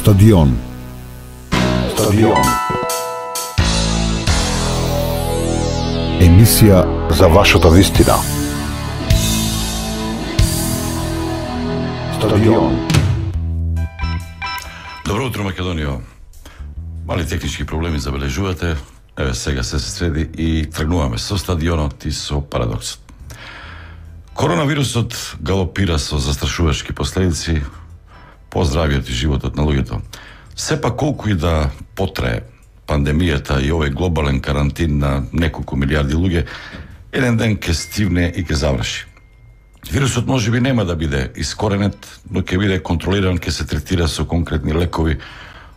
Стадион. Емисија за вашата вистина. Стадион. Добро утро, Македонија. Мали технички проблеми забележувате. Еве сега се среди и тргнуваме со стадионот и со парадоксот. Коронавирусот галопира со застрашувачки последици по здравиот и животот на луѓето. Сепак колку и да потрае пандемијата и овој глобален карантин на неколку милиарди луѓе, еден ден ќе стивне и ќе заврши. Вирусот можеби нема да биде искоренет, но ќе биде контролиран, ќе се третира со конкретни лекови.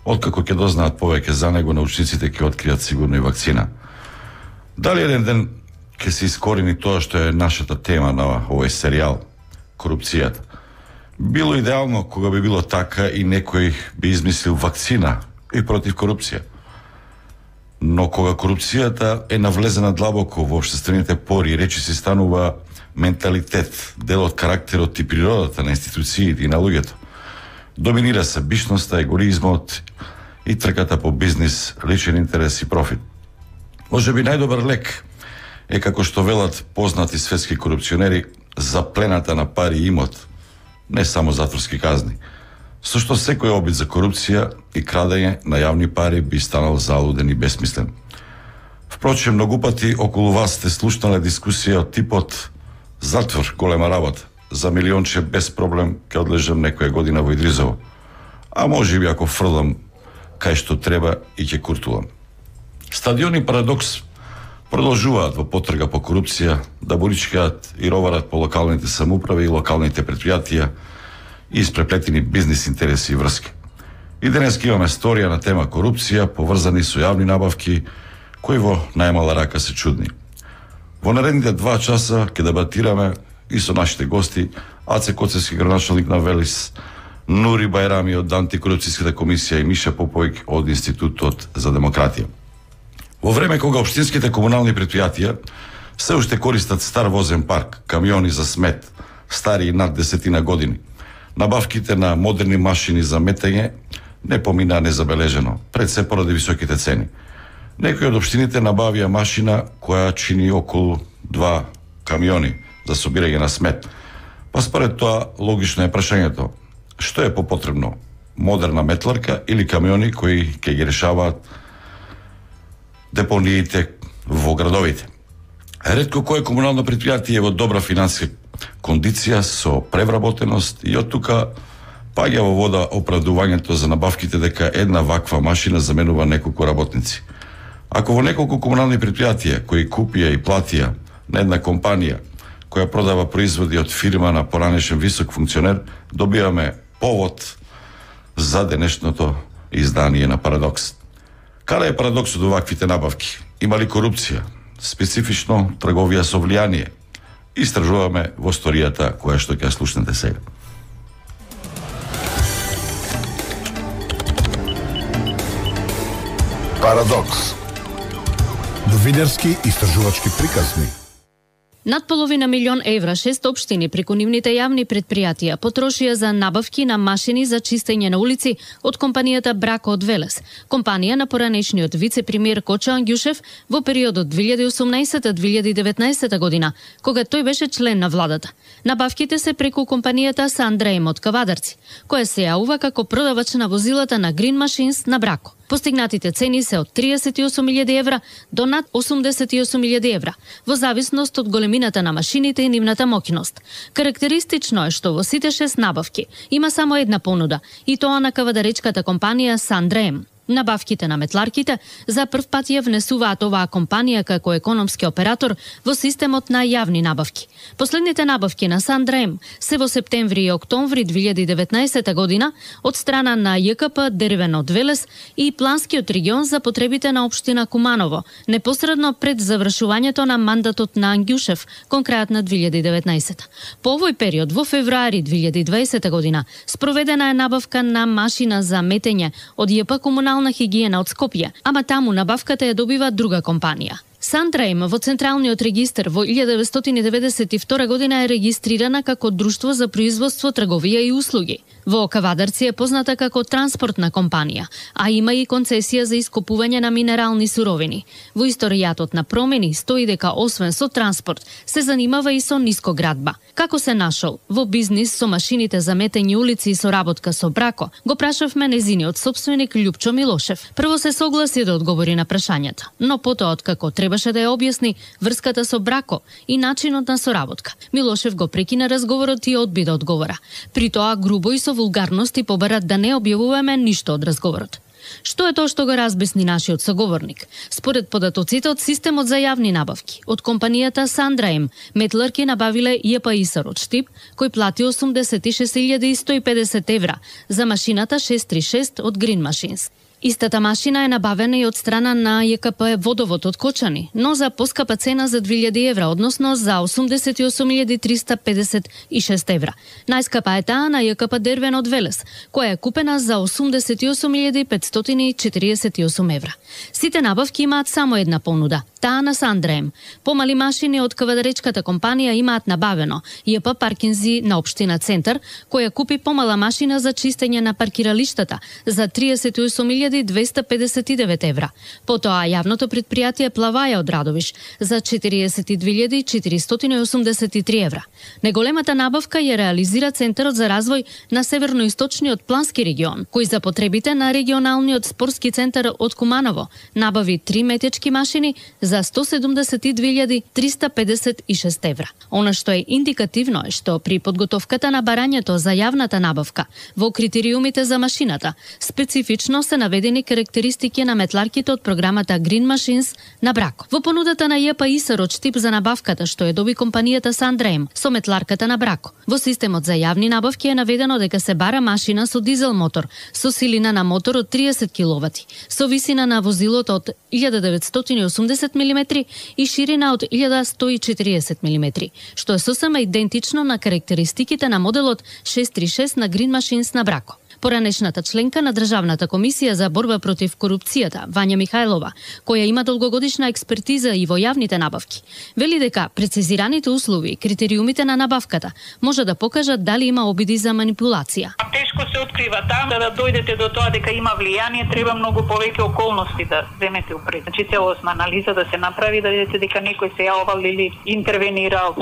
Откако ќе дознаат повеќе за него, научниците ќе откријат сигурно и вакцина. Дали еден ден ќе се искорени тоа што е нашата тема на овој серијал, корупцијата? Било идеално кога би било така и некој би измислил вакцина и против корупција. Но кога корупцијата е навлезена длабоко во општествените пори, речи се станува менталитет, дел од карактерот и природата на институциите и на луѓето. Доминира себичноста, егоизмот и трката по бизнис, личен интерес и профит. Може би најдобар лек е, како што велат познати светски корупционери, заплената на пари и имот, не само затворски казни. Со што секој обид за корупција и крадење на јавни пари би станал залуден и бесмислен. Впрочем, многу пати околу вас сте слушнале дискусија од типот затвор, голема работа, за милионче без проблем ќе одлежам некоја година во Идризово. А може би ако фрлам кај што треба и ќе куртулам. Стадион и парадокс продолжуваат во потрага по корупција да боричкаат и роварат по локалните самоуправи и локалните предпријатија и испреплетени бизнис интереси и врски. И денес имаме сторија на тема корупција поврзани со јавни набавки кои во најмала рака се чудни. Во наредните 2 часа ќе дебатираме и со нашите гости Аце Коцевски, градоначалник на Велис, Нури Бајрами од антикорупцијската комисија и Миша Поповик од Институтот за демократија. Во време кога општинските комунални предпријатија се уште користат стар возен парк, камиони за смет, стари и над 10 години, набавките на модерни машини за метење не поминаа незабележено, пред се поради високите цени. Некои од општините набавија машина која чини околу 2 камиони за собирање на смет. Па според тоа логично е прашањето: што е попотребно? Модерна метларка или камиони кои ќе ги решаваат депониите во градовите? Ретко кое комунално предпријатие е во добра финансиска кондиција со превработеност и од тука паѓа во вода оправдувањето за набавките дека една ваква машина заменува неколку работници. Ако во неколку комунални предпријатија кои купија и платија на една компанија која продава производи од фирма на поранешен висок функционер, добиваме повод за денешното издание на Парадокс. Каде е парадоксот од ваквите набавки? Има ли корупција? Специфично трговија со влијание? Истражуваме во сторијата која што ќе слушнете сега. Парадокс. Новинарски истражувачки приказни. Над половина милион евра 6 општини преку нивните јавни предпријатија потрошија за набавки на машини за чистење на улици од компанијата Брако од Велес, компанија на поранешниот вице-премиер Кочо Ангјушев во периодот 2018-2019 година, кога тој беше член на владата. Набавките се преку компанијата Сандреем од Кавадарци, која се јавува како продавач на возилата на Green Machines на Брако. Постигнатите цени се од 38.000 евра до над 88.000 евра, во зависност од големината на машините и нивната моќност. Карактеристично е што во сите 6 набавки има само една понуда, и тоа на кавадаречката компанија Сандреем. Набавките на метларките за прв пат ја внесуваат оваа компанија како економски оператор во системот на јавни набавки. Последните набавки на Сандреем се во септември и октомври 2019 година од страна на ЈКП Дервен од Велес и Планскиот регион за потребите на општина Куманово, непосредно пред завршувањето на мандатот на Ангјушев кон крајот на 2019. По овој период во февруари 2020 година спроведена е набавка на машина за метење од ЈП Комунална хигиена од Скопје, ама таму набавката ја добива друга компанија. Сандреем во Централниот регистар во 1992 година е регистрирана како друштво за производство, трговија и услуги. Во Кавадарци е позната како транспортна компанија, а има и концесија за ископување на минерални суровини. Во историјатот на промени стои дека освен со транспорт се занимава и со нискоградба. Како се нашол во бизнис со машините за метење улици и соработка со Брако, го прашавме незиниот сопственик Лјупчо Милошев. Прво се согласи да одговори на прашањата, но потоа откако требаше да ја објасни врската со Брако и начинот на соработка, Милошев го прекина разговорот и одби да одговора. При тоа грубо и со вулгарности побара да не објавуваме ништо од разговорот. Што е тоа што го разбесни нашиот соговорник? Според податоците од системот за јавни набавки, од компанијата Сандраем, метларки набавиле ЈПИСАР од Штип, кој плати 86.150 евра за машината 636 од Green Machines. Истата машина е набавена и од страна на ЈКП Водовод од Кочани, но за поскапа цена за 2000 евра, односно за 88.356 евра. Најскапа е таа на ЈКП Дервен од Велес, која е купена за 88.548 евра. Сите набавки имаат само една понуда, таа на Сандраем. Помали машини од кавадаречката компанија имаат набавено ЈП Паркинзи на општина Центар, која купи помала машина за чистење на паркиралиштата за 38.259 евра. Потоа јавното предпријатие Плаваја од Радовиш за 42.483 евра. Неголемата набавка ја реализира Центарот за развој на Северноисточниот плански регион, кој за потребите на регионалниот спортски центар од Куманово набави 3 метечки машини за 172.356 евра. Она што е индикативно е што при подготовката на барањето за јавната набавка во критериумите за машината специфично се наведени карактеристики на метларките од програмата Green Machines на Брако. Во понудата на ЈПИСАР од Штип за набавката што ја доби компанијата Сандраем со метларката на Брако, во системот за јавни набавки е наведено дека се бара машина со дизел мотор, со силина на мотор од 30 киловати, со висина на возилото од 1980 мм и ширина од 1140 мм, што е сосема идентично на карактеристиките на моделот 636 на Green Machines на Брако. Поранешната членка на Државната комисија за борба против корупцијата, Вања Михајлова, која има долгогодишна експертиза и во јавните набавки, вели дека прецизираните услови и критериумите на набавката може да покажат дали има обиди за манипулација. Тешко се открива там, да дојдете до тоа дека има влијание, треба многу повеќе околности да земете упред. Значи целосна анализа да се направи, да видите дека некој се јавал или интервенирал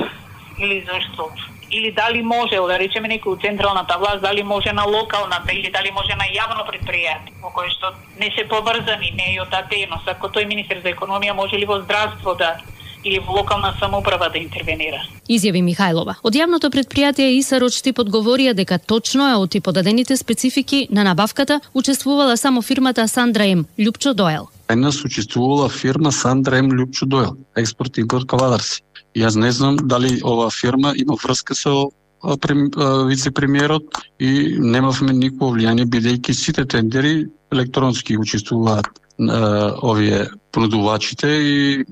или зашто. Или дали може, да речеме некој од централната власт, дали може на локалната или дали може на јавно предпријатие, во кое што не се поврзани, не е од таа дејност. Ако тој министер за економија може ли во здравство да или во локална самоуправа да интервенира. Изјави Михајлова. Од јавното предпријатие ИСАР од Штип одговорија дека точно е од и подадените специфики на набавката учествувала само фирмата Сандраем Лјупчо Доел. Нас учествувала фирма Сандраем Лјупчо Доел, експорт-импорт Кавадарци. Јас не знам дали оваа фирма има врска со вице-премиерот и немавме никакво влијание, бидејќи сите тендери електронски учествуваат овие понудувачите и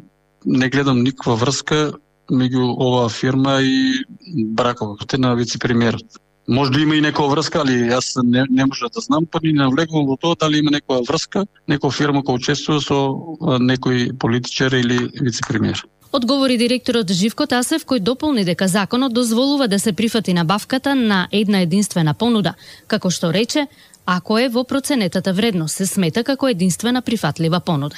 не гледам никаква врска меѓу оваа фирма и браковите на вице-премиерот. Може да има и некоја врска, али јас не можам да знам, па ни не влегувам во тоа дали има некоја врска, некоја фирма која учествува со некој политичар или вице-премиер. Одговори директорот Живко Тасев, кој дополни дека законот дозволува да се прифати набавката на една единствена понуда, како што рече, ако е во проценетата вредност се смета како единствена прифатлива понуда.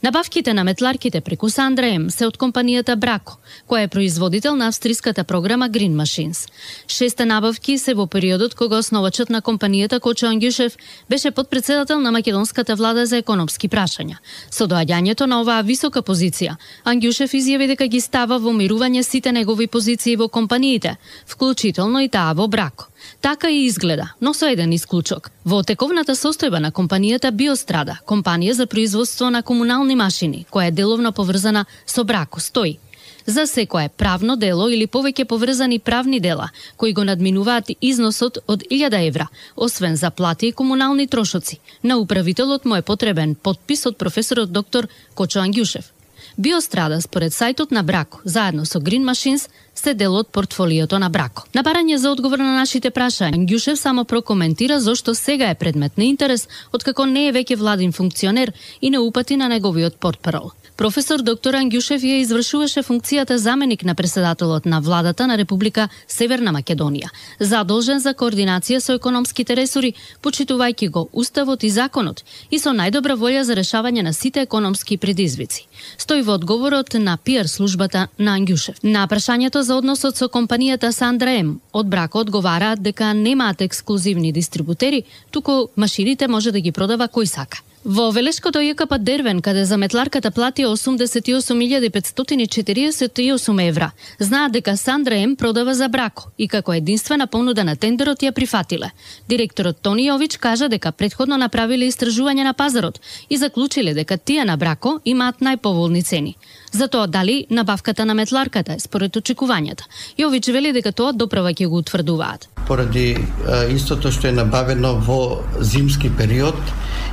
Набавките на метларките преку Сандраем се од компанијата Брако, која е производител на австриската програма Green Machines. 6 набавки се во периодот кога основачот на компанијата Кочо Ангјушев беше подпредседател на македонската влада за економски прашања. Со доаѓањето на оваа висока позиција, Ангјушев изјави дека ги става во мирување сите негови позиции во компаниите, вклучително и таа во Брако. Така и изгледа, но со еден исклучок. Во тековната состојба на компанијата Биострада, компанија за производство на комунални машини, која е деловно поврзана со Брако, стои. За секое правно дело или повеќе поврзани правни дела, кои го надминуваат износот од 1000 евра, освен за плати и комунални трошоци, на управителот му е потребен подпис од професорот доктор Кочо Ангјушев. Биострада, според сајтот на Брако, заедно со Green Machines, се дел од портфолиото на Брако. На барање за одговор на нашите прашања, Ангјушев само прокоментира зошто сега е предмет на интерес, откако не е веќе владин функционер и не упати на неговиот портпарол. Професор доктор Ангјушев ја извршуваше функцијата заменик на председателот на владата на Република Северна Македонија, задолжен за координација со економските ресори, почитувајќи го уставот и законот и со најдобра волја за решавање на сите економски предизвици. Стои во одговорот на PR службата на Ангјушев. На прашањето за односот со компанијата Сандра М, од Брако одговараат дека немаат ексклузивни дистрибутери, туку машините може да ги продава кој сака. Во Велешкото ЈКП Дервен, каде заметларката плати 88.548 евра, знаат дека Сандра М продава за Брако и како единствена понуда на тендерот ја прифатиле. Директорот Тони Јович кажа дека претходно направиле истражување на пазарот и заклучиле дека тие на Брако имаат најповолни цени. За тоа дали набавката на метларката е според очекувањата. Јович вели дека тоа доправа ќе го утврдуваат. Поради истото што е набавено во зимски период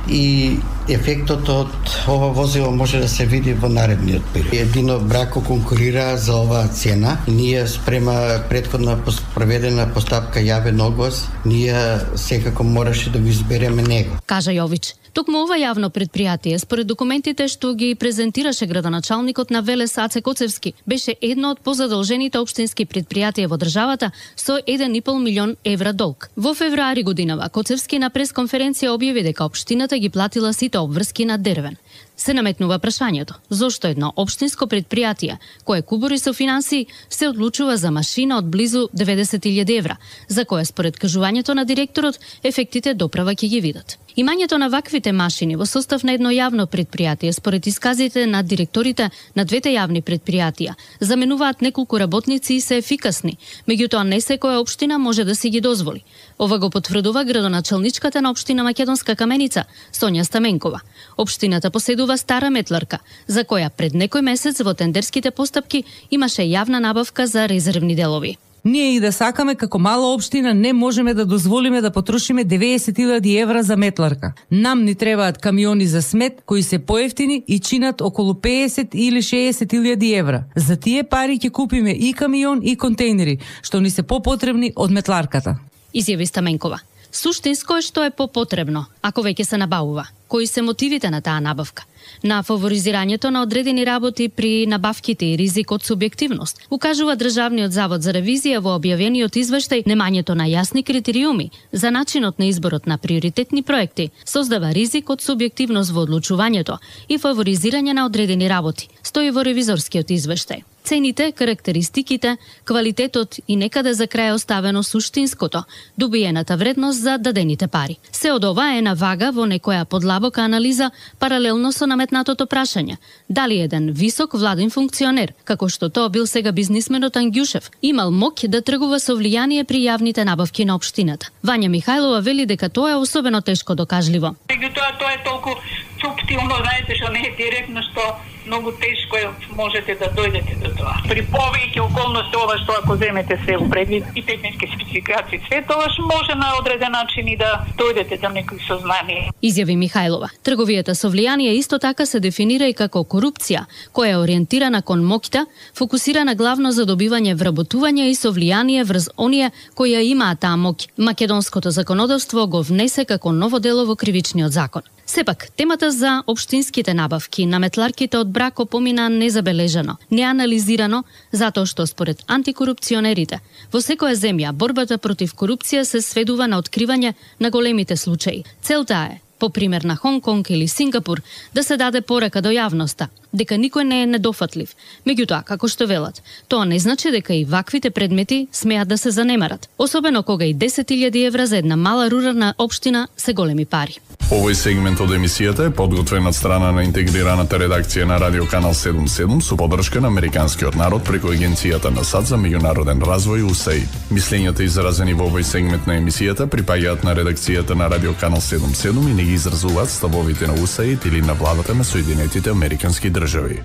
и ефектот од ова возило може да се види во наредниот период. Едино Брако конкурира за оваа цена. Ние спрема претходна проведена постапка јавен оглас, ние секако мораше да го избереме него. Кажа Јович. Токму ова јавно предпријатие, според документите што ги презентираше градоначалникот на Велес Аце Коцевски, беше едно од позадолжените општински предпријатија во државата со 1,5 милион евра долг. Во февруари годинава Коцевски на пресконференција објави дека општината ги платила сите обврски на Дервен. Се наметнува прашањето, зошто едно општинско предпријатие, кое кубури со финансии, се одлучува за машина од близу 90.000 евра, за која според кажувањето на директорот, ефектите доправа ќе ги видат. Имањето на ваквите машини во состав на едно јавно предпријатие, според исказите на директорите на двете јавни предпријатија, заменуваат неколку работници и се ефикасни, меѓутоа не секоја општина може да си ги дозволи. Ова го потврдува градоначалничката на општина Македонска Каменица, Сонја Стаменкова. Општината поседува стара метларка, за која пред некој месец во тендерските постапки имаше јавна набавка за резервни делови. Ние и да сакаме како мала општина не можеме да дозволиме да потрошиме 90.000 евра за метларка. Нам ни требаат камиони за смет кои се поевтини и чинат околу 50 или 60.000 евра. За тие пари ќе купиме и камион и контейнери, што ни се попотребни од метларката. Изјави Стаменкова. Суштинско е што е попотребно, ако веќе се набавува. Кои се мотивите на таа набавка? На фаворизирањето на одредени работи при набавките и ризик од субјективност, укажува Државниот завод за ревизија во објавениот извештај. Немањето на јасни критериуми за начинот на изборот на приоритетни проекти создава ризик од субјективност во одлучувањето и фаворизирање на одредени работи, стои во ревизорскиот извештај. Цените, карактеристиките, квалитетот и некаде за крај оставено суштинското, добиената вредност за дадените пари. Се од ова е на вага во некоја подлабока анализа паралелно со наметнатото прашање дали еден висок владин функционер, како што тоа бил сега бизнисменот Ангјушев, имал моќ да тргува со влијание при јавните набавки на општината. Вања Михајлова вели дека тоа е особено тешко докажливо. Меѓутоа тоа е толку суптилно, знаете, што не е директно, што многу тешко е можете да дојдете до тоа. При повеќе околности ова што ако земете се во предвид и технички спецификации, све тоа може на одреден начин и да дојдете до некои сознание. Изјави Михајлова. Трговијата со влијание исто така се дефинира и како корупција, која е ориентирана кон моќта, фокусирана главно за добивање вработување и со влијание врз оние кои ја имаат таа моќ. Македонското законодавство го внесе како ново дело во кривичниот закон. Сепак, темата за општинските набавки на метларките од Брако помина незабележано, неанализирано, затоа што според антикорупционерите, во секоја земја борбата против корупција се сведува на откривање на големите случаи. Целта е, по пример на Хонг Конг или Сингапур, да се даде порака до јавноста, дека никој не е недофатлив. Меѓутоа, како што велат, тоа не значи дека и ваквите предмети смеат да се занемарат, особено кога и 10.000 евра за една мала рурална општина се големи пари. Овој сегмент од емисијата е подготвен од страна на интегрираната редакција на Радио Канал 77 со поддршка на Американскиот народ преку Агенцијата на САД за меѓународен развој USAID. Мислењата изразени во овој сегмент на емисијата припаѓаат на редакцијата на Радио Канал 77 и не ги изразуваат ставовите на USAID или на владата на Соединетите Американски држави.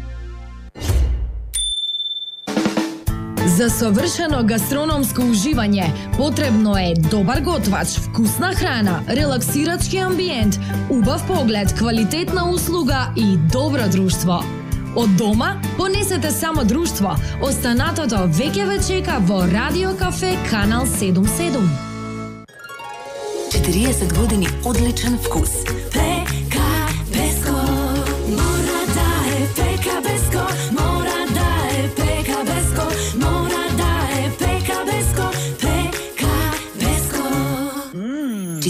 За совршено гастрономско уживање потребно е добар готвач, вкусна храна, релаксирачки амбиент, убав поглед, квалитетна услуга и добро друштво. Од дома понесете само друштво. Останатото веќе ве чека во Радио Кафе Канал 77. 40 години одличен вкус. ПК Песко мора да е ПК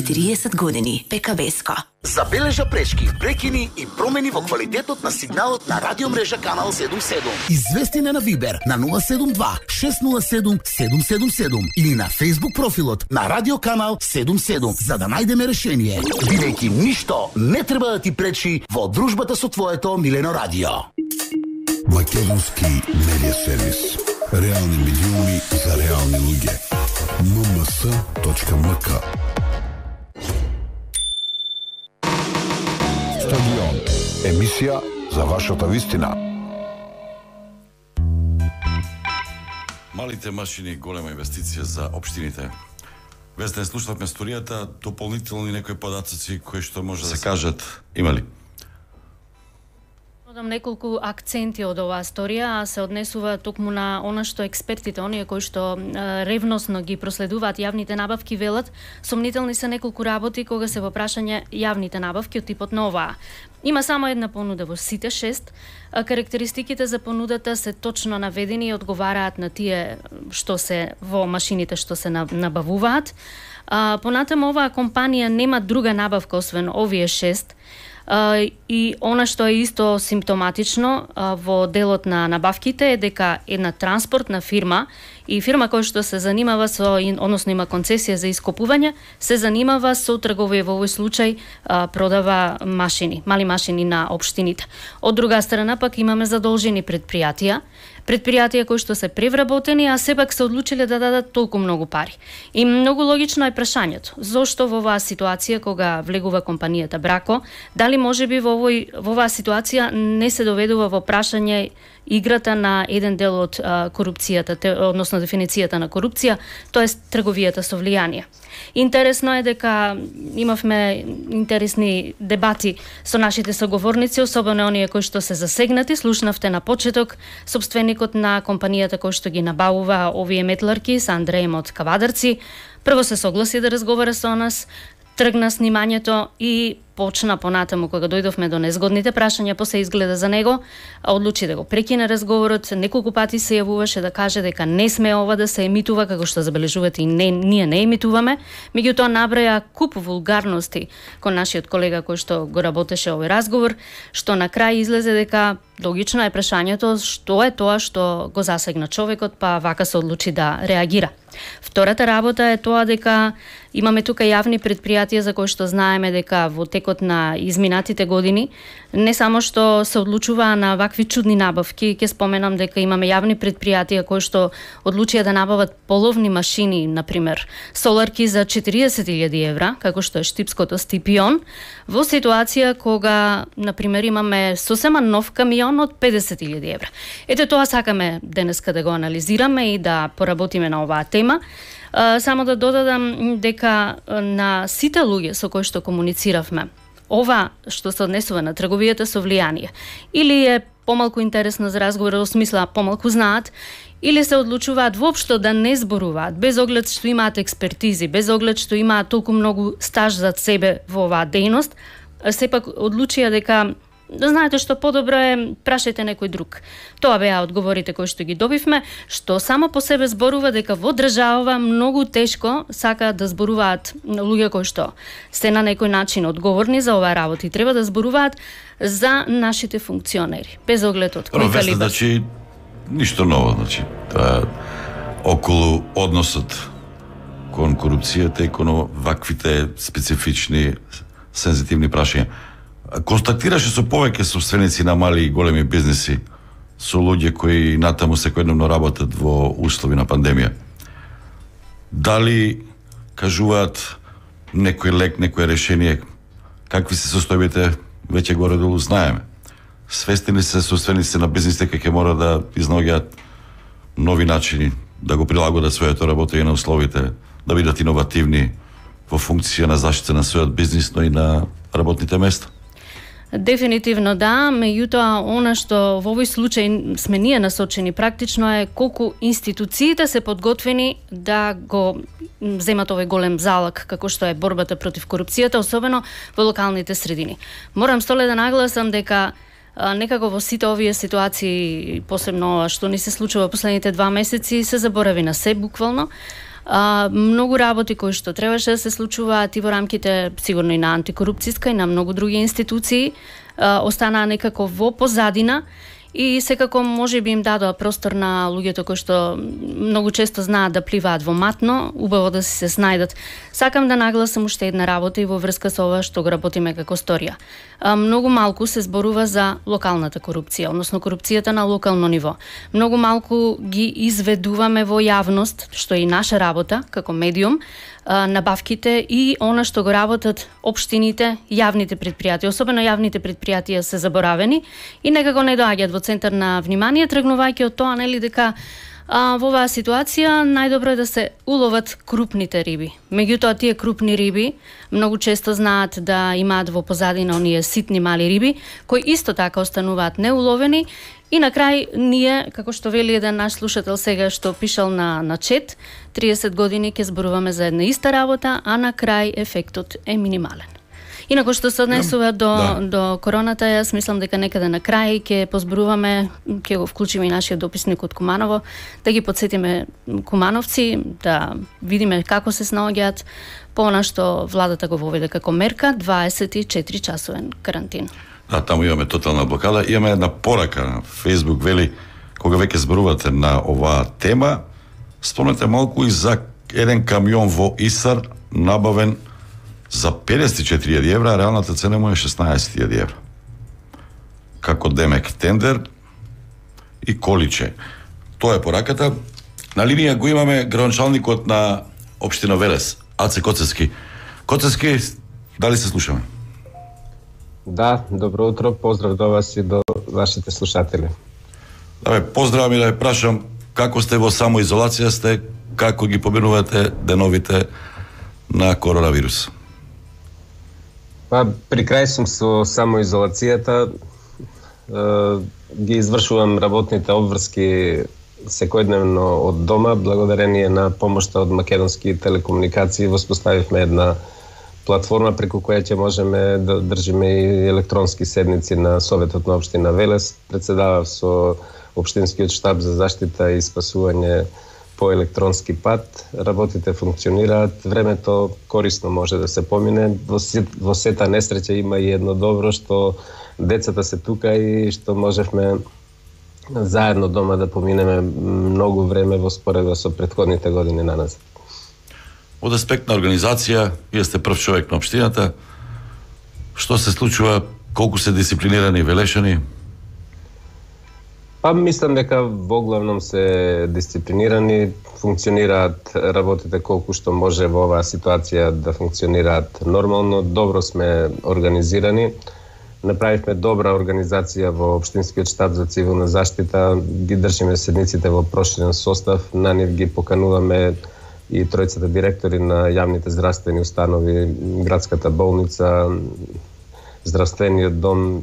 40 години. ПКБ-ско. Забележа пречки, прекини и промени во квалитетот на сигналот на радиомрежа Канал 77. Извести на Вибер на 072 607 777 или на Facebook профилот на Радио Канал 77 за да најдеме решение. Бидејќи ништо не треба да ти пречи во дружбата со твоето милено радио. Македонски медиа сервис. Реални медиуми за реални луѓе. mms.mk. Стадион. Емисија за вашата вистина. Малите машини, голема инвестиција за општините. Без да не слушнавме историјата, дополнителни некои податоци кои што може да се кажат, има ли? Додам неколку акценти од оваа историја, се однесува токму на она што експертите, оние кои што ревносно ги проследуваат јавните набавки, велат, сомнителни се неколку работи кога се во прашање јавните набавки од типот на оваа. Има само една понуда во сите 6, карактеристиките за понудата се точно наведени и одговараат на тие што се во машините што се набавуваат. Понатаму оваа компанија нема друга набавка освен овие 6, и она што е исто симптоматично во делот на набавките е дека една транспортна фирма и фирма која што се занимава со, односно има концесија за ископување, се занимава со трговија, во овој случај продава машини, мали машини на општините. Од друга страна пак имаме задолжени предпријатија кои што се превработени, а сепак се одлучиле да дадат толку многу пари. И многу логично е прашањето, зошто во оваа ситуација кога влегува компанијата Брако, дали можеби во оваа ситуација не се доведува во прашање играта на еден дел од корупцијата, односно дефиницијата на корупција, тоест трговијата со влијание. Интересно е дека имавме интересни дебати со нашите соговорници, особено оние кои што се засегнати. Слушнавте на почеток собственикот на компанијата кој што ги набавува овие метларки, Сандреем од Кавадарци. Прво се согласи да разговара со нас, тргна снимањето и почна понатаму кога дојдовме до незгодните прашања, после изгледа за него, одлучи да го прекине разговорот, неколку пати се јавуваше да каже дека не сме ова да се емитува, како што забележувате и ние не емитуваме, меѓутоа набраја куп вулгарности кон нашиот колега кој што го работеше овој разговор, што на крај излезе дека логично е прашањето што е тоа што го засегна човекот, па вака се одлучи да реагира. Втората работа е тоа дека имаме тука јавни предпријатија за кои што знаеме дека во текот на изминатите години не само што се одлучуваа на вакви чудни набавки, ќе споменам дека имаме јавни предпријатија кои што одлучија да набават половни машини, например, соларки за 40.000 евра, како што е штипското Стипион, во ситуација кога, например, имаме сосема нов камион од 50.000 евра. Ете тоа сакаме денеска да го анализираме и да поработиме на оваа тема. Само да додадам дека на сите луѓе со кои што комунициравме, ова што се однесува на трговијата со влијание, или е помалку интересно за разговор, во смисла помалку знаат, или се одлучуваат воопшто да не зборуваат, без оглед што имаат експертизи, без оглед што имаат толку многу стаж зад себе во оваа дејност, сепак одлучија дека знаете што подобро е, прашајте некој друг. Тоа беа одговорите кои што ги добивме, што само по себе зборува дека во држава многу тешко сакаат да зборуваат луѓе кои што се на некој начин одговорни за оваа работа и треба да зборуваат за нашите функционери, без оглед од кој калибар. Значи, ништо ново, значи, околу односот кон корупцијата и кон ваквите специфични сензитивни прашања. Констатираше со повеќе собственици на мали и големи бизнеси, со луѓе кои натаму секојдневно работат во услови на пандемија. Дали кажуваат некој лек, некој решение, какви се состојбите, веќе горе-долу знаеме. Свестени се собственици на бизнисите дека ќе мора да изнаоѓаат нови начини да го прилагодат своето работење на условите, да бидат иновативни во функција на заштита на својот бизнис, но и на работните места. Дефинитивно да, меѓутоа она што во овој случај сме ние насочени практично е колку институциите се подготвени да го земат овој голем залак како што е борбата против корупцијата, особено во локалните средини. Морам столе да нагласам дека некако во сите овие ситуации, посебно што ни се случува последните 2 месеци, се заборави на се буквално. Многу работи кои што требаше да се случуваат и во рамките сигурно и на антикорупцијска и на многу други институции останаа некако во позадина. И секако може би им дадоа простор на луѓето кои што многу често знаат да пливаат во матно, убаво да се снајдат. Сакам да нагласам уште една работа и во врска со ова што го работиме како Сторија. Многу малку се зборува за локалната корупција, односно корупцијата на локално ниво. Многу малку ги изведуваме во јавност, што е и наша работа како медиум, набавките и она што го работат општините, јавните предпријатија, особено јавните предпријатија се заборавени и некако не доаѓаат во центар на внимание, тргнувајќи од тоа, нели, дека во оваа ситуација најдобро е да се уловат крупните риби. Меѓутоа, тие крупни риби многу често знаат да имаат во позадина оние ситни мали риби, кои исто така остануваат неуловени. И на крај, ние, како што вели еден наш слушател сега што пишал на чет, 30 години ќе зборуваме за една иста работа, а на крај ефектот е минимален. Инако што се однесува до короната, јас мислам дека некаде на крај ќе позборуваме, ќе го вклучиме и нашиот дописник од Куманово, да ги подсетиме кумановци, да видиме како се снаоѓаат по она што владата го воведе како мерка, 24 часовен карантин. Да, таму имаме тотална блокада. Имаме една порака на Facebook, вели, кога веќе зборувате на оваа тема, спомнете малку и за еден камион во Исар, набавен за 54.000 евра, реалната цена му е 16.000 евра. Како демек тендер и количе. Тоа е пораката. На линија го имаме градоначалникот на општина Велес, Аце Коцевски. Коцевски, дали се слушаме? Да, добро утро, поздрав до вас и до вашите слушатели. Да, поздравам и да ја прашам како сте во самоизолација сте, како ги поминувате деновите на коронавирус? Па, при крај сум со самоизолацијата, ги извршувам работните обврски секојдневно од дома, благодарение на помошта од Македонски телекомуникации, воспоставивме една платформа преку која ќе можеме да држиме и електронски седници на Советот на општина Велес. Председавав со Општинскиот штаб за заштита и спасување по електронски пат. Работите функционираат, времето корисно може да се помине. Во сета несреќа има и едно добро, што децата се тука и што можевме заедно дома да поминеме многу време во споредба со претходните години на нас. Од аспект на организација, вие сте прв човек на општината. Што се случува, колку се дисциплинирани велешани? Па мислам дека во главном се дисциплинирани, функционираат работите колку што може во оваа ситуација да функционираат нормално, добро сме организирани. Направивме добра организација во Општинскиот штаб за цивилна заштита, ги држиме седниците во проширен состав, на нив ги покануваме и тројцата директори на јавните здравствени установи, градската болница, здравствениот дом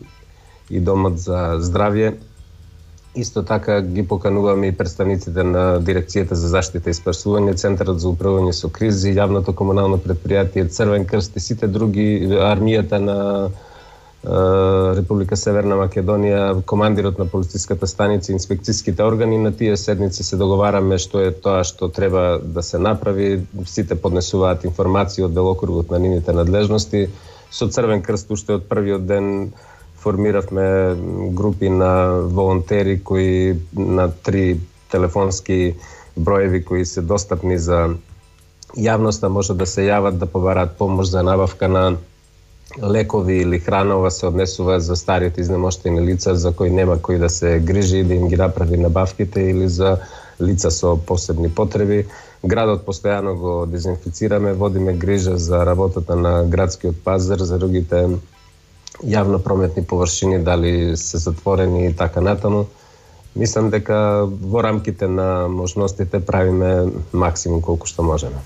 и домот за здравје. Исто така ги покануваме и представниците на Дирекцијата за заштита и спасување, Центарот за управување со кризи, јавното комунално предпријатие, Црвен крст и сите други, армијата на Република Северна Македонија, командирот на полициската станица, инспекцијските органи. На тие седници се договараме што е тоа што треба да се направи. Сите поднесуваат информации од делокругот на нивните надлежности. Со Црвен крст уште од првиот ден формиравме групи на волонтери кои на 3 телефонски броеви кои се достапни за јавноста, можат да се јават да побараат помош за набавка на лекови или храна. Ова се однесува за старите изнемоштени лица за кои нема кој да се грижи да им ги направи набавките или за лица со посебни потреби. Градот постојано го дезинфицираме, водиме грижа за работата на градскиот пазар, за другите јавно прометни површини, дали се затворени и така натаму. Мислам дека во рамките на можностите правиме максимум колку што можеме.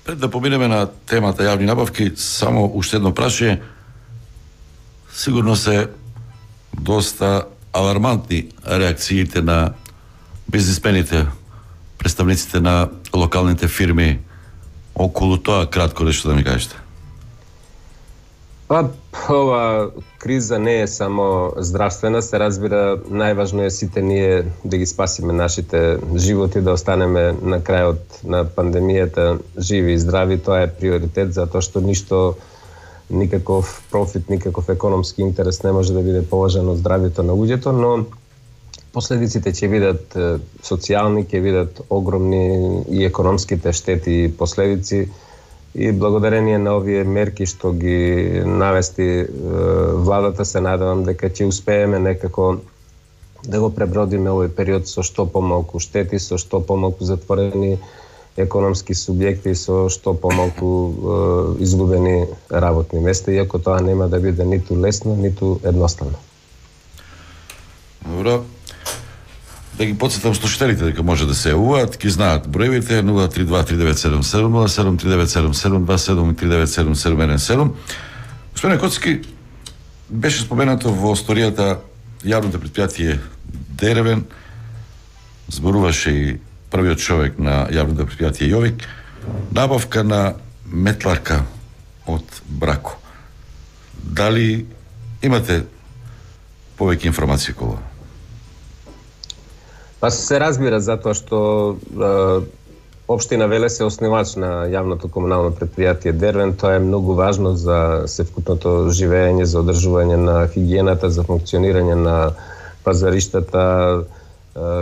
Пред да поминеме на темата јавни набавки, само уште едно прашање. Сигурно се доста алармантни реакциите на бизнисмените, представниците на локалните фирми околу тоа, кратко нешто да ми кажете. Па, ова криза не е само здравствена, се разбира, најважно е сите ние да ги спасиме нашите животи, да останеме на крајот на пандемијата живи и здрави. Тоа е приоритет, затоа што никаков профит, никаков економски интерес не може да биде поважен од здравјето на луѓето, но последиците ќе бидат социјални, ќе бидат огромни и економските штети и последици. И благодарение на овие мерки што ги навести владата, се надевам дека ќе успееме некако да го пребродиме овој период со што помалку штети, со што помалку затворени економски субјекти, со што помалку изгубени работни места, иако тоа нема да биде ниту лесно, ниту едноставно. Добро. Да ги подсетам слушателите дека може да се јавуваат, ги знаат броевите 032-3977, 073977, 27397717. Господин Коцки, беше споменато во историјата јавното предпријатие Дервен, зборуваше и првиот човек на јавното предпријатие Јовик, набавка на метларка од Брако. Дали имате повеќе информации околу? Па се разбира, затоа што Општина Велес е основач на јавното комунално предпријатие Дервен. Тоа е многу важно за севкупното живење, за одржување на хигиената, за функционирање на пазариштата,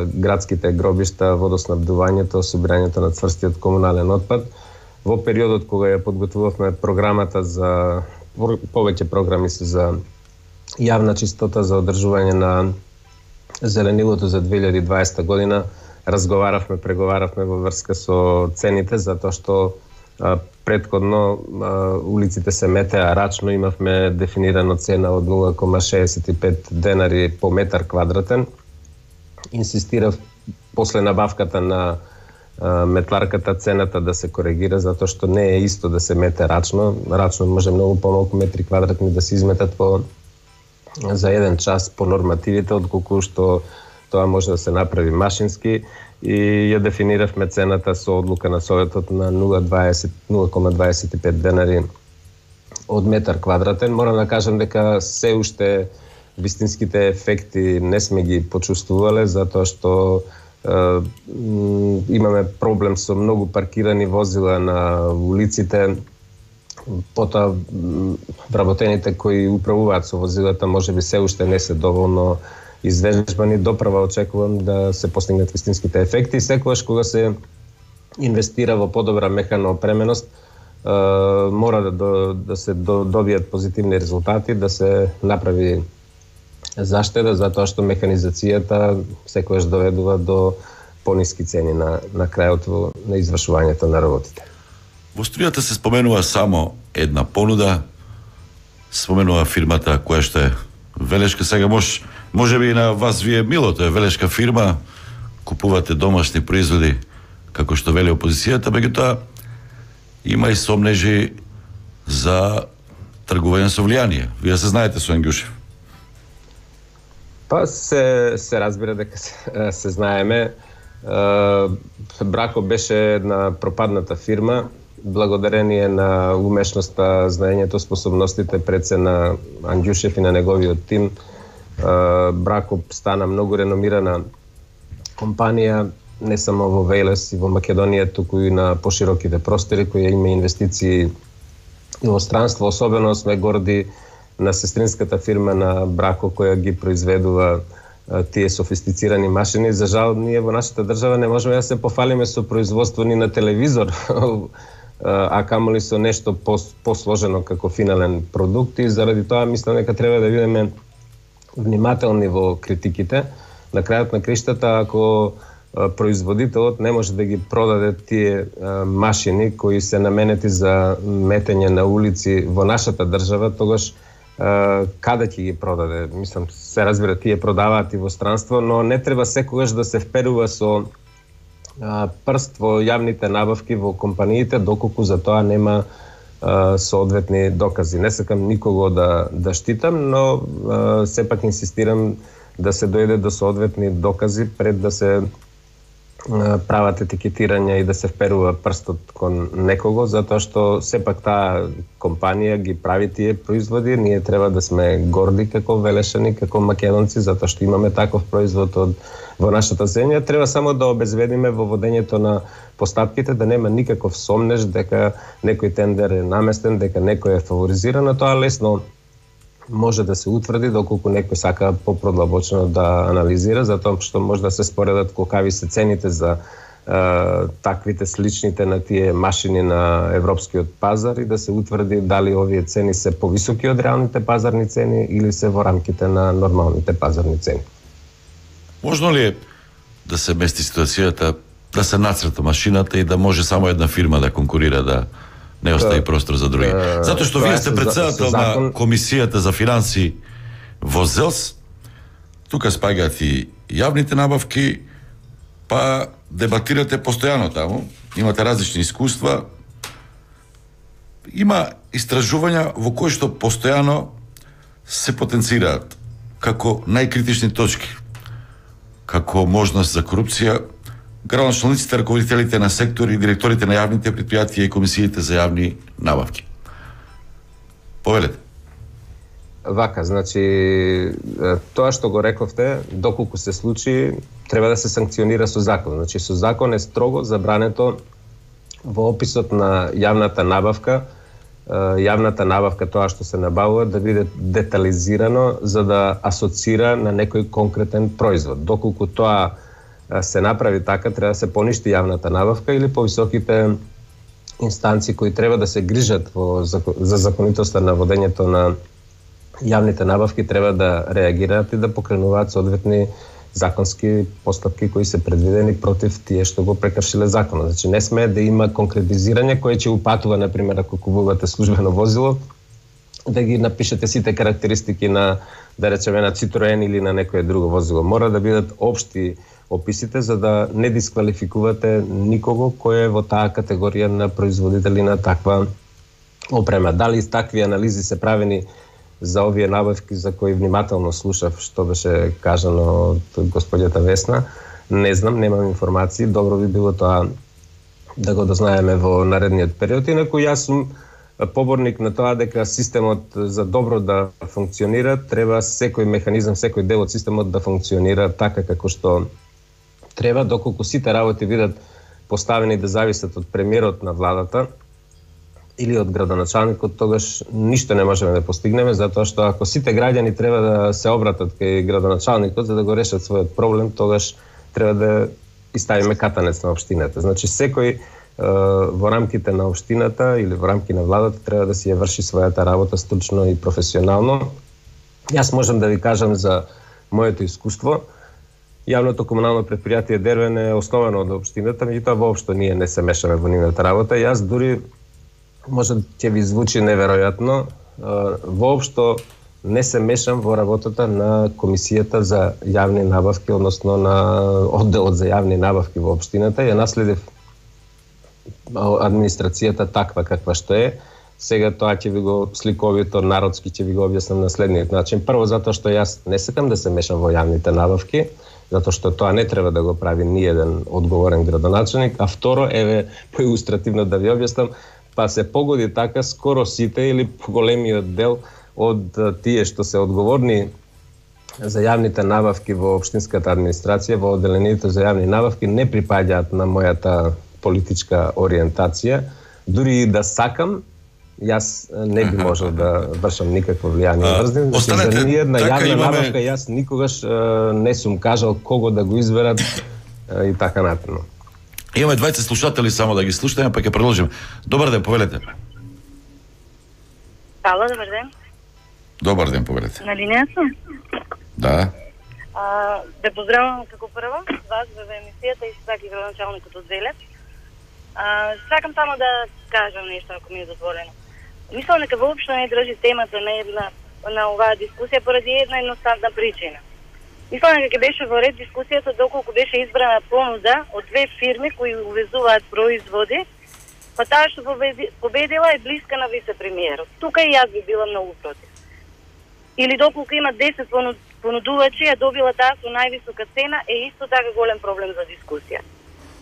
градските гробишта, водоснабдувањето, собирањето на цврстиот комунален отпад. Во периодот кога ја подготвувавме програмата за повеќе програми се за јавна чистота, за одржување на зеленилото за 2020 година, разговаравме, преговаравме во врска со цените, затоа што претходно улиците се метеа рачно, имавме дефинирана цена од 0,65 денари по метар квадратен. Инсистирав после набавката на метларката цената да се коригира, затоа што не е исто да се мете рачно. Рачно може многу помалку метри квадратни да се изметат за еден час по нормативите, отколку што тоа може да се направи машински, и ја дефиниравме цената со одлука на Советот на 0,25 денари од метар квадратен. Морам да кажам дека се уште вистинските ефекти не сме ги почувствувале, затоа што имаме проблем со многу паркирани возила на улиците. Потоа вработените кои управуваат со возилата можеби се уште не се доволно извежбани. Доправа очекувам да се постигнат вистинските ефекти. Секогаш кога се инвестира во подобра механа опременост, мора да се добијат позитивни резултати, да се направи заштеда, затоа што механизацијата секогаш доведува до пониски цени на крајот на извршувањето на работите. Во струјата се споменува само една понуда, споменува фирмата која што е велешка. Сега може би на вас вие мило, тоа е велешка фирма, купувате домашни производи, како што вели опозицијата, меѓутоа има и сомнежи за тргување со влијание. Вие се знаете со Ангјушев. Па се разбира дека се знаеме. Брако беше една пропадната фирма. Благодарение на умешноста, знаењето, способностите пред се на Ангјушев и на неговиот тим, Брако стана многу реномирана компанија, не само во Велес и во Македонија, туку и на пошироките простори, која има инвестиции во странство. Особено сме горди на сестринската фирма на Брако, која ги произведува тие софистицирани машини. За жал, ние во нашата држава не можеме да се пофалиме со производство ни на телевизор, а камоли со нешто посложено како финален продукт, и заради тоа мислам дека треба да бидеме внимателни во критиките. На крајот на криштата, ако производителот не може да ги продаде тие машини кои се наменети за метење на улици во нашата држава, тогаш каде ќе ги продаде? Мислам, се разбира, тие продаваат и во странство, но не треба секогаш да се вперува со прст во јавните набавки во компаниите, доколку за тоа нема соодветни докази. Не сакам никого да штитам, но сепак инсистирам да се дојде до соодветни докази пред да се прават етикетирање и да се вперува прстот кон некого, затоа што сепак таа компанија ги прави тие производи. Ние треба да сме горди како Велешани, како македонци, затоа што имаме таков производ во нашата земја. Треба само да обезведиме во водењето на постапките, да нема никаков сомнеж дека некој тендер е наместен, дека некој е фаворизиран. Тоа лесно може да се утврди доколку некој сака попродлабочно да анализира, затоа што може да се споредат колкави се цените за таквите сличните на тие машини на европскиот пазар и да се утврди дали овие цени се повисоки од реалните пазарни цени или се во рамките на нормалните пазарни цени. Можно ли е да се мести ситуацијата, да се нацрта машината и да може само една фирма да конкурира, да не остави простор за други? Затоа што вие сте председател на Комисијата за финанси во ЗЕЛС, тука спаѓаат и јавните набавки, па дебатирате постојано таму, имате различни искуства, има истражувања во кои што постојано се потенцираат како најкритични точки, како можност за корупција, градоначалниците, раководителите на сектори и директорите на јавните предпријатија и комисиите за јавни набавки. Повелете. Вака, значи, тоа што го рековте, доколку се случи, треба да се санкционира со закон. Значи, со закон е строго забрането во описот на јавната набавка, тоа што се набавува, да биде детализирано за да асоцира на некој конкретен производ. Доколку тоа се направи така, треба да се поништи јавната набавка или повисоките инстанции кои треба да се грижат за законитоста на водењето на јавните набавки треба да реагираат и да покренуваат соодветни законски постапки кои се предвидени против тие што го прекршиле законот. Значи не сме да има конкретизирање кое ќе упатува, например, ако купувате службено возило, да ги напишете сите карактеристики на, да речеме, на Citroen или на некое друго возило. Мора да бидат општи описите за да не дисквалификувате никого кој е во таа категорија на производители на таква опрема. Дали такви анализи се правени за овие набавки за кои внимателно слушав што беше кажано од господјата Весна, не знам, немам информации, добро би било тоа да го дознаеме во наредниот период. Инаку јас сум поборник на тоа дека системот за добро да функционира, треба секој механизам, секој дел од системот да функционира така како што треба, доколку сите работи бидат поставени да зависат од премиерот на владата или од градоначалникот, тогаш ништо не можеме да постигнеме, затоа што ако сите граѓани треба да се обратат кај градоначалникот за да го решат својот проблем, тогаш треба да ставиме катанец на општината. Значи секој во рамките на општината или во рамки на владата треба да си ја врши својата работа стручно и професионално. Јас можам да ви кажам за моето искуство. Јавното комунално предпријатие Дервен е основано од општината, меѓутоа воопшто ние не се мешаме во нивната работа. Јас дури, може ќе ви звучи неверојатно, воопшто не се мешам во работата на Комисијата за јавни набавки, односно на одделот за јавни набавки во општината. Ја наследив администрацијата таква каква што е. Сега тоа ќе ви го сликовито, народски ќе ви го објаснам на следниот начин. Прво, затоа што јас не сакам да се мешам во јавните набавки, затоа што тоа не треба да го прави ниеден одговорен градоначалник, а второ, еве, поилустративно да ви објаснам, па се погоди така, скоро сите или поголемиот дел од тие што се одговорни за јавните набавки во општинската администрација, во одделението за јавни набавки, не припаѓаат на мојата политичка ориентација. Дури и да сакам, јас не би можел да вршам никакво влијание врз нив. За ниједна јавна набавка јас никогаш не сум кажал кого да го изберат и така натаму. Имаме 20 слушатели, само да ги слушаме, па ќе продолжиме. Добар ден, повелете. Ало, добар ден. Добар ден, повелете. На линија сум? Да. Да поздравам како прво вас во емисијата и така и градоначалникот од Велес. Сакам само да кажам нешто, ако ми е дозволено. Мислам дека воопшто не држи темата на оваа дискусија поради една едноставна причина. Мислам дека беше во ред дискусијата доколку беше избрана понуда од две фирми кои увезуваат производи, па таа што победила е блиска на вице-премиерот. Тука и јас би била многу против. Или доколку има 10 понудувачи, а добила таа со највисока цена, е исто така голем проблем за дискусија.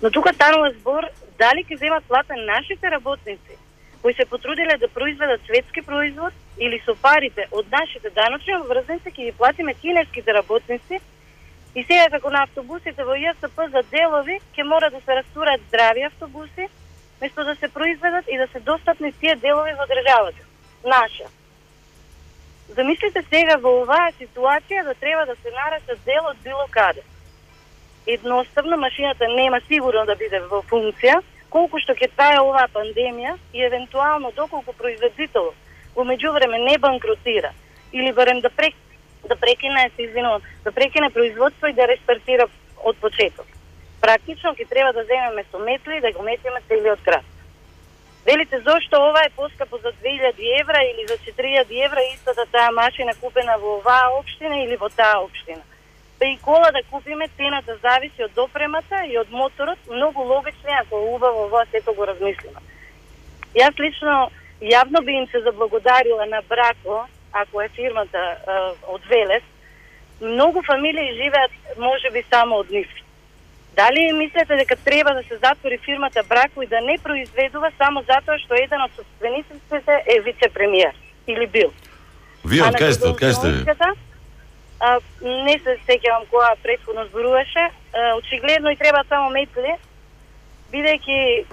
Но тука станува збор дали ќе земат плата нашите работници кои се потрудиле да произведат светски производ или со парите од нашите даночни обврзници ќе ги платиме кинеските работници и сега како на автобусите во ЈСП за делови ќе мора да се растураат здрави автобуси место да се произведат и да се достапни тие делови во државата наша. Замислите сега во оваа ситуација да треба да се нарака дел од било каде. Едноставно машината нема сигурно да биде во функција, колку што ќе трае оваа пандемија и евентуално доколку производител во меѓувреме не банкротира или барем да прекине производство и да рестартира од почеток. Практично ќе треба да земеме со метли и да го метиме целиот град. Велите зошто ова е поскапо за 2000 евра или за 4000 евра истата таа машина купена во оваа општина или во таа општина. Па и кола да купиме, цената зависи од допремата и од моторот, многу логично ако убаво ова сето го размислиме. Јас лично јавно би им се заблагодарила на Брако, ако е фирмата од Велес. Многу фамилии живеат можеби само од нив. Дали мислите дека треба да се затвори фирмата Брако и да не произведува само затоа што еден од собствениците е вице-премиер или бил? Вие од кај сте? Не се сеќавам која претходно зборуваше. Очигледно и треба само метли, бидејќи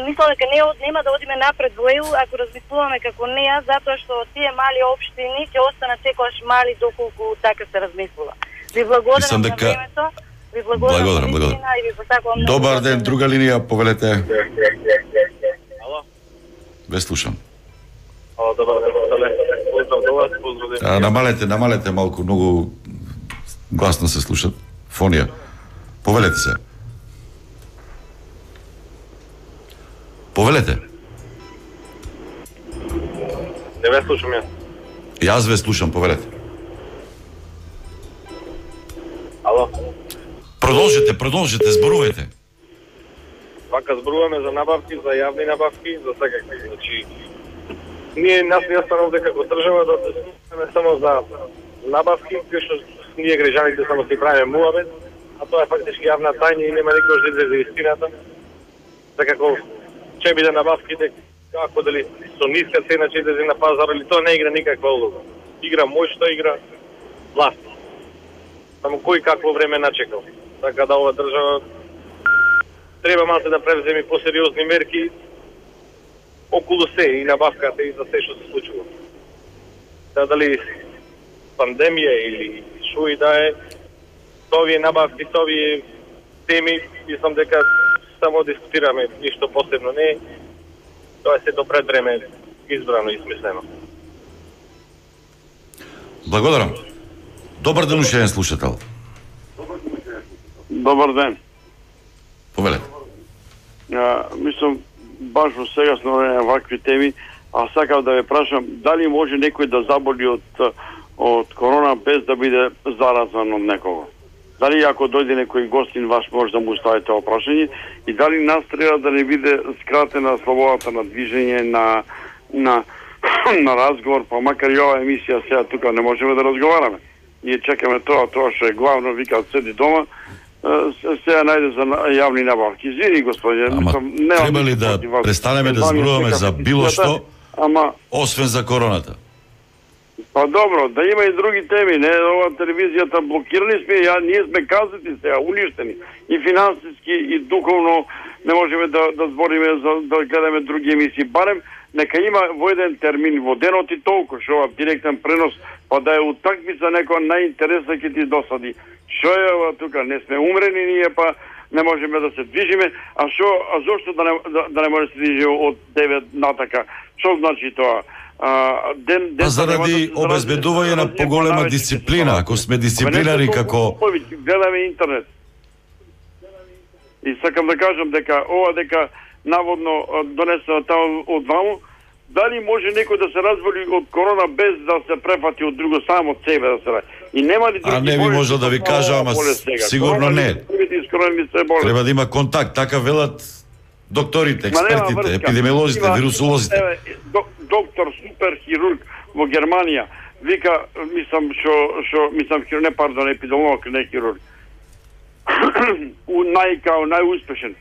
мислам дека нема да одиме напред во ЕУ ако размислуваме како неа, затоа што тие мали општини ќе останат секогаш мали доколку така се размислува. Ви благодарам за времето. Ви благодарам. Добар ден, друга линија, повелете. Ало? Ве слушам. Ало, добар ден, поздрав до вас, поздравление. Намалете малку, многу гласно се слушат. Фонија. Повелете се. Повелете. Не ве слушам јас. Јас ве слушам, повелете. Ало? Продолжете, зборувајте. Вака зборуваме за набавки, за јавни набавки, за секакви. Значи, нас не останува дека како држава да се само за набавки, кои што ние граѓаните само си правиме муабет, а тоа е фактички јавна тајна и нема никој да излезе истината. Како ќе биде набавките, како дали со ниска цена ќе излезе на пазар или тоа не игра никаква улога. Игра моќта, игра власт. Само кој какво време начекал. Така да ова држава треба малку да превземе посериозни мерки околу се и набавката и за се што се случува. Да дали пандемија или шо и да е, овие набавки, овие теми, мислам дека само дискутираме, ништо посебно не е. Тоа е сето пред време избрано и смислено. Благодарам. Добар ден, уште еден слушател. Добар ден. Повелете. Мислам, баш во сегасно време вакви теми, а сакав да ве прашам, дали може некој да заболи од корона без да биде заразан од некого? Дали ако дојде некој гостин ваш може да му ставите тоа прашање и дали нас треба да не биде скратена слободата на движење на разговор, па макар и ова емисија сега тука не можеме да разговараме. Ние чекаме тоа што е главно, викаат седи дома, сега најде за јавни набавки. Извини, господине, не треба ли да престанеме да зборуваме за било што, освен за короната? Па добро, да има и други теми, не, ова телевизијата блокирани сме, ние сме казати сега, уништени, и финансиски, и духовно, не можеме да збориме, да гледаме други емисии, барем нека има во еден термин во денот и толку, што ова директен пренос, па да е утакмица некоја најинтересна ќе ти досади. Што е ова тука, не сме умрени ние, па не можеме да се движиме, а зошто да не може да се движи од 9 натака? Што значи тоа? Заради обезбедување на поголема дисциплина, ако сме дисциплинari како... Гледаме интернет. И сакам да кажам дека ова дека наводно донесено таму од ваму, дали може некој да се разболи од корона без да се префати од друго, само од себе да се ради? И нема ли други? А не би можел да ви кажа, ама сигурно не. Треба да има контакт, така велат докторите, експертите, епидемиолозите, вирусолозите. Доктор суперхирург во Германија вика, епидемиолог, не хирург. најуспешен.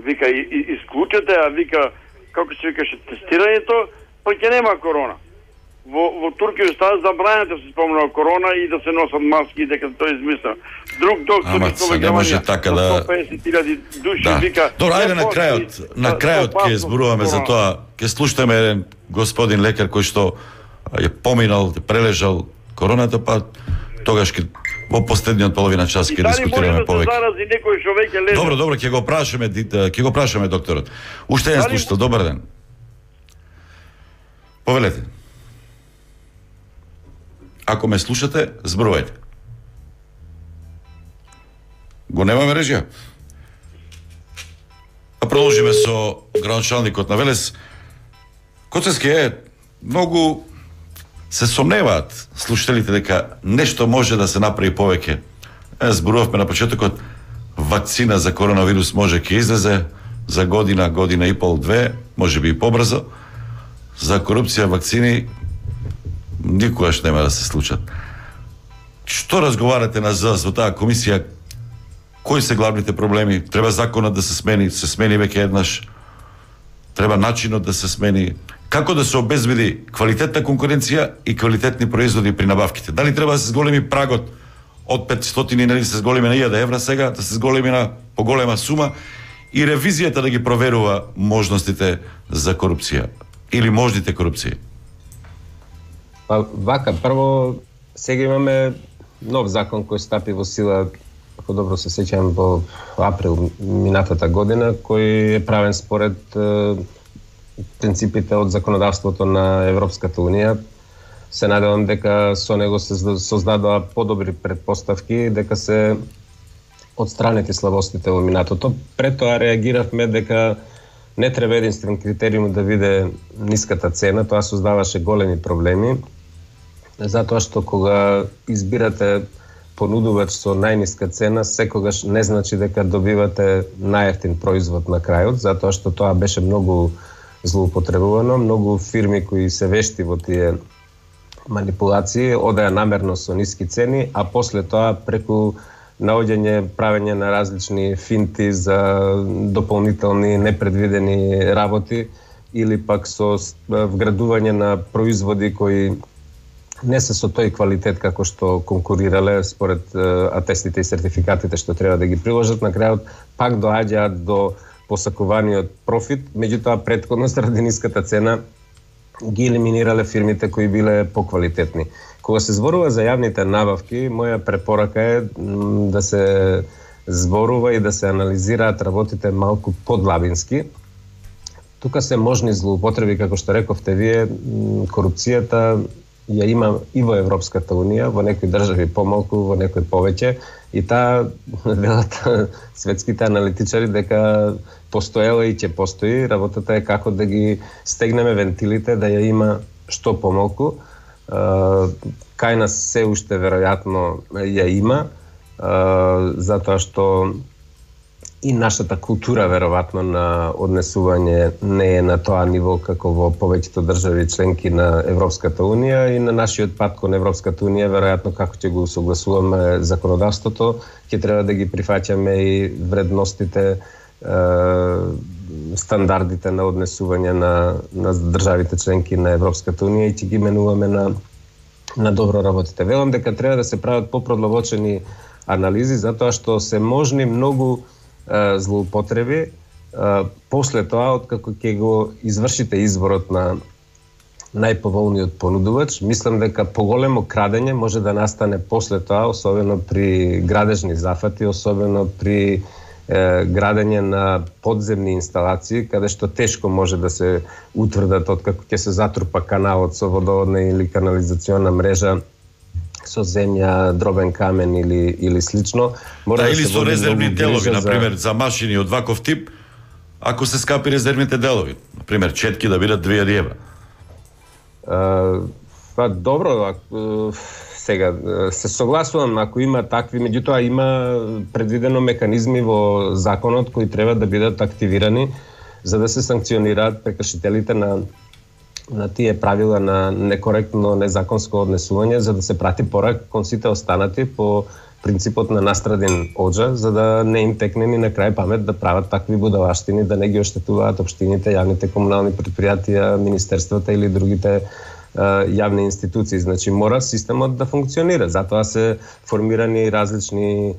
Вика, исклучете, а вика, како се викаше, тестирањето, па ќе нема корона. Во Туркија става забранено да се спомнува корона и да се носат маски, дека тоа измисла. Друг доктор не може така да 150.000 души вика. Добро, ајде на крајот ќе зборуваме за тоа. Ќе слушаме еден господин лекар кој што е поминал, прележал короната, па тогаш во последниот половина час ќе дискутираме повеќе. Добро, ќе го прашаме докторот. Уште еден слушател, добар ден. Повелете. Ако ме слушате, зборувајте. Го немаме режија. А продолжиме со градоначалникот на Велес. Коцевски многу се сомневаат слушателите дека нешто може да се направи повеќе. Зборувавме на почетокот, вакцина за коронавирус може ќе излезе за година и пол, две, може би и побрзо. За корупција вакцини никогаш нема да се случат. Што разговарате во таа комисија? Кои се главните проблеми? Треба законот да се смени веќе еднаш. Треба начинот да се смени. Како да се обезбеди квалитетна конкуренција и квалитетни производи при набавките? Дали треба да се зголеми прагот од 500 и да се зголеми на 1000 евра сега, да се зголеми на поголема сума и ревизијата да ги проверува можностите за корупција или можните корупции? Па вака, прво сега имаме нов закон кој стапи во сила, ако добро се сеќавам, во април минатата година, кој е правен според принципите од законодавството на Европската Унија. Се надевам дека со него се создадоа подобри предпоставки, дека се отстранети слабостите во минатото. Пред тоа реагиравме дека не треба единствен критериум да биде ниската цена, тоа создаваше големи проблеми, затоа што кога избирате понудувач со најниска цена, секогаш не значи дека добивате најевтин производ на крајот, затоа што тоа беше многу злоупотребувано, многу фирми кои се вешти во тие манипулации одеа намерно со ниски цени, а после тоа преку наоѓање, правење на различни финти за дополнителни непредвидени работи или пак со вградување на производи кои не се со тој квалитет како што конкурирале според атестите и сертификатите што треба да ги приложат, на крајот пак доаѓаат до посакуваниот профит, меѓутоа претходно заради ниската цена ги елиминирале фирмите кои биле поквалитетни. Кога се зборува за јавните набавки, моја препорака е да се зборува и да се анализираат работите малку подлабински. Тука се можни злоупотреби, како што рековте вие, корупцијата ја има и во Европската Унија, во некои држави помалку, во некои повеќе, и таа велат светските аналитичари дека постоела и ќе постои. Работата е како да ги стегнеме вентилите, да ја има што помалку. Кај нас се уште веројатно ја има, затоа што и нашата култура веројатно на однесување не е на тоа ниво како во повеќето држави членки на Европската Унија, и на нашиот пат кон Европската Унија веројатно како ќе го согласуваме законодавството, ќе треба да ги прифаќаме и вредностите, стандардите на однесување на државите членки на Европската Унија и ќе ги менуваме на добро работите. Велам дека треба да се прават попродлабочени анализи, затоа што се можни многу злоупотреби. После тоа, откако ќе го извршите изборот на најповолниот понудувач, мислам дека поголемо крадење може да настане после тоа, особено при градежни зафати, особено при градење на подземни инсталации, каде што тешко може да се утврдат откако ќе се затрупа каналот со водоводна или канализациона мрежа со земја, дробен камен или слично. Или со резервни делови, например, за машини од ваков тип, ако се скапи резервните делови, например, четки да бидат 2000 евра. Па добро, сега се согласувам ако има такви, меѓутоа има предвидено механизми во законот кои треба да бидат активирани за да се санкционираат прекршителите на тие правила на некоректно, незаконско однесување, за да се прати порак кон сите останати по принципот на настраден оджа, за да не им текне ни на крај памет да прават такви будалаштини, да не ги оштетуваат општините, јавните комунални предпријатија, министерствата или другите јавни институции. Значи, мора системот да функционира. Затоа се формирани различни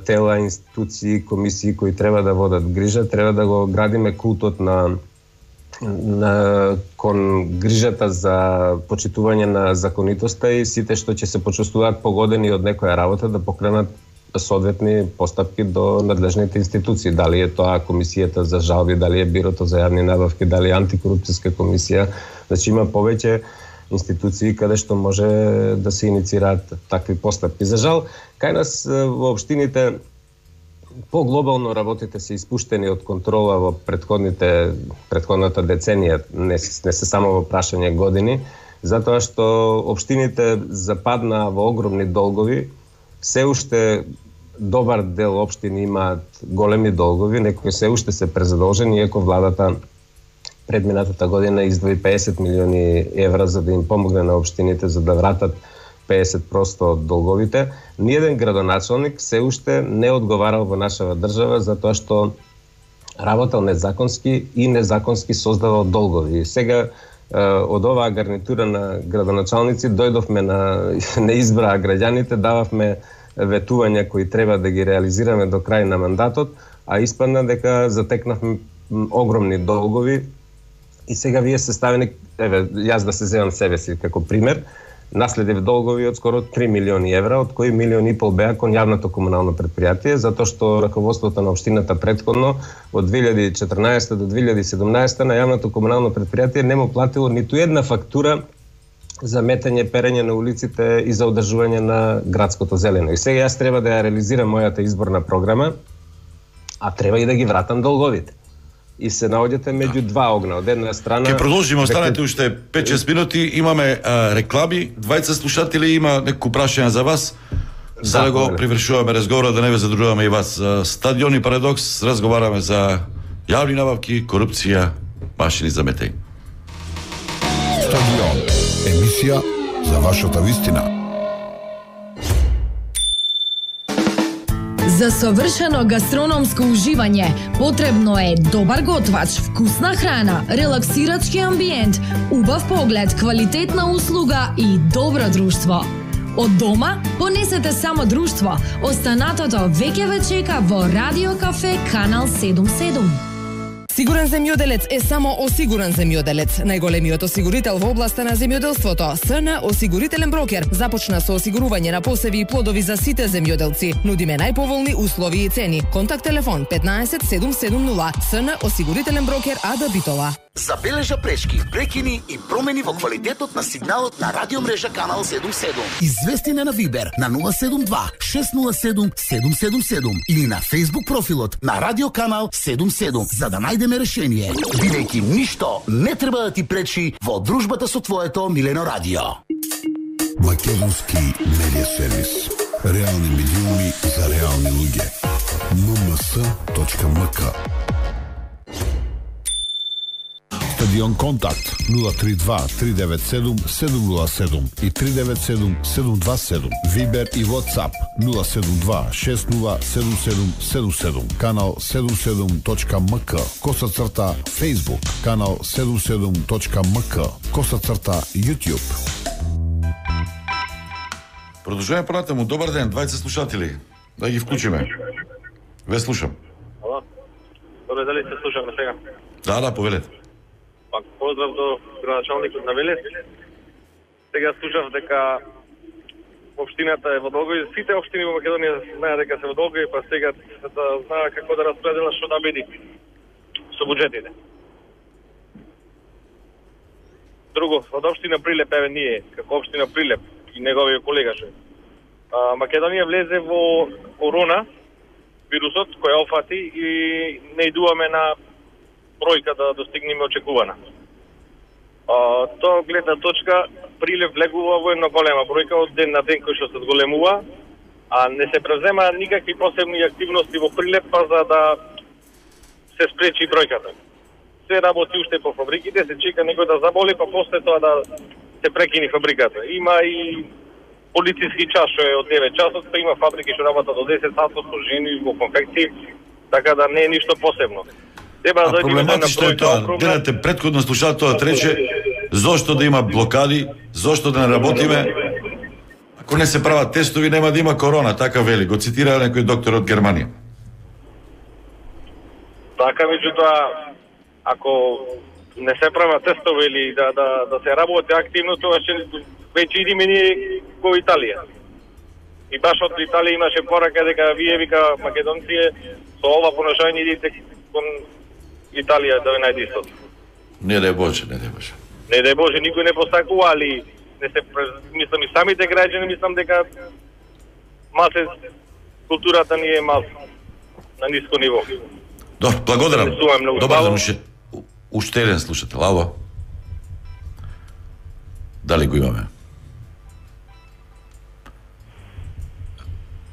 тела, институции, комисии кои треба да водат грижа, треба да го градиме култот кон грижата за почитување на законитоста и сите што ќе се почувствуваат погодени од некоја работа да покренат соодветни постапки до надлежните институции. Дали е тоа комисијата за жалби, дали е бирото за јавни набавки, дали е антикорупцијска комисија. Значи има повеќе институции каде што може да се иницираат такви постапки. За жал, кај нас во општините поглобално работите се испуштени од контрола во предходната деценија, не се само во прашање години, затоа што општините западнаа во огромни долгови, се уште добар дел општини имаат големи долгови, некои се уште се презадолжени, иако владата предминатата година издвои 50 милиони евра за да им помогне на општините за да вратат 50% од долговите. Ниеден градоначалник се уште не одговарал во нашава држава затоа што работел незаконски и незаконски создавал долгови. Сега од оваа гарнитура на градоначалници дојдовме на избраа граѓаните, дававме ветувања кои треба да ги реализираме до крај на мандатот, а испадна дека затекнавме огромни долгови и сега вие се ставени, јас да се земам себе си како пример, наследив долгови од скоро 3 милиони евра, од кои 1,5 милиони беа кон јавното комунално предпријатие, затоа што раководството на општината претходно од 2014 до 2017 на јавното комунално предпријатие не му платило ниту една фактура за метање, перење на улиците и за одржување на градското зелено. И сега јас треба да ја реализирам мојата изборна програма, а треба и да ги вратам долговите. И се наоѓате меѓу два огна. Од една страна... Ке продолжиме, останете уште 5-6 минути. Имаме реклами. Двајца слушатели, има некој прашање за вас. За да го привршуваме разговора, да не ве задружуваме и вас. Стадион и Парадокс, разговараме за јавни набавки, корупција, машини за метење. Стадион. Емисија за вашата вистина. За совршено гастрономско уживање потребно е добар готвач, вкусна храна, релаксирачки амбиент, убав поглед, квалитетна услуга и добро друштво. Од дома понесете само друштво. Останатото веќе ве чека во Радио Кафе Канал 77. Сигурен земјоделец е само осигурен земјоделец. Најголемиот осигурител во областа на земјоделството, СН Осигурителен брокер, започна со осигурување на посеви и плодови за сите земјоделци. Нудиме најповолни услови и цени. Контакт телефон 15 770. СН Осигурителен брокер АД Битола. Забележа пречки, прекини и промени во квалитетот на сигналот на радиомрежа Канал 77. Извести на Вибер на 072 607 777 или на Facebook профилот на Радио Канал 77 за да најдеме решение, бидејќи ништо не треба да ти пречи во дружбата со твоето милено радио. Македонски медиа сервис. Реални медиуми за реални луѓе. mms.mk. Стадион Контакт 032 397 707 и 397 727. Вибер и WhatsApp 072 607777. Канал 77.mk. _. Facebook. Канал 77.mk. _ YouTube. Продолжуваме понатаму. Добар ден, двајца слушатели. Да ги вклучиме. Ве слушам. Ало. Добре, дали се слушаме сега? Да, повелете. Пак поздрав до градоначалникот на Велес. Сега слушав дека општината е во долгови. Сите општини во Македонија знаат дека се во долгови, па сега да знаат како да распределат што да биде со буџетите. Друго, од општина Прилеп, еве ние, како општина Прилеп и неговиот колега што Македонија влезе во корона вирусот кој офати и не идуваме на бројка да достигнеме очекувана. Тоа гледна точка Прилеп влегува во една голема бројка од ден на ден кој што се зголемува, а не се презема никакви посебни активности во Прилеп па за да се спречи бројката. Се работи уште по фабриките, се чека некој да заболи, па после тоа да се прекини фабриката. Има и полициски час што е од 9 часот, па има фабрики што работат до 10 сатот со жени во конфекции, така да не е ништо посебно. А проблематично е тоа. Гледате, предходно слушателот рече зошто да има блокади, зошто да не работиме. Ако не се прават тестови, нема да има корона, така вели. Го цитира некој доктор од Германија. Така, меѓутоа, ако не се прават тестови или да се работи активно, тоа ќе веќе идиме ние во Италија. И баш од Италија имаше порака дека вие, вика, македонци, со ова поношање идите кон Италија да ве најде истото. Не дај Боже, не дај Боже. Не дај Боже, никој не постакува, али не се мислам и самите граѓани, мислам дека малце културата ни е малце на ниско ниво. Добро, благодарам. Добар ден, уште еден слушател. Ало? Дали го имаме?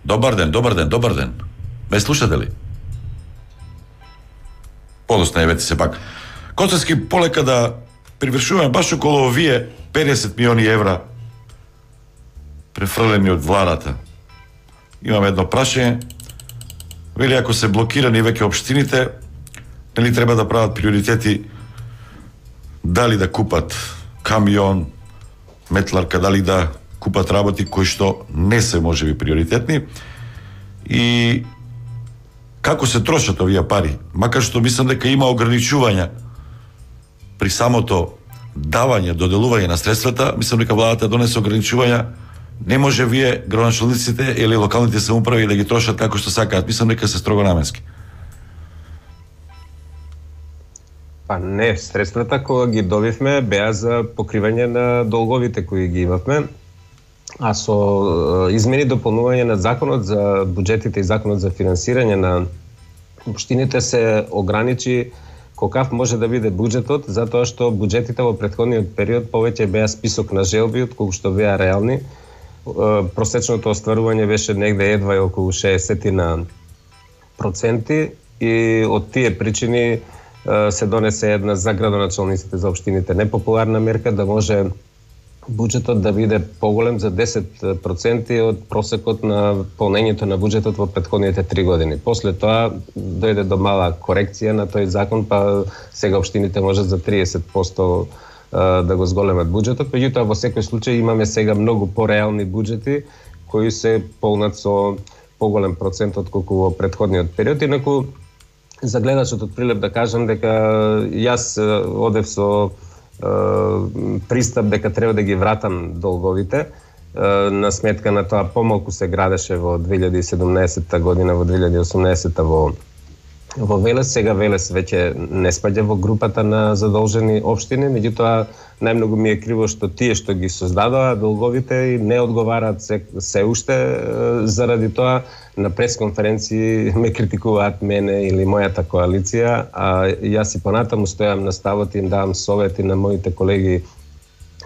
Добар ден. Ме слушате ли? Подосна евете се пак. Коцевски, полека да привршуваме баш околу овие 50 милиони евра префрлени од владата. Имаме едно прашање. Вели, ако се блокирани веќе општините, нели треба да прават приоритети дали да купат камион, метларка, дали да купат работи кои што не се можеби приоритетни и како се трошат овие пари, макар што мислам дека има ограничувања при самото давање, доделување на средствата, мислам дека владата донесе ограничувања, не може вие градоначалниците или локалните самоуправи да ги трошат како што сакаат, мислам дека се строго наменски. Па не, средствата кога ги добивме беа за покривање на долговите кои ги имавме, а со измени дополнување на законот за буџетите и законот за финансирање на општините се ограничи колкав може да биде буџетот, затоа што буџетите во претходниот период повеќе беа список на желби отколку што беа реални. Просечното остварување беше негде едва и околу 60% и од тие причини се донесе една за градоначалниците за општините непопуларна мерка да може буџетот да биде поголем за 10% од просекот на полнењето на буџетот во претходните 3 години. После тоа дојде до мала корекција на тој закон, па сега општините можат за 30% да го зголемат буџетот, меѓутоа во секој случај имаме сега многу пореални буџети кои се полнат со поголем процент отколку во претходниот период. Инаку за гледачот од Прилеп да кажам дека јас одев со пристап дека треба да ги вратам долговите на сметка на тоа помалку се градеше во 2017 година, во 2018 во Велес. Сега Велес веќе не спаѓа во групата на задолжени општини, меѓутоа најмногу ми е криво што тие што ги создадоа долговите и не одговараат се уште заради тоа на пресконференции ме критикуваат мене или мојата коалиција, а јас и понатаму стојам на ставот и им давам совети на моите колеги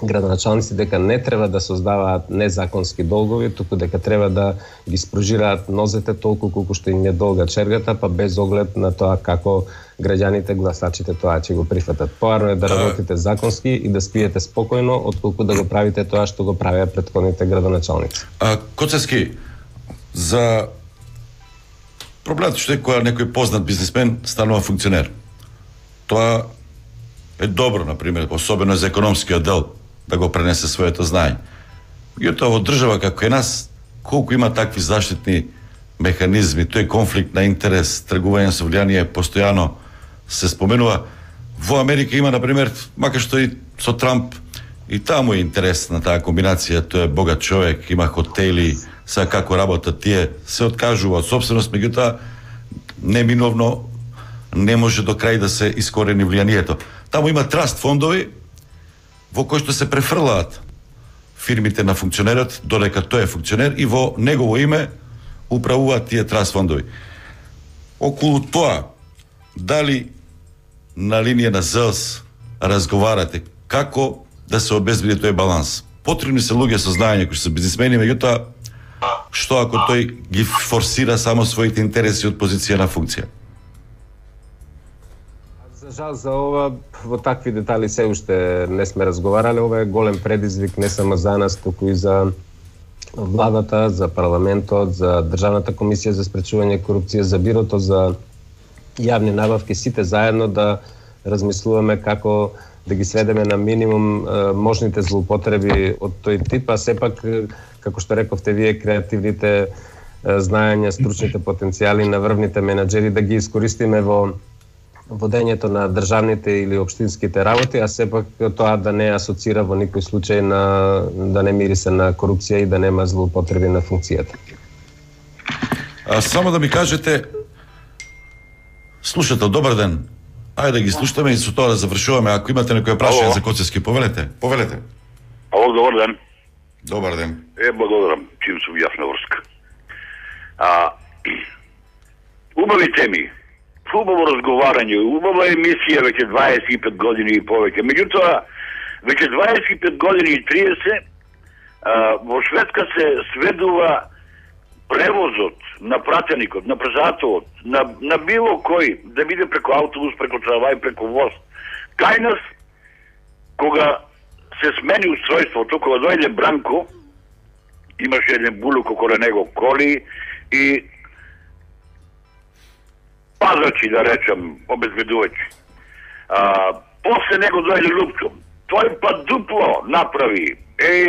градоначалници дека не треба да создаваат незаконски долгови, туку дека треба да ги спружираат нозете толку колку што им е долга чергата, па без оглед на тоа како граѓаните, гласачите тоа ќе го прифатат. Поарно е да работите законски и да спиете спокојно, отколку да го правите тоа што го правеа претходните градоначалници. Коцевски, за проблемот што е кога некој познат бизнисмен станува функционер. Тоа е добро, например, особено за економскиот дел, да го пренесе своето знаење. И тоа во држава како е нас, колку има такви заштитни механизми, тој конфликт на интерес, тргување со влијание постојано се споменува. Во Америка има, например, макар што и со Трамп, и таму е интерес на таа комбинација, тој е богат човек, има хотели, сега како работат тие, се откажува од собственост, меѓутоа неминовно не може до крај да се искорени влијанието. Таму има траст фондови во кои што се префрлаат фирмите на функционерот додека тој е функционер и во негово име управуваат тие траст фондови. Околу тоа, дали на линија на ЗЕЛС разговарате како да се обезбеди тој баланс? Потребни се луѓе со знаење кои се бизнисмени, меѓутоа што ако тој ги форсира само своите интереси од позиција на функција? За жал за ова, во такви детали се уште не сме разговарале. Ова е голем предизвик не само за нас, туку и за владата, за парламентот, за Државната комисија за спречување корупција, за бирото за јавни набавки, сите заедно да размислуваме како да ги сведеме на минимум можните злоупотреби од тој тип, а сепак, како што рековте вие, креативните знаења, стручните потенцијали на врвните менаџери да ги искористиме во водењето на државните или општинските работи, а сепак тоа да не асоцира во никој случај да не мирисе на корупција и да нема злоупотреби на функцијата. Само да ми кажете, слушател, добар ден. Ајде да ги слушаме и со тоа да завршуваме. Ако имате некоја прашање за Коцевски, повелете. Ало, добар ден. Добар ден. Благодарам, чим сум јас на врска. Убави теми, убаво разговарање, убава емисија веќе 25 години и повеќе. Меѓутоа, веќе 25 години и 30 во Шведска се сведува превозот на пратеникот, на презатовот, на било кој да биде преку автобус, преку трамвај, преку воз. Кај нас, кога се смени устройството, кога дојде Бранко, имаше еден булук около него коли и пазачи, да речем, обезбедувачи. После него дојде Лупчо. Тој па дупло направи.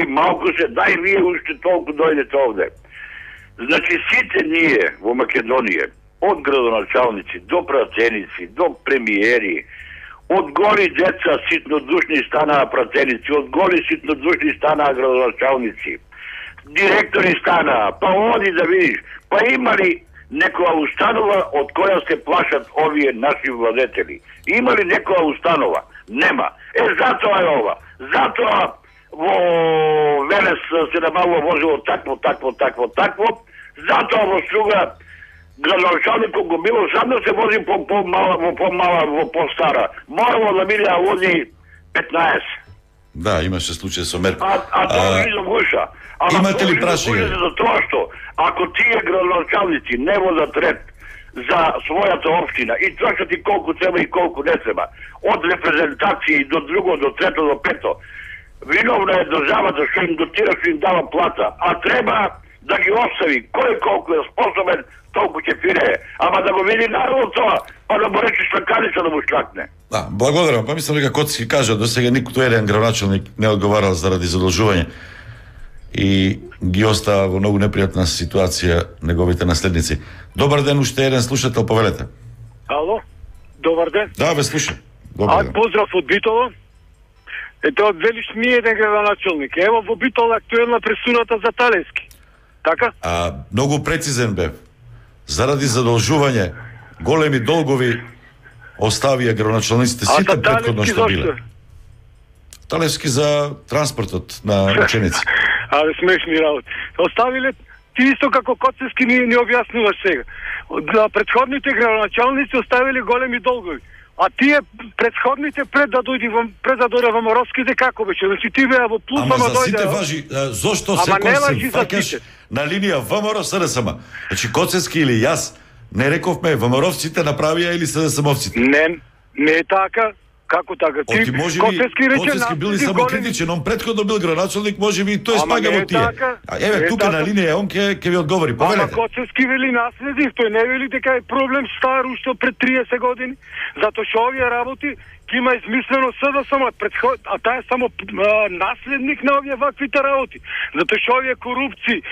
Малку се, дај вие уште толку дојдете овде. Значи, сите ние во Македонија, од градоначалници до пратеници, до премиери, од голи деца ситнодушни станаа пратеници, од голи ситнодушни станаа градоначалници, директори станаа, па оди да видиш, па има ли некоја установа од која се плашат овие наши владетели? Има ли некоја установа? Нема. Затоа е ова. Затоа во Велес се набавува возило такво. Затоа во Струга градоначалникот го било сам да се вози по по-стара. Морало да биде да вози 15. Да, имаше случај со Мерко. Тоа не гуша. Имате ли прашање? За тоа што ако тие градоначалници не водат ред за својата општина и тоа што ти колку треба и колку не треба, од репрезентации до друго, до трето, до пето, виновна е државата што им дотира, што им дава плата, а треба да ги остави кој колку е способен, толку ќе пирее. Ама да го види народ тоа, па да му рече штаканица да му штакне. Да, благодарам. Па мислам дека Коцевски кажа, до сега никој еден градоначалник не одговарал заради задолжување и ги остава во многу непријатна ситуација неговите наследници. Добар ден, уште еден слушател, повелете. Ало, добар ден. Да, ве слушам. Добар ден. Поздрав од Битола. Ето, велиш ми еден градоначалник. Ево во Битола актуелна пресудата за Талевски. Така? Многу прецизен бев. Заради задолжување, големи долгови оставија градоначалниците сите претходно што биле. Талевски за транспортот на ученици. Смешни работи. Оставиле ти исто како Коцевски ни објаснуваш сега. Претходните градоначалници оставиле големи долгови. А тие претходните пред да дојде во Моровските како беше? Значи ти беа во плюс, ама за сите важи. Зошто секој се факаш на линија ВМРО СДСМ? Значи Коцевски или јас не рековме ВМРО-вците направија или СДСМ-овците? Не е така. Како така? Коцевски бил и самокритичен, он претходно бил градоначалник, можеби и тој спага во тие. Еве тука на линија он ќе ви одговори. Повелете. Ама Коцевски вели наследник, тој не вели дека е проблем стар уште пред 30 години, затоа што овие работи ќе има измислено СДСМ, а таа е само наследник на овие ваквите работи. Затоа што овие корупции,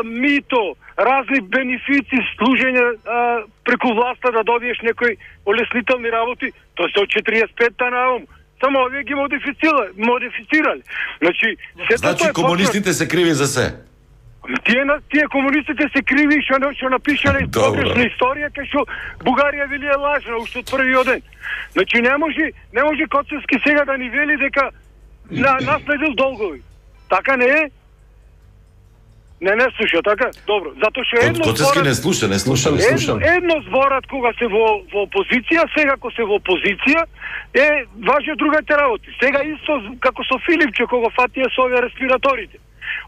мито, разни бенефици, служење преку власта да добиеш некои олеснителни работи, тоа се од 45-та наом. Само овие ги модифицирали. Значи комунистите се криви за се? Тие комунистите се криви што напишале погрешна историја кај што Бугарија вели е лажна уште од првиот ден. Значи не може Коцевски сега да ни вели дека наследил долгови. Така не е? Не слуша, така? Добро. Затоа што Коцевски не слуша. Едно зборат кога се во опозиција, сега кога се во опозиција, важи другите работи. Сега исто како со Филипче кога фатија со овие респираторите.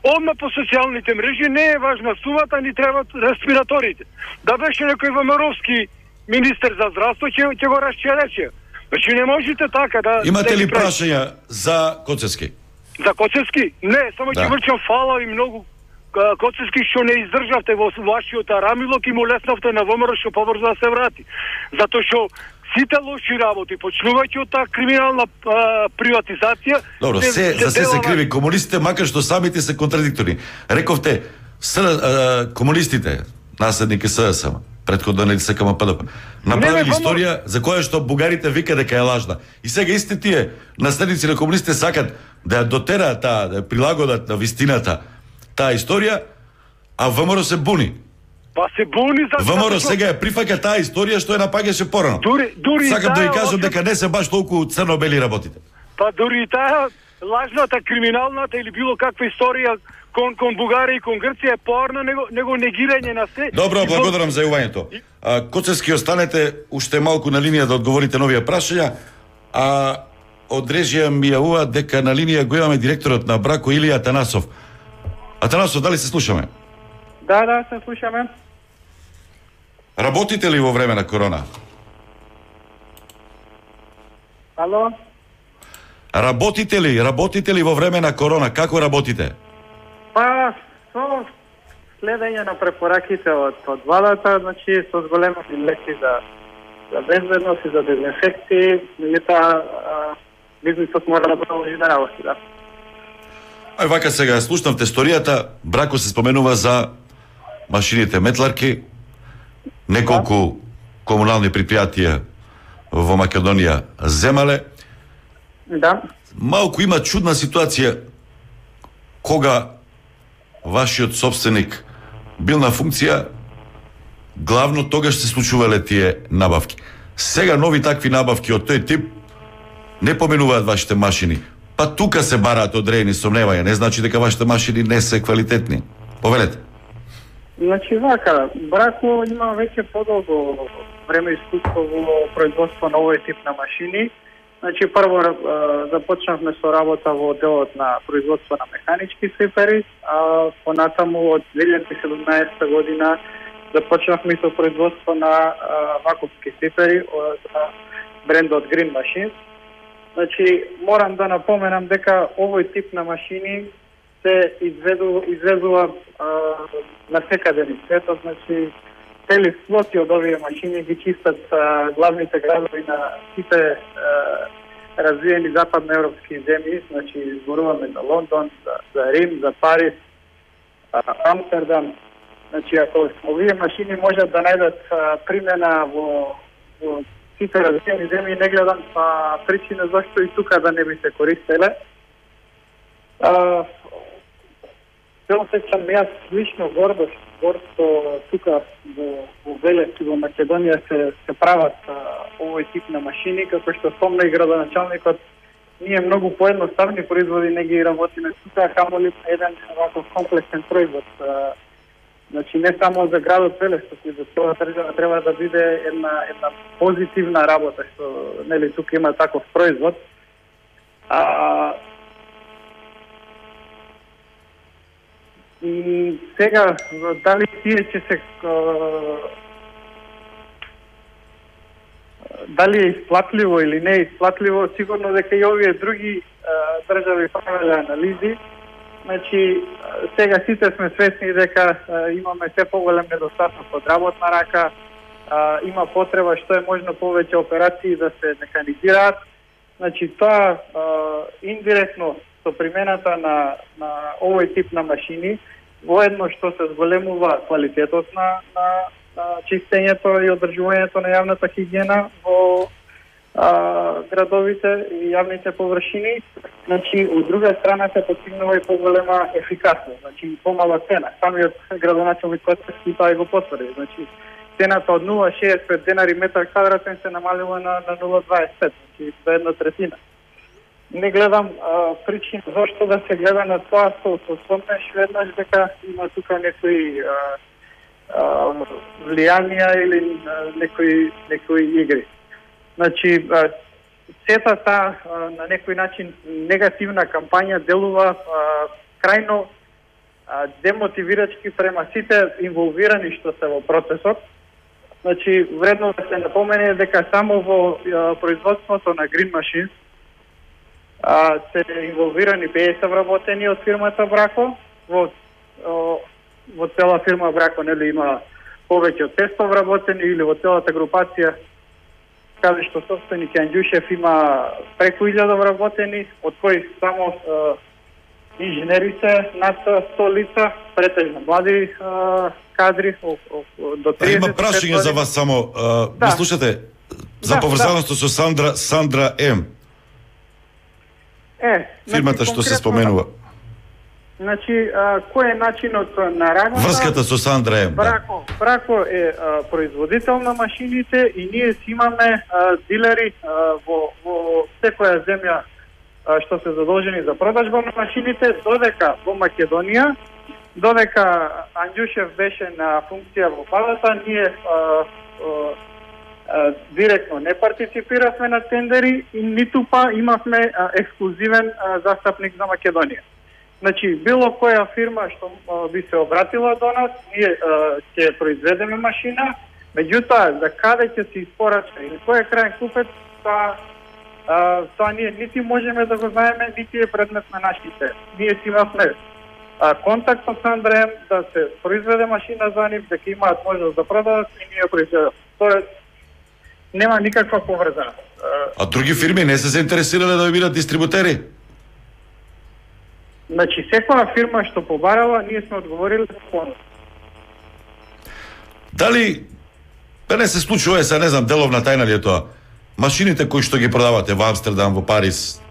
Одма по социјалните мрежи не е важна сумата, ни требат респираторите. Да беше некој ВМРО-вски министер за здравство, ќе го расчерече. Значи не можете така да... Имате ли прашања за Коцевски? За Коцевски? Не, само ќе врчам фала и многу Коцевски што не издржавте во вашиот арамилок и му леснавте на ВМРО што побрзо да се врати. Затоа што сите лоши работи, почнувајќи од таа криминална приватизација... Добро, за се се криви комунистите, макар што самите се контрадикторни. Рековте, комунистите, наследники СДСМ, претходно не се кама ПДП, направили историја за која што бугарите вика дека е лажна. И сега исти тие наследници на комунистите сакат да ја дотераат таа, да ја прилагодат на вистината таа историја, а ВМРО се буни. Па се буни за ВМРО сега ја прифаќа таа историја што ја напаѓаше порано. Дури сакам да ви кажам дека не се баш толку црно-бели работите. Па дури таа лажната, криминалната или било каква историја кон Бугарија и кон Грција е поарна него негирање на се. Добро, благодарам за јавањето. Коцевски, останете уште малку на линија да одговорите новија прашања, а од режија ми јавува дека на линија го имаме директорот на Брако Илија Атанасов. Атанасов, дали се слушаме? Да, се слушаме. Работите ли во време на корона? Ало? Работите ли во време на корона? Како работите? Па, со следење на препораките од владата, значи со зголемени леки за безбедност и за дезинфекции, меѓутоа бизнисот мора да продолжи да работи, да. Ај вака сега, слушнавте историјата, Брако се споменува за машините метларки, неколку комунални предпријатија во Македонија земале. Да. Малку има чудна ситуација кога вашиот собственик бил на функција, главно тогаш се случувале тие набавки. Сега нови такви набавки од тој тип не поменуваат вашите машини. Па тука се бараат одредени сомневања, не значи дека вашите машини не се квалитетни. Повелете. Значи вака, Брако има веќе подолго време искуство во производство на овој тип на машини. Значи прво започнавме со работа во делот на производство на механички свипери, а понатаму од 2017 година започнавме со производство на вакуумски свипери од брендот Green Machines. Значи морам да напоменам дека овој тип на машини се изведува на секаде низ светот, значи цели флоти од овие машини ги чистат главните градови на сите развиени западноевропски земји, значи зборуваме за Лондон, за Рим, за Париз, Амстердам. Значи ако овие машини можат да најдат примена во сите развиени земји, не гледам причина зашто и тука да не би се користеле. Се осеќам јас лично гордо што тука во Велес и во Македонија се прават овој тип на машини, како што спомна и градоначалникот, ние многу поедноставни производи не ги работиме тука, камоли еден ваков комплексен производ. Значи не само за градот Велес, туку за тоа држава треба да биде една позитивна работа, што нели тука има таков производ. И сега, дали тие ќе се... Дали е исплатливо или не е исплатливо, сигурно дека и овие други држави правеле анализи. Значи, сега сите сме свесни дека имаме се поголем недостаток од работна рака, има потреба што е можно повеќе операции да се механизираат. Значи, тоа индиректно со примената на овој тип на машини, воедно што се зголемува квалитетот на чистењето и одржувањето на јавната хигиена во градовите и јавните површини. Значи, од друга страна се постигнува и поголема ефикасност, значи помала цена. Самиот градоначалник Коцевски тоа го потврди. Значи, цената од 0,65 денари метар квадратен се намалила на 0,25, значи за 1/3. Не гледам причина зашто да се гледа на тоа со сомнеш веднаш дека има тука некои влијанија или некои игри. Значи, сета таа на некој начин негативна кампања делува крајно демотивирачки према сите инволвирани што се во процесот. Значи, вредно да се напомене дека само во производството на Green Machines се инволвирани 50 вработени од фирмата Брако, во во цела фирма Брако, нели, има повеќе од 500 вработени, или во целата групација, каде што собственик Анđушев има преку 1000 вработени, од кои само инженери се над 100 лица, претежно млади кадри, до 30. Има прашање за вас само. Ми слушате, за поврзаноста со Сандра М. Фирмата што се споменува. Значи, кој е начинот на работа? Врската со Сандра М. Брако е производител на машините и ние си имаме дилери во секоја земја што се задолжени за продажба на машините, додека во Македонија, додека Анđушев беше на функција во владата, ние директно не партиципиравме на тендери и ниту па имавме ексклузивен застапник за Македонија. Значи, било која фирма што би се обратила до нас, ние ќе произведеме машина, меѓутоа, за каде ќе се испорача или кој е крајен купец, тоа ние нити можеме да го знаеме, нити е предмет на нашите. Ние си имавме контакт со Сандра М да се произведе машина за нив, дека имаат можност да продадат и ние произведат. Тоест, нема никаква поврзаност. А други фирми не се заинтересирале да бидат дистрибутери? Значи, секоја фирма што побарала, ние сме одговорили за понуд. Дали, да не се случува, не знам, деловна тајна ли е тоа? Машините кои што ги продавате во Амстердам, во Париз,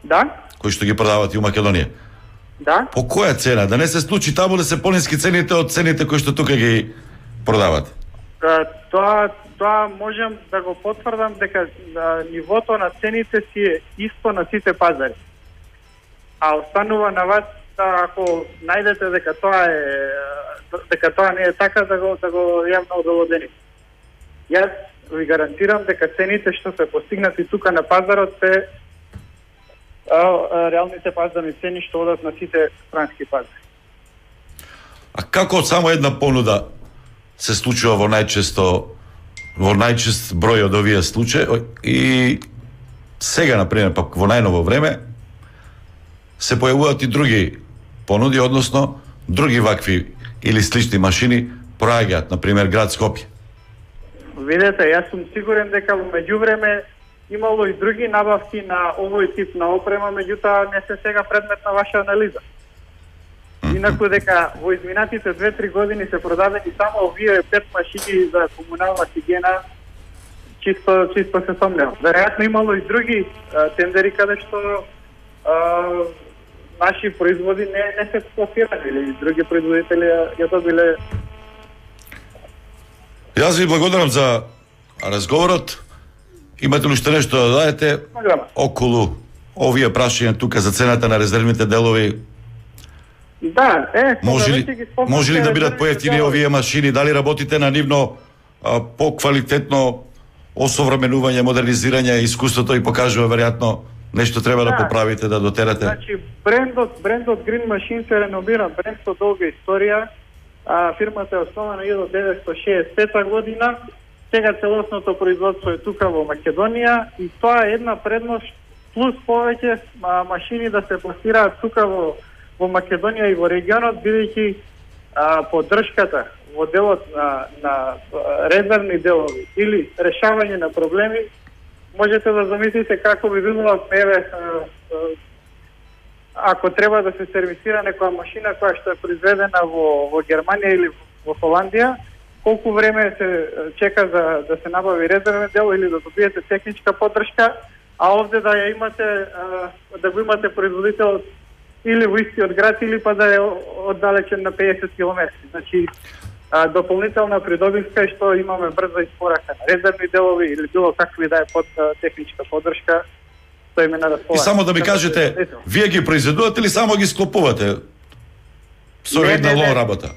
да? Кои што ги продавате у Македонија, да? По која цена? Да не се случи таму да се пониски цените од цените кои што тука ги продавате? Тоа можам да го потврдам дека нивото на цените си е исто на сите пазари. А останува на вас ако најдете дека тоа не е така, да го јавно обелодени. Јас ви гарантирам дека цените што се постигнати тука на пазарот се реалните пазарни цени што одат на сите странски пазари. А како од само една понуда се случува во најчест број од овие случаи и сега, например, пак во најново време се појавуваат и други понуди, односно други вакви или слични машини проаѓаат, например, град Скопје. Видете, јас сум сигурен дека во меѓувреме имало и други набавки на овој тип на опрема, меѓутоа не се сега предмет на ваша анализа. Инаку дека во изминатите 2-3 години се продадени само овие 5 машини за комунална хигиена, чисто се сомневам. Веројатно имало и други тендери каде што наши производи не се скласирани или други производители ја добиле. Јас ви благодарам за разговорот. Имате ли што нешто да дадете околу овие прашања тука за цената на резервните делови? Да, може ли да бидат поевтини овие машини? Дали работите на нивно поквалитетно осовременување, модернизирање? Искуството и покажува веројатно нешто треба да поправите, да дотерате. Значи, брендот Green Machine се реномиран бренд со долга историја. Фирмата е основана 1965 година. Сега целосното производство е тука во Македонија и тоа е една предност плюс повеќе машини да се пласираат тука во Македонија и во регионот, бидејќи поддршката во делот на резервни делови или решавање на проблеми, можете да замислите како би било ако треба да се сервисира некоја машина која што е произведена во Германија или во Холандија, колку време се чека да се набави резервен дел или да добиете техничка поддршка, а овде да ја имате, да го имате производител или во истиот град или па да е оддалечен на 50 км. Значи, дополнителна придобивка е што имаме брза испорака на резервни делови или било какви да е техничка поддршка, што име на располагање. И само да ми кажете, вие ги произведувате или само ги склопувате со една лоа работа?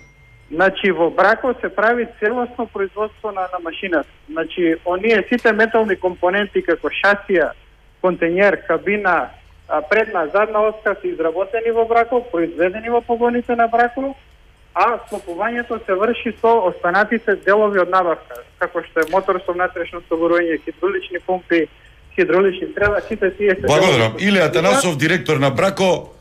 Значи, во Брако се прави целосно производство на машината. Значи, оние сите метални компоненти како шасија, контењер, кабина, предна, задна оска се изработени во Брако, произведени во погоните на Брако, а склопувањето се врши со останатите делови од набавка, како што е мотор со внатрешно соборување, хидравлични помпи, хидравлични стрела, сите тие се... Благодарам. Илија Атанасов, директор на Брако.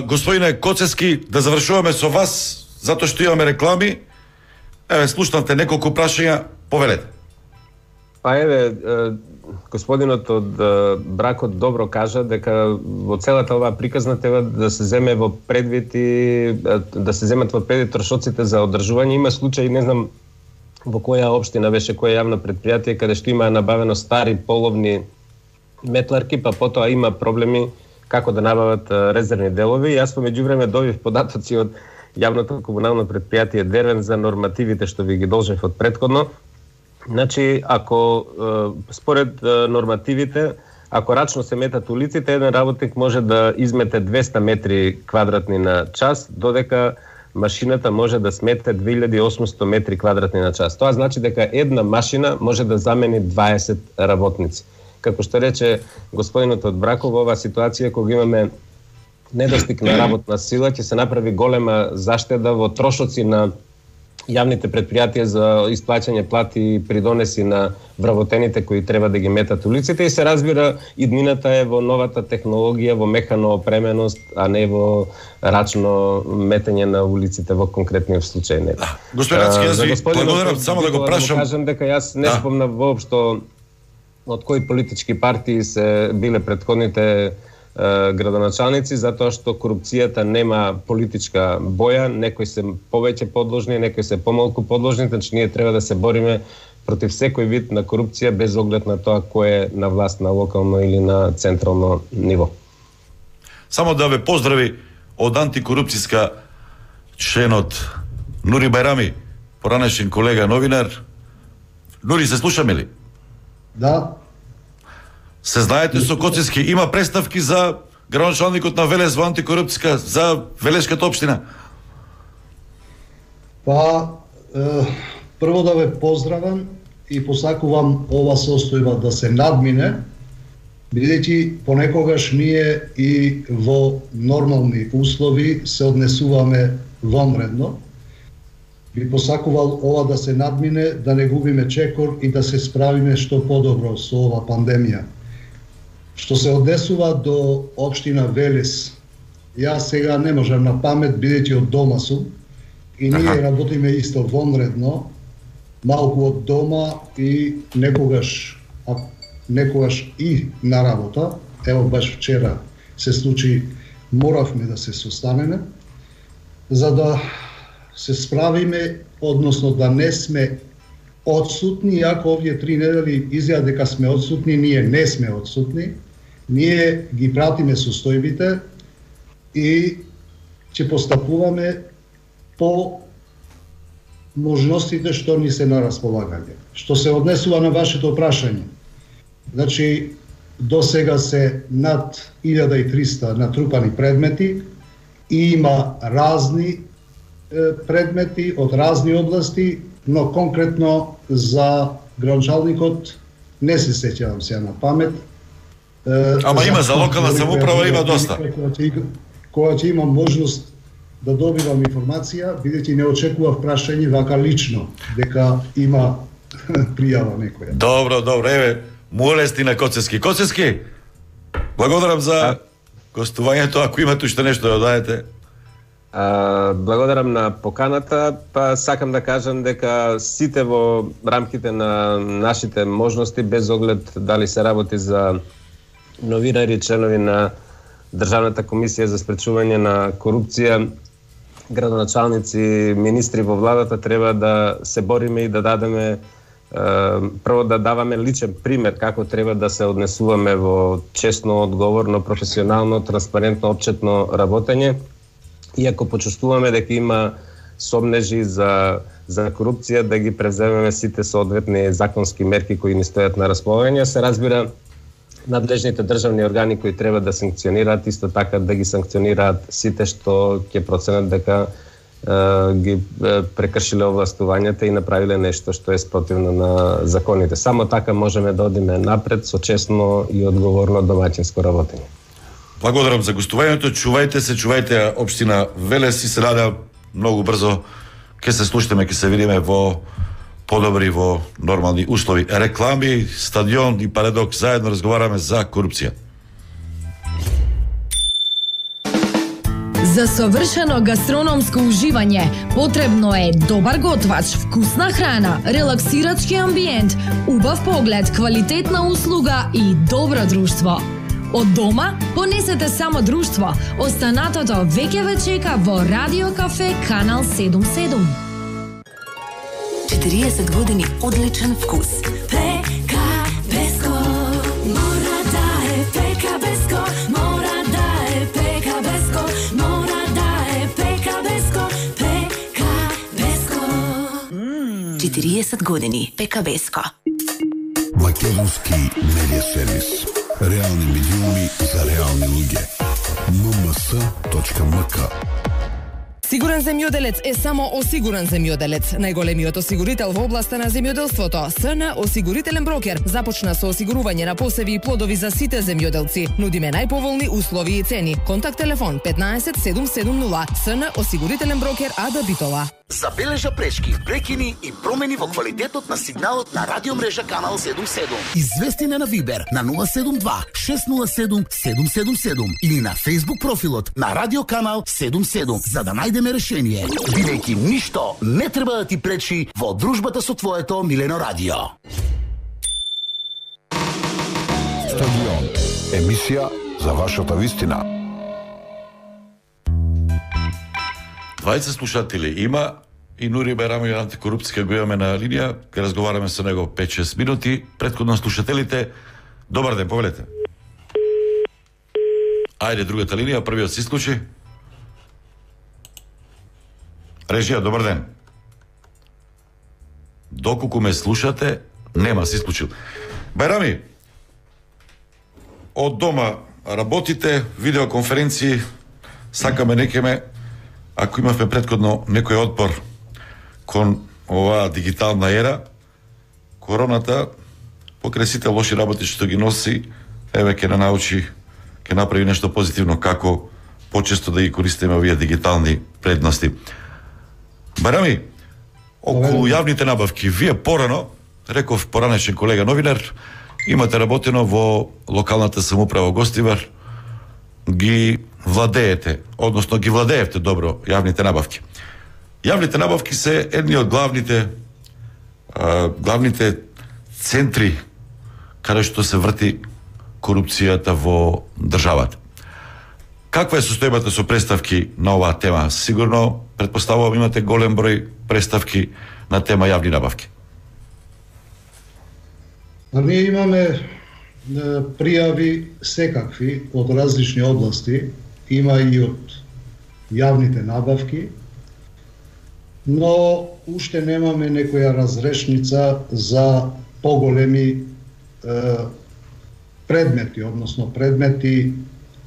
Господине Коцески, да завршуваме со вас. затоа што имаме реклами. Еве, слушнате неколку прашања, повелете. Па еве, господинот од бракот добро кажа дека во целата оваа приказна треба да се земе во предвид и да се земат во предвид трошоците за одржување. Има случаи, не знам во која општина беше, која јавно предпријатие, каде што има набавено стари половни метларки, па потоа има проблеми како да набават резервни делови. Јас по меѓувреме добив податоци од јавното комунално предпријатие Дервен за нормативите што ви ги должев од претходно. Значи, ако според нормативите, ако рачно се метат улиците, еден работник може да измете 200 метри квадратни на час, додека машината може да смете 2800 метри квадратни на час. Тоа значи дека една машина може да замени 20 работници. Како што рече господинот од Браков, во оваа ситуација кога имаме недостиг на работна сила, ќе се направи голема заштеда во трошоци на јавните предпријатија за исплаќање плати и придонеси на вработените кои треба да ги метат улиците, и се разбира иднината е во новата технологија, во механо опременост, а не во рачно метење на улиците во конкретниот случај. Господин Рацки, јас ви благодарам, само да го прашам. Кажам дека јас не спомнав воопшто од кои политички партии се биле претходните градоначалници, затоа што корупцијата нема политичка боја, некои се повеќе подложни, некои се помалку подложни, значи ние треба да се бориме против секој вид на корупција без оглед на тоа кој е на власт на локално или на централно ниво. Само да ве поздрави од антикорупцијска членот Нури Бајрами, поранешен колега новинар. Нури, се слушаме ли? Да. Се знаете со Коцевски, има представки за градоначалникот на Велес во антикорупцијска за Велешката општина? Па, прво да ве поздравам и посакувам ова состојба да се надмине, бидејќи понекогаш ние и во нормални услови се однесуваме вонредно. Би посакувал ова да се надмине, да не губиме чекор и да се справиме што подобро со ова пандемија. Што се однесува до општина Велес, јас сега не можам на памет, бидејќи од дома сум, и ние работиме исто вонредно, малку од дома и некогаш и на работа. Ево баш вчера се случи, моравме да се состанеме, за да се справиме, односно да не сме одсутни, иако овие 3 недели изјава дека сме одсутни, ние не сме одсутни. Ние ги пратиме состојбите и ќе постапуваме по можностите што ни се на располагање. Што се однесува на вашето прашање, значи до сега се над 1300 натрупани предмети и има разни предмети од разни области, но конкретно за градоначалникот не се сеќавам сега на памет. Ама има за локална самоуправа, има доста. Кога ќе имам можност да добивам информација, бидејќи не очекував прашање вака лично, дека има пријава некоја. Добро, еве, молести на Коцевски. Коцевски, благодарам за гостувањето, ако имате уште нешто да додаете. Благодарам на поканата, па сакам да кажам дека сите во рамките на нашите можности, без оглед дали се работи за новинари, членови на Државната комисија за спречување на корупција, градоначалници, министри во владата, треба да се бориме и да дадеме, прво да даваме личен пример како треба да се однесуваме во честно, одговорно, професионално, транспарентно, отчетно работење. Иако почувствуваме дека има сомнежи за корупција, да ги превземеме сите соодветни законски мерки кои ни стојат на располагање. Се разбира, надлежните државни органи кои треба да санкционираат, исто така да ги санкционираат сите што ќе проценат дека ги прекршиле овластувањата и направиле нешто што е спротивно на законите. Само така можеме да одиме напред со честно и одговорно домаќинско работење. Благодарам за гостувањето, чувајте се, чувајте општина Велес и се надевам многу брзо ќе се слушаме, ќе се видиме во подобри, во нормални услови. Реклами, стадион и Парадокс, заедно разговараме за корупција. За совршено гастрономско уживање потребно е добар готвач, вкусна храна, релаксирачки амбиент, убав поглед, квалитетна услуга и добро друштво. Од дома понесете само друштво. Останатото веќе ве чека во Радио Кафе Канал 77. 40 години одличен вкус. Пекабеско, мора да е Пекабеско, мора да е Пекабеско, мора да е Пекабеско, Пекабеско. 40 години Пекабеско. Македонски медиа сервис. Реални медиуми за реални луѓе. mms.mk. Сигурен земјоделец е само осигурен земјоделец. Најголемиот осигурител во областа на земјоделството, СН Осигурителен брокер, започна со осигурување на посеви и плодови за сите земјоделци. Нудиме најповолни услови и цени. Контакт телефон 15 770. СН Осигурителен брокер Ада Битола. Забележа пречки, прекини и промени во квалитетот на сигналот на радиомрежа Канал 77. Извести на Вибер на 072 607 777 или на Facebook профилот на Радио Канал 77 за да најдеме решение. Бидејќи ништо не треба да ти пречи во дружбата со твоето милено радио. Стадион. Емисија за вашата вистина. 20 слушатели има и Нури Байрамов, антикорупција го имаме на линија, ке разговараме со него 5-6 минути. Претходно слушателите, добар ден, повелете. Ајде, другата линија, првиот се исклучи. Режија, добар ден. Доколку ме слушате, нема, се исклучил. Байрами, од дома работите, видеоконференции, сакаме некеме. Ако имавме претходно некој отпор кон оваа дигитална ера, короната, покрај сите лоши работи што ги носи, еве ќе научи, ќе направи нешто позитивно, како почесто да ги користиме овие дигитални предности. Барами, околу јавните набавки, вие порано, реков поранешен колега новинар, имате работено во локалната самоуправа Гостивар, ги владеете, односно ги владеевте добро јавните набавки. Јавните набавки се едни од главните центри каде што се врти корупцијата во државата. Каква е состојбата со представки на оваа тема? Сигурно, предпоставувам, имате голем број представки на тема јавни набавки. Ние имаме пријави секакви од различни области, има и од јавните набавки, но уште немаме некоја разрешница за поголеми предмети, односно предмети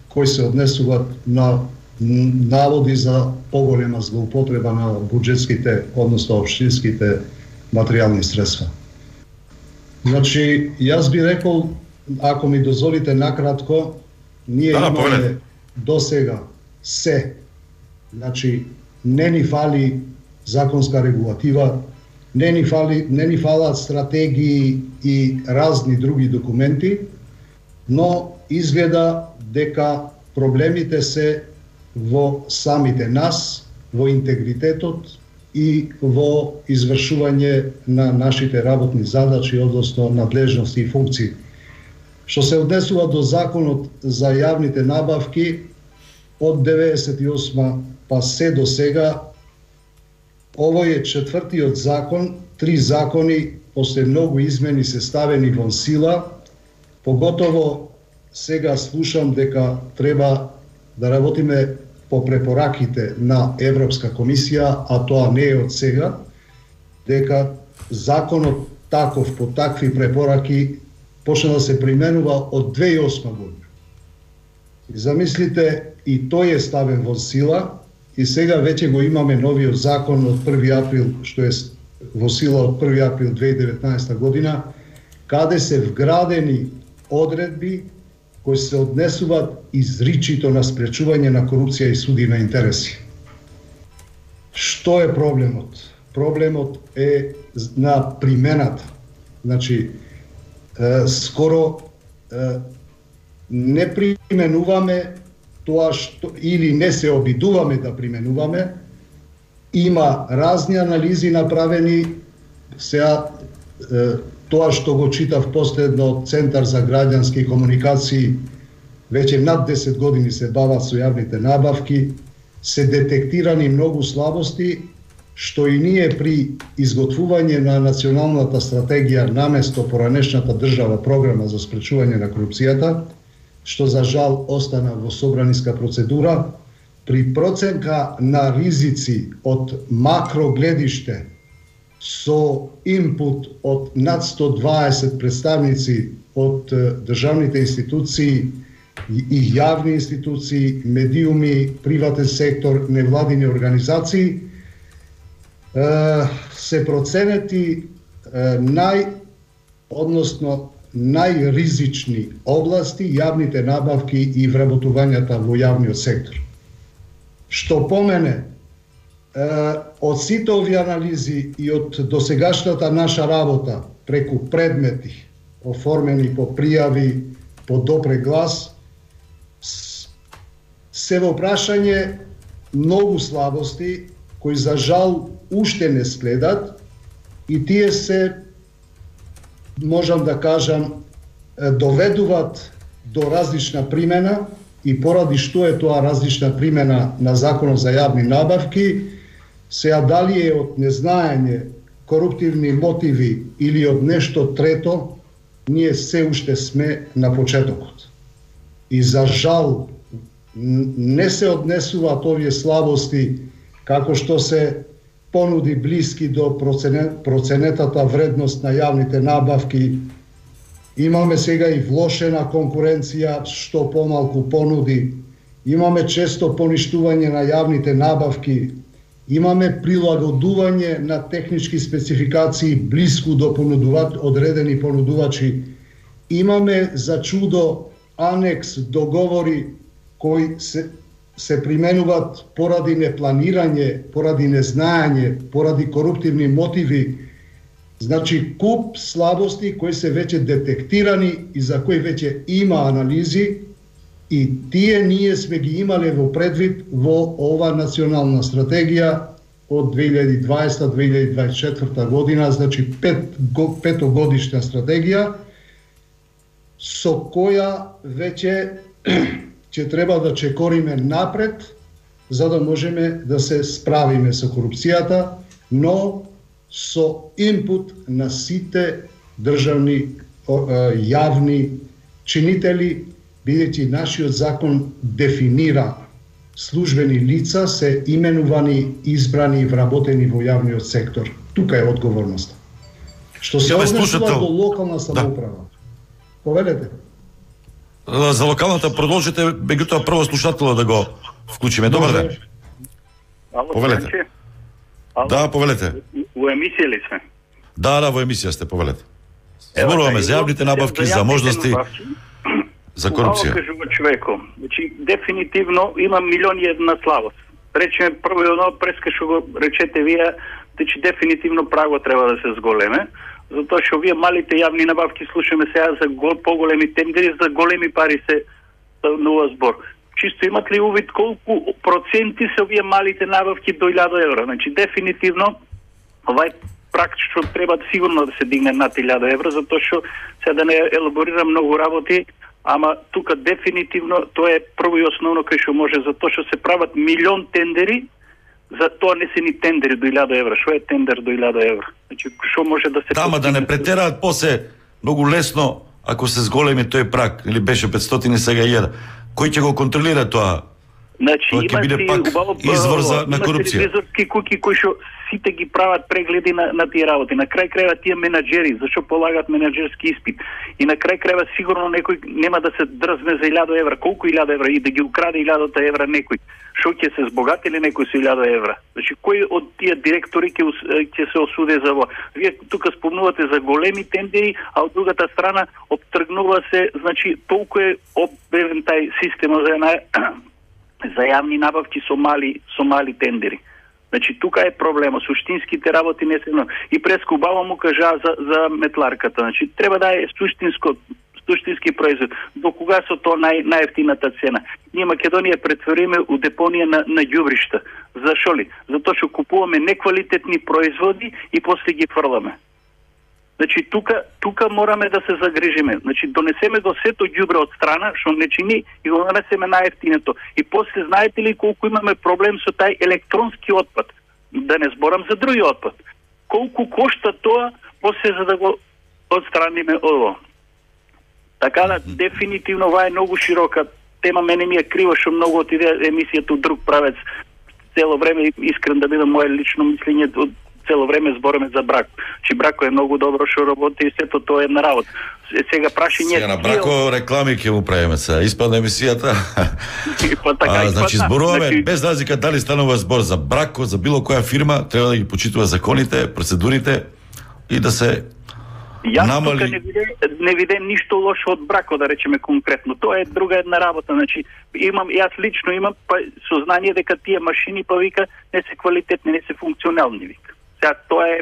кои се однесуваат на наводи за поголема злоупотреба на буџетските, односно општинските материјални средства. Значи, јас би рекол, ако ми дозволите накратко, ние имаме до сега се. Значи, не ни фали законска регулатива, не ни фалат стратегии и разни други документи, но изгледа дека проблемите се во самите нас, во интегритетот и во извршување на нашите работни задачи, односно надлежности и функции. Што се однесува до законот за јавните набавки, од 98 па се до сега, овој е четвртиот закон, 3 закони после многу измени се ставени во сила, поготово сега слушам дека треба да работиме по препораките на Европска комисија, а тоа не е од сега, дека законот таков по такви препораки почна да се применува од 2008 година. И замислите, и тој е ставен во сила, и сега веќе го имаме новиот закон од 1 април, што е во сила од 1 април 2019 година, каде се вградени одредби кои се однесуваат изричито на спречување на корупција и суди на интереси. Што е проблемот? Проблемот е на примената. Значи, скоро не применуваме тоа што или не се обидуваме да применуваме. Има разни анализи направени. Сега тоа што го читав последно од Центар за граѓански комуникации, веќе над 10 години се бават со јавните набавки, се детектирани многу слабости, што и ние при изготвување на националната стратегија наместо поранешната држава програма за спречување на корупцијата, што за жал остана во собраниска процедура, при проценка на ризици од макро гледиште со инпут од над 120 представници од државните институции и јавни институции, медиуми, приватен сектор, невладини организации, се проценети најризични области, јавните набавки и вработувањата во јавниот сектор. Што помене, од сите овие анализи и од досегашната наша работа преку предмети, оформени по пријави, по допре глас, се во прашање многу слабости кои за жал уште не следат и тие се, можам да кажам, доведуваат до различна примена и поради што е тоа различна примена на Законот за јавни набавки, сега дали е од незнаење, коруптивни мотиви или од нешто трето, ние се уште сме на почетокот. И за жал не се однесуваат овие слабости како што се понуди блиски до проценетата вредност на јавните набавки. Имаме сега и влошена конкуренција, што помалку понуди. Имаме често поништување на јавните набавки. Имаме прилагодување на технички спецификации блиску до одредени понудувачи. Имаме за чудо анекс договори кои се применуваат поради непланирање, поради незнаење, поради коруптивни мотиви. Значи, куп слабости кои се веќе детектирани и за кои веќе има анализи и тие ние сме ги имале во предвид во ова национална стратегија од 2020-2024 година, значи петогодишна стратегија, со која веќе ќе треба да чекориме напред, за да можеме да се справиме со корупцијата, но со инпут на сите државни јавни чинители, бидејќи нашиот закон дефинира службени лица се именувани, избрани и вработени во јавниот сектор. Тука е одговорноста. Што се однесува до локална самоуправа. Повелете. За локалната продолжите, меѓутоа прво слушателот да го вклучиме. Добар ден. Повелете. Да, повелете. Во емисија ли сме? Да, во емисија сте, повелете. Зборуваме за јавните набавки, за можности за корупција. Кажува човеко. Значи, дефинитивно има милиони една слабост. Речеме прво едно, преска што го речете вие, значи дефинитивно право треба да се зголеме, затоа што вие малите јавни набавки слушаме сега за поголеми тендери, за големи пари се станува збор. Чисто имат ли увид колку проценти се овие малите набавки до 1000 евра? Значи дефинитивно овај прак што треба сигурно да се дигне над 1000 евра, затоа што сега да не елаборирам многу работи, ама тука дефинитивно тоа е прво и основно кај што може, затоа што се прават милион тендери, за тоа не се ни тендери до 1000 евра. Што е тендер до 1000 евра? Значи што може да се Тама да не претераат после многу лесно ако се зголеми тој прак, или беше 500 сега 1000. Кој ќе го контролира тоа? Значи има си извор на корупција. Ревизорски куки кои што сите ги прават прегледи на тие работи. На крај крајва тие менаџери, зашто полагат менаџерски испит. И на крај крајва сигурно некој нема да се дрзне за 1000 евра. Колку 1000 евра и да ги украде 1000 евра некој? Што ќе се збогати ли некој со 1000 евра? Значи кој од тие директори ќе се осуде за во? Вие тука спомнувате за големи тендери, а од другата страна обтргнува се, значи толку е оббевен тај систем за јавни набавки со мали тендери. Значи тука е проблема, суштинските работи не се. И прескубаво му кажа за метларката. Значи треба да е суштинско суштински производ. До кога со тоа најевтината цена? Ние Македонија претвориме у депонија на ѓубришта. Зашо ли? Затоа што купуваме неквалитетни производи и после ги фрламе. Значи тука мораме да се загрижиме. Значи донесеме до сето ѓубре од страна што не чини и го донесеме најевтиното. И после знаете ли колку имаме проблем со тај електронски отпад? Да не зборам за други отпад. Колку кошта тоа после за да го отстраниме ово. Така да дефинитивно ова е многу широка тема, мене ми е криво што многу отиде емисијата од друг правец. Цело време искрен да бидам мое лично мислење, цело време збореме за брако. Че брако е многу добро што работи и сето тоа е една работа. Сега прашање сега на брако реклами ќе му правиме се. Испадна емисијата. Значи зборуваме без разлика дали станува збор за брако, за било која фирма, треба да ги почитува законите, процедурите и да се намали. Јас тука не виде ништо лошо од брако, да речеме конкретно. Тоа е друга една работа. Значи јас лично имам сознание дека тие машини вика не се квалитетни, не се функционални вика. Сега тоа е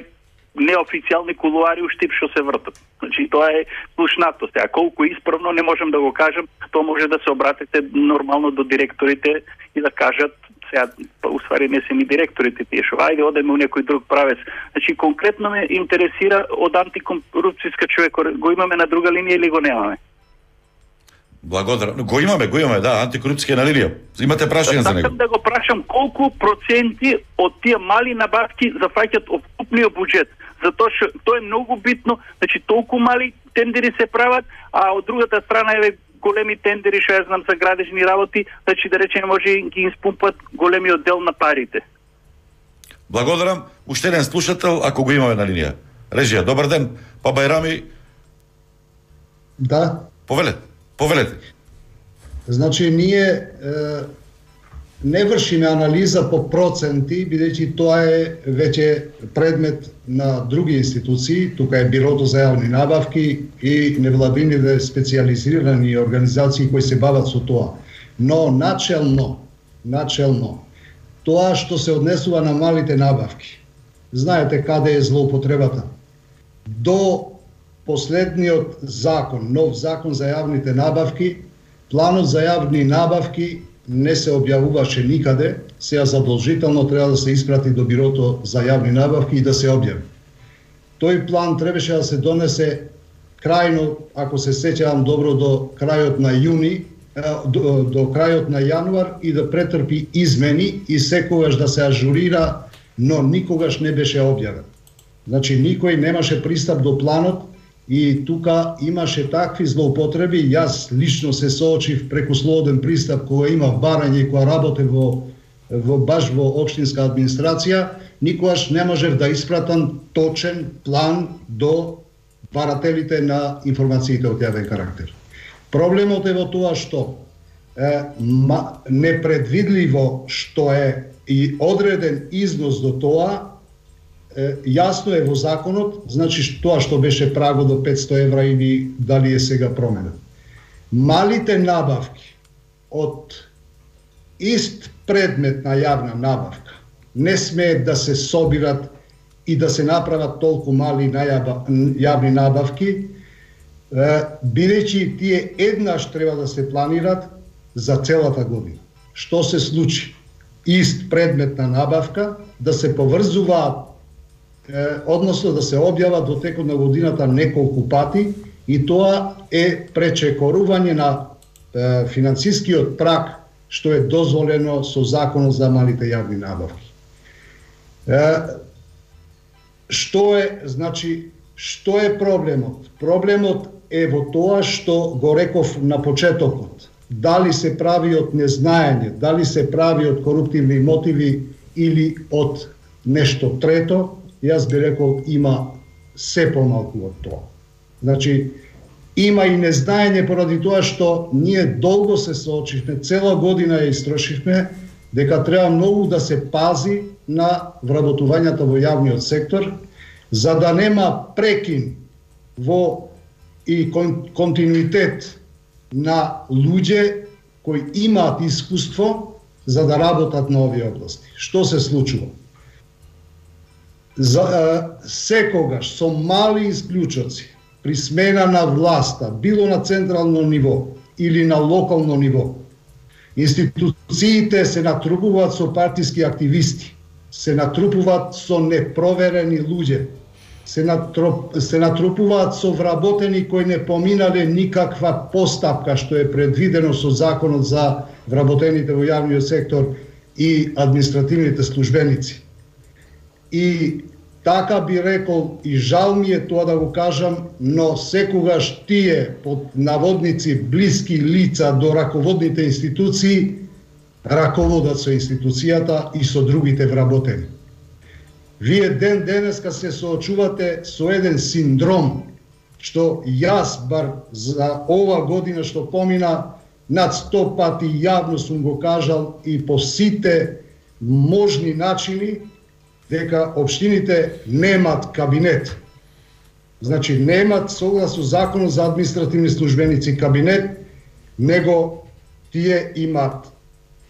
неофицијални кулуари уштип што се вртат. Значи тоа е слушнато. Сега колку исправно не можам да го кажам, тоа може да се обратите нормално до директорите и да кажат сега, уствари не се ни директорите тие што ајде одеме у некој друг правец. Значи конкретно ме интересира од антикорупцијска човек, го имаме на друга линија или го немаме? Благодарам. Го имаме, да, антикорупцијска на линија. Имате прашање за него? Сакам да го прашам колку проценти од тие мали набавки зафаќаат окупниот буџет. Затоа што тоа е многу битно, значи толку мали тендери се прават, а од другата страна еве големи тендери што ја знам за градежни работи, значи да речеме може ги испумпат големиот дел на парите. Благодарам. Уште еден слушател, ако го имаме на линија. Режија, добар ден. Па Бајрами. Да. Повелете. Значи ние не вршиме анализа по проценти, бидејќи тоа е веќе предмет на други институции, тука е Бирото за јавни набавки и невладините специјализирани организации кои се бават со тоа. Но начелно, тоа што се однесува на малите набавки, знаете каде е злоупотребата. До последниот закон, нов закон за јавните набавки, планот за јавни набавки не се објавуваше никаде, сега задолжително треба да се испрати до Бирото за јавни набавки и да се објави. Тој план требаше да се донесе крајно, ако се сеќавам добро, до крајот на јуни, до крајот на јануар и да претрпи измени и секогаш да се ажурира, но никогаш не беше објавен. Значи никој немаше пристап до планот и тука имаше такви злоупотреби. Јас лично се соочив преку слободен пристап кога имав барање и кога работев баш во општинска администрација, никогаш не можев да испратам точен план до барателите на информациите од јавен карактер. Проблемот е во тоа што непредвидливо што е и одреден износ до тоа, јасно е во законот, значи тоа што беше прагот до 500 евра или дали е сега променен. Малите набавки од ист предмет на јавна набавка не смеат да се собират и да се направат толку мали јавни набавки, бидејќи тие еднаш треба да се планират за целата година. Што се случи? Ист предмет на набавка да се поврзуваат, односно да се објават во текот на годината неколку пати и тоа е пречекорување на финансискиот праг што е дозволено со законот за малите јавни набавки. Што е проблемот? Проблемот е во тоа што го реков на почетокот. Дали се прави од незнаење, дали се прави од коруптивни мотиви или од нешто трето, јас би рекол има се помалку од тоа. Значи, има и незнаење поради тоа што ние долго се соочивме, цела година ја истрошивме, дека треба многу да се пази на вработувањето во јавниот сектор, за да нема прекин во и континуитет на луѓе кои имаат искуство за да работат на овие области. Што се случува? Секогаш со мали исклучоци, при смена на власта, било на централно ниво или на локално ниво, институциите се натрупуваат со партиски активисти, се натрупуваат со непроверени луѓе, се натрупуваат со вработени кои не поминале никаква постапка што е предвидено со законот за вработените во јавниот сектор и административните службеници. И така би рекол, и жал ми е тоа да го кажам, но секогаш тие под наводници блиски лица до раководните институции раководат со институцијата и со другите вработени. Вие ден денеска се соочувате со еден синдром, што јас бар за ова година што помина над 100 пати јавно сум го кажал и по сите можни начини, дека општините немат кабинет. Значи немат согласно законот за административни службеници кабинет, него тие имат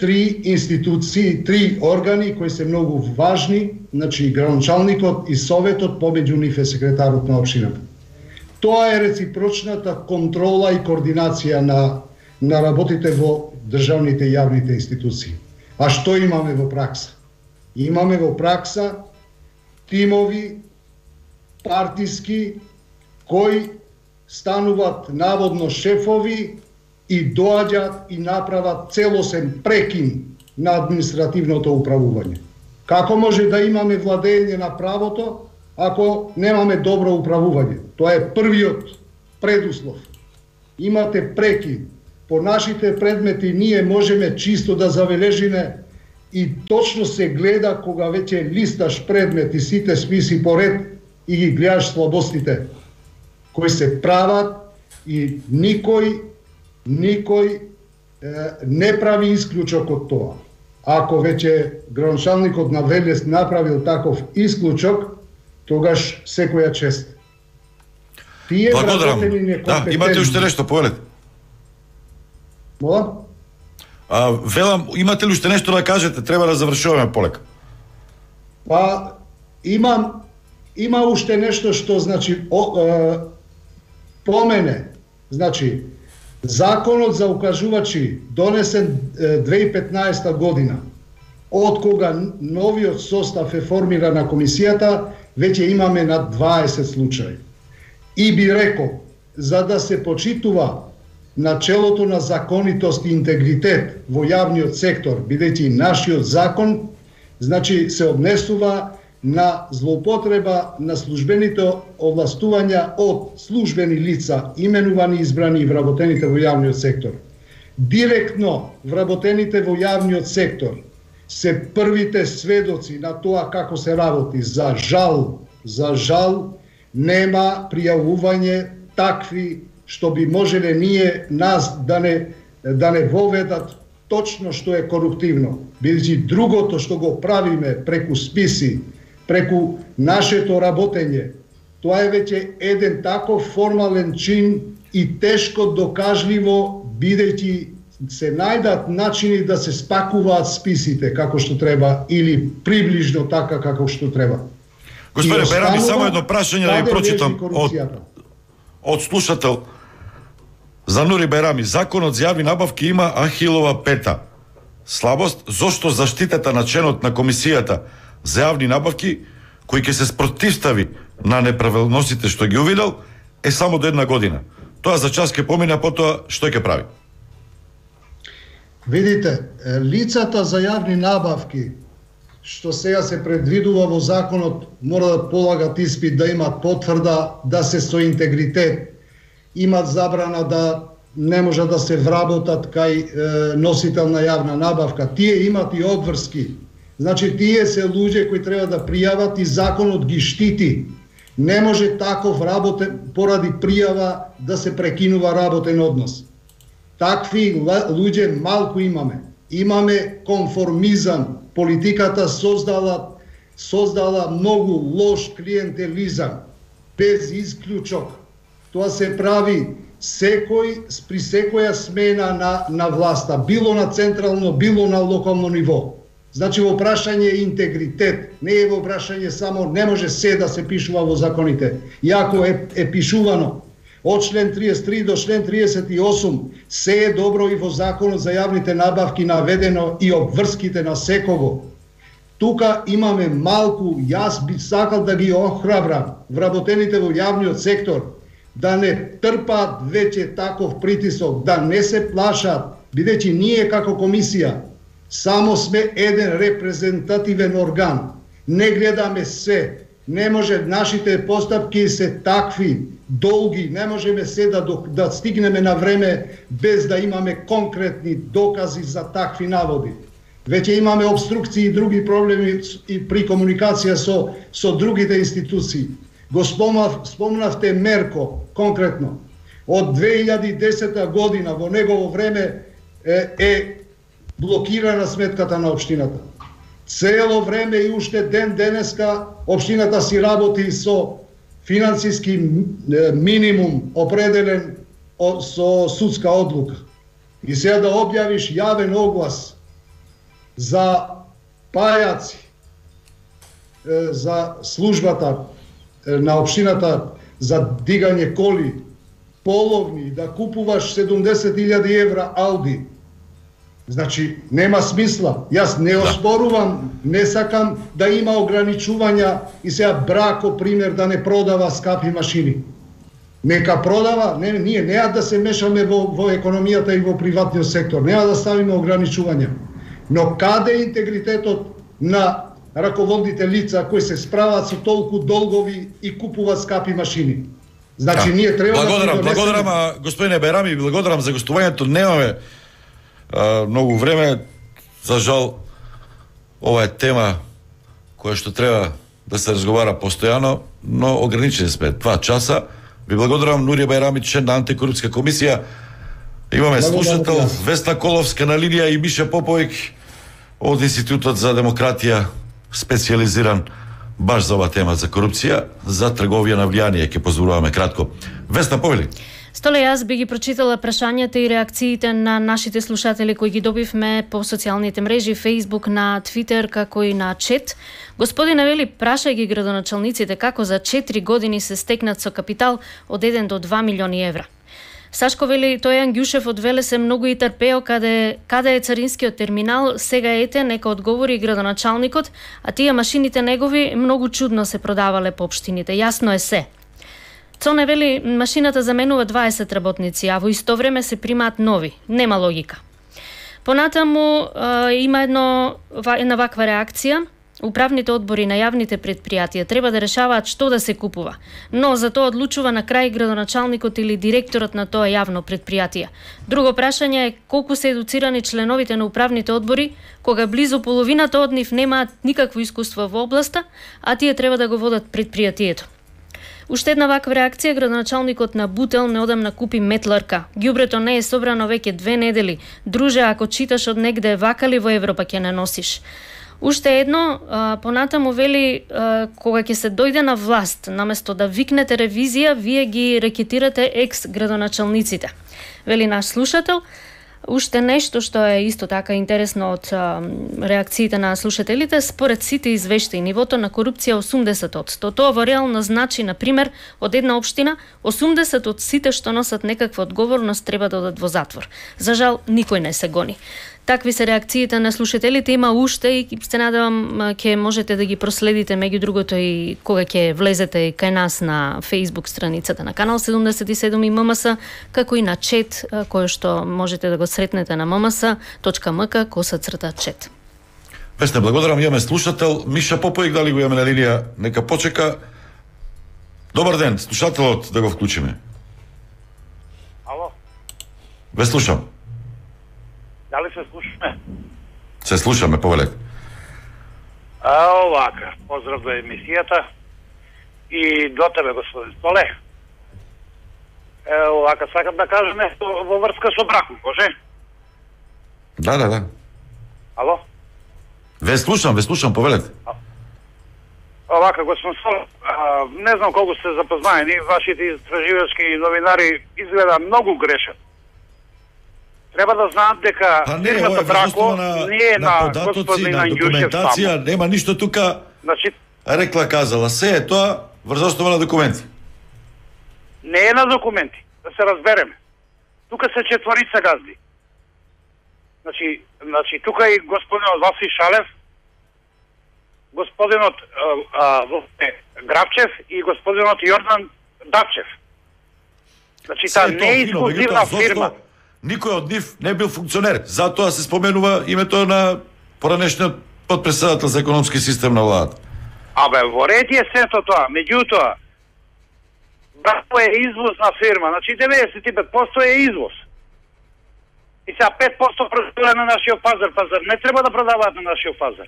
3 институции, 3 органи кои се многу важни, значи градоначалникот и советот, помеѓу нив е секретарот на општината. Тоа е реципрочната контрола и координација на работите во државните и јавните институции. А што имаме во пракса? Имаме во пракса тимови партиски кои стануваат наводно шефови и доаѓаат и направат целосен прекин на административното управување. Како може да имаме владење на правото ако немаме добро управување? Тоа е првиот предуслов. Имате прекин. По нашите предмети ние можеме чисто да забележиме и точно се гледа кога веќе листаш предмет и сите списи поред и ги гледаш слабостите кои се прават и никој не прави исклучок од тоа. Ако веќе градоначалникот на Велес направил таков исклучок, тогаш секоја чест. Тие вработени некомпетентни. Да, имате уште нешто, повелете. Мола? Велам, имате ли уште нешто да кажете? Треба да завршуваме полека. Па, има уште нешто што, значи, по мене, значи, законот за укажувачи донесен 2015 година, од кога новиот состав е формиран на комисијата, веќе имаме над 20 случаи. И би рекол, за да се почитува начелото на законитост и интегритет во јавниот сектор, бидејќи нашиот закон, значи се однесува на злоупотреба на службените овластувања од службени лица, именувани, избрани и вработените во јавниот сектор. Директно вработените во јавниот сектор се првите сведоци на тоа како се работи. За жал, нема пријавување такви што би можеле ние нас да не воведат точно што е коруптивно. Бидејќи другото што го правиме преку списи, преку нашето работење, тоа е веќе еден таков формален чин и тешко докажливо, бидејќи се најдат начини да се спакуваат списите како што треба или приближно така како што треба. Господине Берами, само едно прашање да ви прочитам од слушател. За Нури Берами, законот за јавни набавки има Ахилова пета слабост, зошто заштитата на членот на комисијата за јавни набавки, кој ќе се спротивстави на неправилностите што ги увидел, е само до 1 година. Тоа за час ќе помине, а потоа што ќе прави? Видите, лицата за јавни набавки, што сега се предвидува во законот, мора да полагат испит, да имат потврда, да се со интегритет, имат забрана да не може да се вработат кај носител на јавна набавка. Тие имат и одврски. Значи, тие се луѓе кои треба да пријават и законот ги штити. Не може таков поради пријава да се прекинува работен однос. Такви луѓе малку имаме. Имаме конформизам. Политиката создала многу лош клиентелизам, без исклучок. Тоа се прави при секоја смена на власта, било на централно, било на локално ниво. Значи, во прашање е интегритет, не е во прашање само, не може се да се пишува во законите. И ако е пишувано, од член 33 до член 38, се е добро и во Законот за јавните набавки наведено и обврските на секого. Тука имаме малку, јас би сакал да ги охрабрам вработените во јавниот сектор, да не трпаат веќе таков притисок, да не се плашат, бидејќи ние како комисија само сме еден репрезентативен орган. Не гледаме се. Не може, нашите постапки се такви, долги, не можеме се да стигнеме на време без да имаме конкретни докази за такви наводи. Веќе имаме обструкции и други проблеми и при комуникација со другите институции. Го спомнавте Мерко, конкретно. Од 2010 година во негово време е блокирана сметката на општината. Цело време и уште ден денеска општината си работи со финансиски минимум определен со судска одлука. И сега да објавиш јавен оглас за пајаци, за службата на општината за дигање коли, половни, да купуваш 70.000 евра Ауди. Значи, нема смисла. Јас не оспорувам, не сакам да има ограничувања и сега Брако, пример, да не продава скапи машини. Нека продава, ние неа да се мешаме во економијата и во приватниот сектор, неа да ставиме ограничувања. Но каде е интегритетот на раководните лица кои се справат со толку долгови и купуваат скапи машини? Значи, ние треба да... Благодарам, господине Байрами, благодарам за гостувањето. Немаме многу време, за жал, ова е тема која што треба да се разговара постојано, но ограничени сме 2 часа. Ви благодарам, Нурија Байрами, член на антикорупска комисија. Имаме слушател Весна Коловска на линија и Миша Поповик од Институтот за демократија, специализиран баш за ова тема за корупција, за трговија на влијание, ќе позборуваме кратко. Весна, повели. Столе, јас би ги прочитала прашањата и реакциите на нашите слушатели кои ги добивме по социјалните мрежи, Facebook, на Twitter, како и на чет. Господине вели, прашај ги градоначалниците како за 4 години се стекнат со капитал од 1 до 2 милиони евра. Сашко вели, тој Ангјушев од Веле се многу и трпео каде е царинскиот терминал, сега ете, нека одговори градоначалникот, а тие машините негови многу чудно се продавале по општините, јасно е се. Цоне вели, машината заменува 20 работници, а во исто време се примаат нови. Нема логика. Понатаму има една ваква реакција. Управните одбори на јавните предпријатија треба да решаваат што да се купува, но за тоа одлучува на крај градоначалникот или директорот на тоа јавно предпријатие. Друго прашање е колку се едуцирани членовите на управните одбори, кога близу половината од нив немаат никакво искуство во областа, а тие треба да го водат предпријатието. Уште една ваква реакција, градоначалникот на Бутел неодамна купи метларка. Ѓубрето не е собрано веќе 2 недели. Друже, ако читаш од негде вакали во Европа ќе не носиш. Уште едно, понатаму вели, кога ќе се дојде на власт, наместо да викнете ревизија, вие ги рекетирате екс-градоначалниците. Вели наш слушател. Уште нешто што е исто така интересно од реакциите на слушателите, според сите извештаи, нивото на корупција 80%. Тоа во реално значи, например, од една општина, 80 од сите што носат некаква одговорност треба да одат во затвор. За жал, никој не се гони. Такви се реакциите на слушателите, има уште и се надевам ќе можете да ги проследите меѓу другото и кога ќе влезете кај нас на Facebook страницата на Канал 77 и ММС, како и на чет кој што можете да го сретнете на mms.mk/чет. Весна, благодарам, имаме слушател Миша Поповик, дали го имаме на линија, нека почека. Добар ден, слушателот да го вклучиме. Ало? Ве слушам. Дали се слушаме? Се слушаме, повелете. Овака, поздрав до емисијата и до тебе, господин Столе. Овака, сакам да кажем нешто во врска со Брако, може? Да. Ало? Ве слушам, повелете. Овака, господин Столе, не знам колку сте запознаени, вашите истраживачки новинари изгледа многу грешат. Треба да знаат дека фирмата Брако не е на господин Ангјушев само. Нема ништо тука, значи, рекла казала. Се е тоа врз основа на документи. Не е на документи, да се разбереме. Тука се четворица газди. Значи тука и господинот Васи Шалев, господинот Грабчев и господинот Јордан Дачев. Значи таа не е ексклузивна фирма. Никој од нив не бил функционер. Затоа се споменува името на поранешниот подпредседател за економски систем на владата. Во ред е сето тоа. Меѓутоа, Брако е извозна фирма. Значи 95% е извоз. И сега 5% продава на нашиот пазар. Пазар не треба да продаваат на нашиот пазар.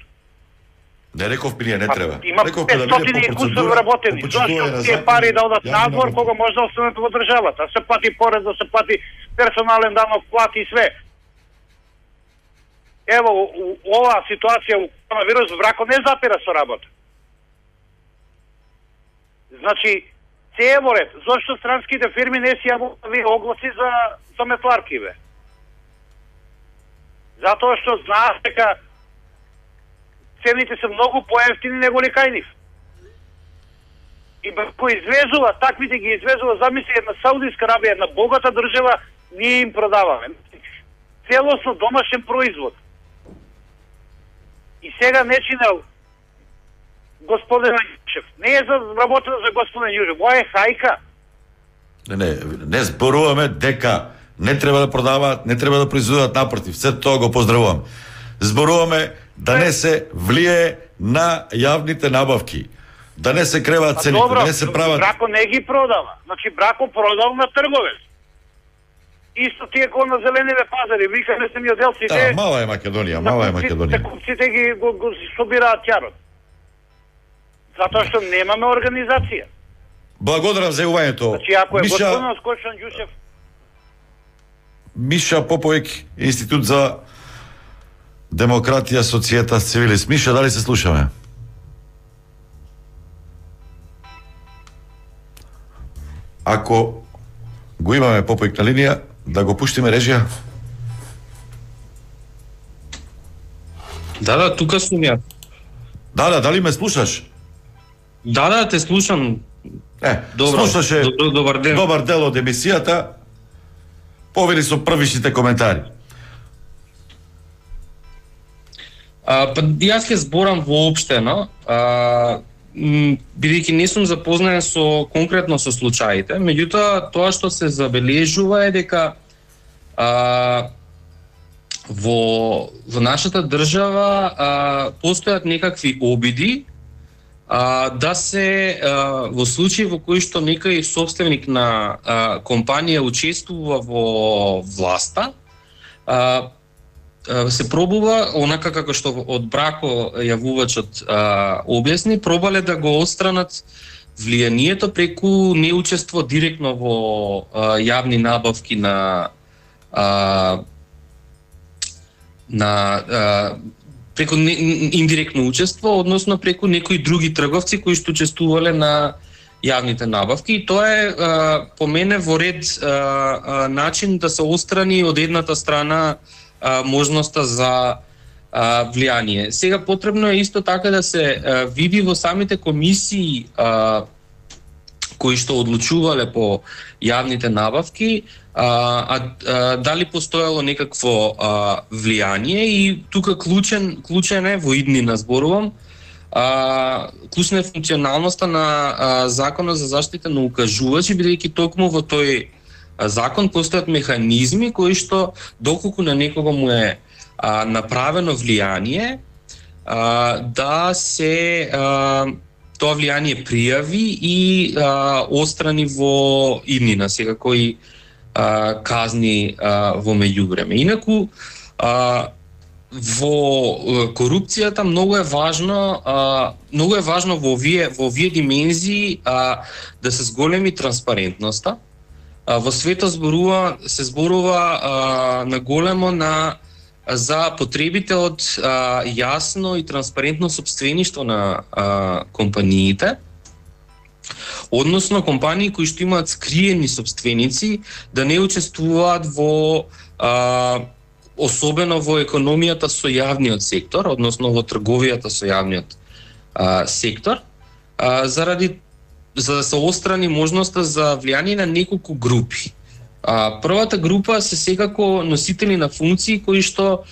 Не рековме ние, не треба. Има 500 кусови работени. Зошто тие пари да одат надвор, кога може да останат во државата? Да се плати порез, да се плати персонален данок, плати и све. Ево, оваа ситуација у коронавирус Брако не запира со работа. Значи, се е во ред. Зошто странските фирми не си јавуваат огласи за метларки, бе? Затоа што знаат дека цените се многу поевтини него ли кај нив. И кој извезува, таквите ги извезува, замисли една Саудиска Арабија, една богата држава, ние им продаваме. Целосно домашен производ. И сега не чинел господин Јушев. Не е за работа за господин Јушев, ова е хајка. Не зборуваме дека не треба да продаваат, не треба да произведуваат, напротив, се тоа го поздравувам. Зборуваме да не се влие на јавните набавки, да не се креваат цените, да не се прават... Брако не ги продава. Значи Брако продал на трговец. Исто тие кои на зелениве пазари, вика не се миоделците... Да, мала е Македонија, мала е Македонија. Купците ги го собираат ќарот. Затоа што немаме организација. Благодарам за јавувањето. Значи ако е господин Скочан Ѓушев... Миша Поповик, Институт за демократија, социјета, цивилист. Миша, дали се слушаме? Ако го имаме Поповик на линија, да го пуштиме режија. Да, тука сум ја. Да, дали ме слушаш? Да, те слушам. Добро, слушаше добар ден. Добар дел од емисијата. Повели со првичните коментари. Јас ќе зборам воопштено, бидејќи не сум запознаен конкретно со случаите, меѓутоа тоа што се забележува е дека во нашата држава постојат некакви обиди да се во случаи во кои што некој собственик на компанија учествува во власта, се пробува, онака како што од Брако јавувачот објасни, пробале да го отстранат влијанието преку неучество директно во јавни набавки преку индиректно учество, односно преку некои други трговци кои што учествувале на јавните набавки. И тоа е по мене во ред начин да се отстрани од едната страна можноста за влијание. Сега потребно е исто така да се види во самите комисии кои што одлучувале по јавните набавки, дали постоело некакво влијание, и тука клучен е во иднина зборувам, клучна е функционалноста на Законот за заштита на укажувачи, бидејќи токму во тој закон постојат механизми кои што доколку на некого му е направено влијание, да се тоа влијание пријави и острани во иднина, секако и казни во меѓувреме. Инаку во корупцијата многу е важно во овие димензии да се зголеми транспарентноста. Во светот се зборува на големо за потребите од јасно и транспарентно сопствеништво на компаниите, односно компании кои што имаат скриени сопственици да не учествуваат особено во економијата со јавниот сектор, односно во трговијата со јавниот сектор, заради за да се острани можноста за влијание на неколку групи. Првата група се секако носители на функции кои што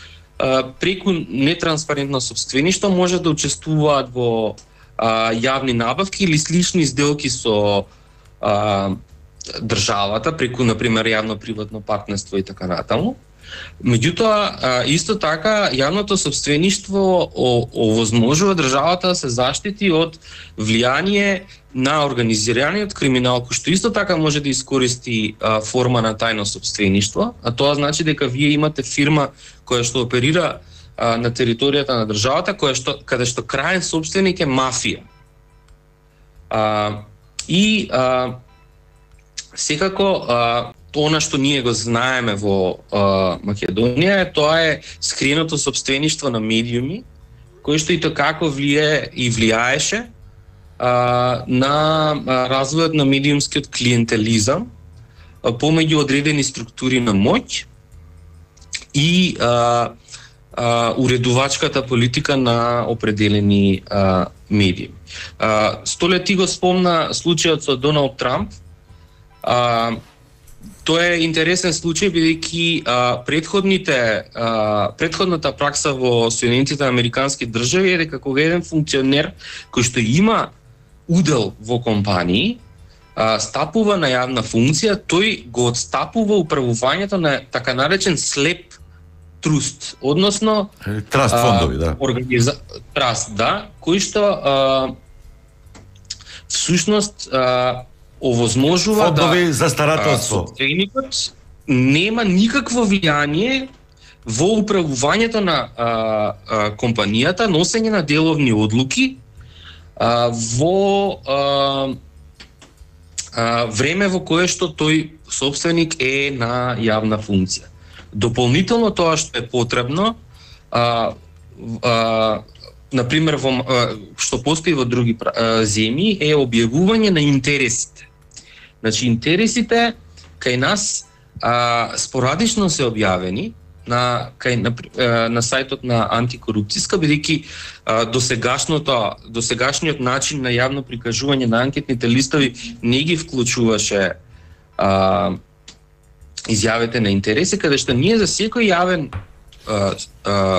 преку нетранспарентно сопствеништво може да учествуваат во јавни набавки или слични сделки со државата преку, например, јавно-приватно партнерство и така натаму. Меѓутоа, исто така, јавното сопствеништво овозможува државата да се заштити од влијание на организираниот криминал, кој што исто така може да искористи форма на тајно сопствеништво, а тоа значи дека вие имате фирма која што оперира на територијата на државата, каде што крајен сопственик е мафија. Секако, она што ние го знаеме во Македонија, тоа е скриеното сопствеништво на медиуми, кој што и како влијаеше на развојот на медиумскиот клиентелизам помеѓу одредени структури на моќ и уредувачката политика на определени медиуми. Столе ти го спомна случајот со Доналд Трамп. Тоа е интересен случај, бидејќи предходната пракса во Соединетите американски држави е дека кога еден функционер кој што има удел во компании стапува на јавна функција, тој го отстапува управувањето на така наречен слеп труст, односно траст фондови, да. Траст, да, кој што всушност овозможува фондови за старателство. Собственикот нема никакво влијание во управувањето на компанијата, носење на деловни одлуки во време во кое што тој собственик е на јавна функција. Дополнително тоа што е потребно, например, што постои во други земји, е објавување на интересите. Значи, интересите кај нас спорадично се објавени на сајтот на антикорупцијска, бидејќи досегашниот начин на јавно прикажување на анкетните листови не ги вклучуваше изјавите на интереси, каде што ние за секој јавен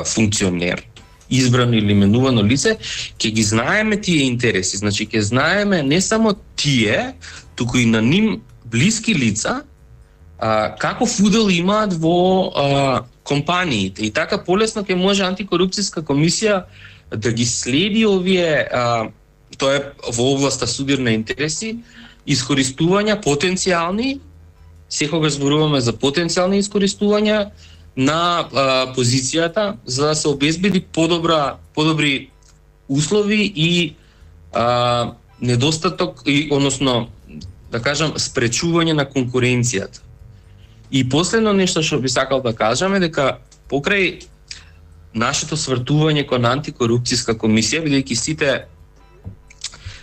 функционер, избрано или именувано лице, ќе ги знаеме тие интереси. Значи, ќе знаеме не само тие, туку и на ним блиски лица, каков удел имаат во компаниите. И така полесно ќе може антикорупцијска комисија да ги следи овие, тоа е во областа судирна интереси, искористувања потенцијални, секогаш зборуваме за потенцијални искористувања на позицијата за да се обезбеди подобри услови и недостаток, односно да кажам спречување на конкуренцијата. И последно нешто што би сакал да кажам е дека покрај нашето свртување кон антикорупцијска комисија, бидејќи сите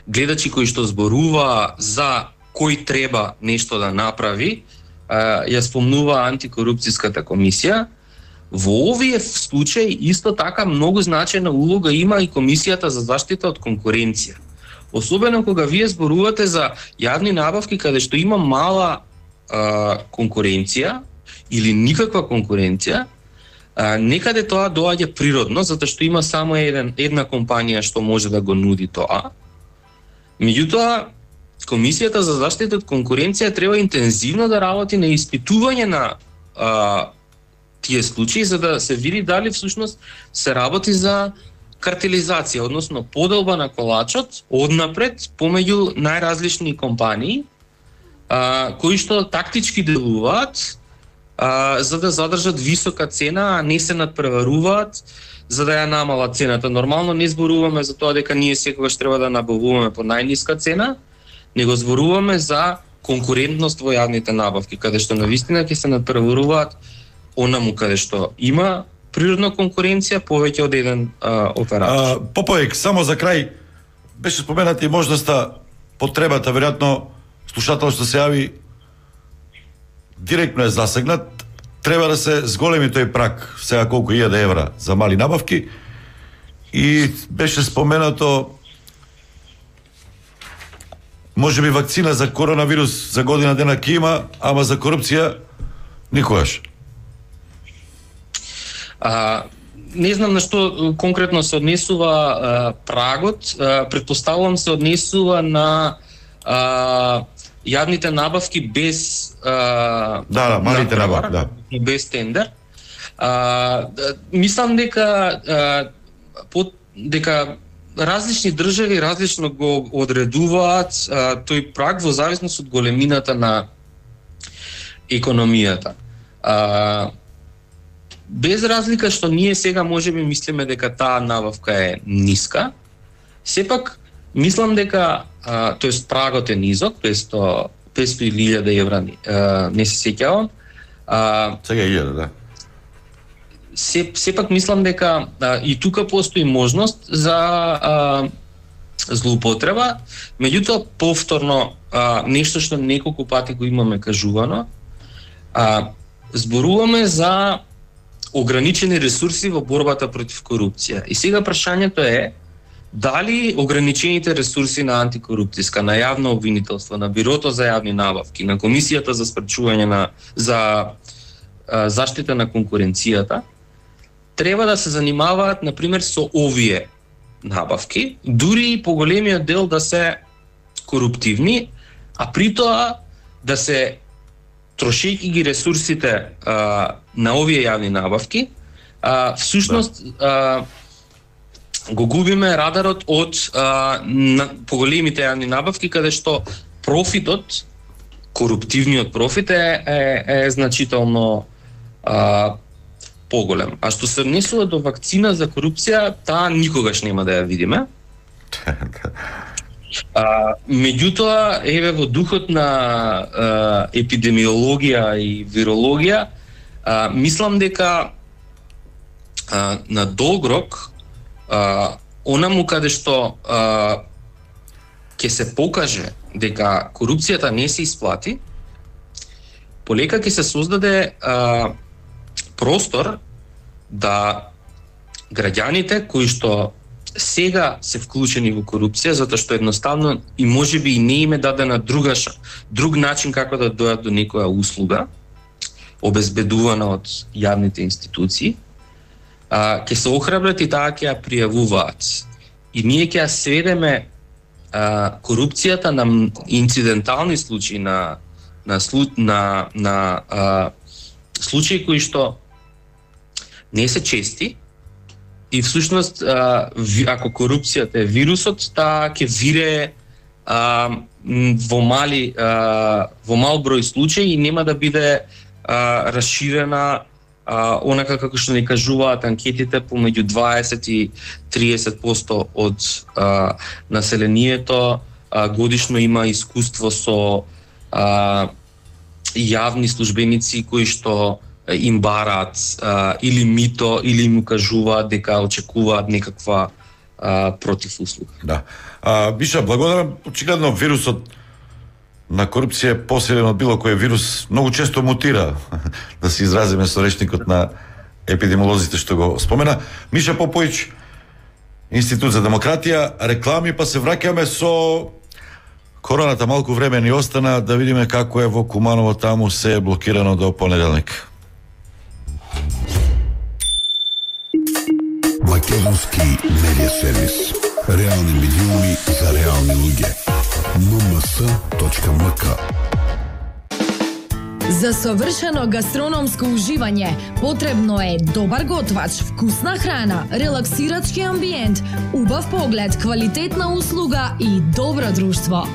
гледачи кои што зборува за кој треба нешто да направи, ја спомнува антикорупцијската комисија, во овие случаи исто така многу значајна улога има и комисијата за заштита од конкуренција. Особено кога вие зборувате за јавни набавки каде што има мала конкуренција или никаква конкуренција, некаде тоа доаѓа природно, затоа што има само една компанија што може да го нуди тоа. Меѓутоа, Комисијата за заштита од конкуренција треба интензивно да работи на испитување на тие случаи, за да се види дали всушност се работи за картелизација, односно поделба на колачот однапред помеѓу најразлични компании, кои што тактички делуваат за да задржат висока цена, а не се надпреваруваат за да ја намалат цената. Нормално не зборуваме за тоа дека ние секогаш треба да набавуваме по најниска цена, него зборуваме за конкурентност во јавните набавки, каде што навистина ќе се надпреваруваат онаму каде што има природна конкуренција повеќе од еден оператор. Поповик, само за крај, беше спомената и можноста, потребата, веројатно слушател што се јави директно е засегнат, треба да се зголеми тој прак, сега колку 1000 евра за мали набавки, и беше споменато може би вакцина за коронавирус за година дена ќе има, ама за корупција никогаш. Не знам на што конкретно се однесува прагот, претпоставувам се однесува на јавните набавки без малите набавки, без тендер. Мислам дека различни држави различно го одредуваат тој праг во зависност од големината на економијата. Без разлика што ние сега можеби мислиме дека таа набавка е ниска, сепак мислам дека тоест прагот е низок, 500.000 евра, не се сеќавам. Сега 1000, да. Сепак мислам дека и тука постои можност за злоупотреба, меѓутоа повторно нешто што неколку пати го имаме кажувано, зборуваме за ограничени ресурси во борбата против корупција. И сега прашањето е дали ограничените ресурси на антикорупцијска, на јавно обвинителство, на Бирото за јавни набавки, на Комисијата за спречување за заштита на конкуренцијата треба да се занимаваат на пример со овие набавки, дури и по големиот дел да се коруптивни, а при тоа да се трошејќи ги ресурсите на овие јавни набавки, всушност го губиме радарот од поголемите јавни набавки, каде што профитот, коруптивниот профит е значително поголем. А што се однесува до вакцина за корупција, таа никогаш нема да ја видиме. Меѓутоа, еве во духот на епидемиологија и вирологија, мислам дека на долг рок онаму каде што ќе се покаже дека корупцијата не се исплати, полека ќе се создаде простор да граѓаните кои што сега се вклучени во корупција, затоа што едноставно и можеби и не им е дадена друг начин како да дојдат до некоја услуга, обезбедувана од јавните институции, ќе се охрабрат и таа ќе ја пријавуваат. И ние ќе ја сведеме корупцијата на инцидентални случаи, на случаи кои што не се чести, и всушност ако корупцијата е вирусот, таа ќе вирее во мал број случаи и нема да биде расширена онака како што ни кажуваат анкетите, помеѓу 20 и 30% од населението годишно има искуство со јавни службеници кои што им бараат или мито, или им кажуваат дека очекуваат некаква противуслуга. Да. Биша, благодарам. Очигледно вирусот на корупција е посилен од било кој вирус, многу често мутира, да се изразиме со речникот на епидемиолозите што го спомена. Миша Попојич, Институт за демократија, реклами, па се враќаме со короната. Малку време ни остана да видиме како е во Куманово, таму се е блокирано до понеделник. Македонски медиа сервис. Реални медиуми за реални луѓе. mms.mk. За совршено гастрономско уживање потребно е добар готвач, вкусна храна, релаксирачки амбиент, убав поглед, квалитетна услуга и добро друштво.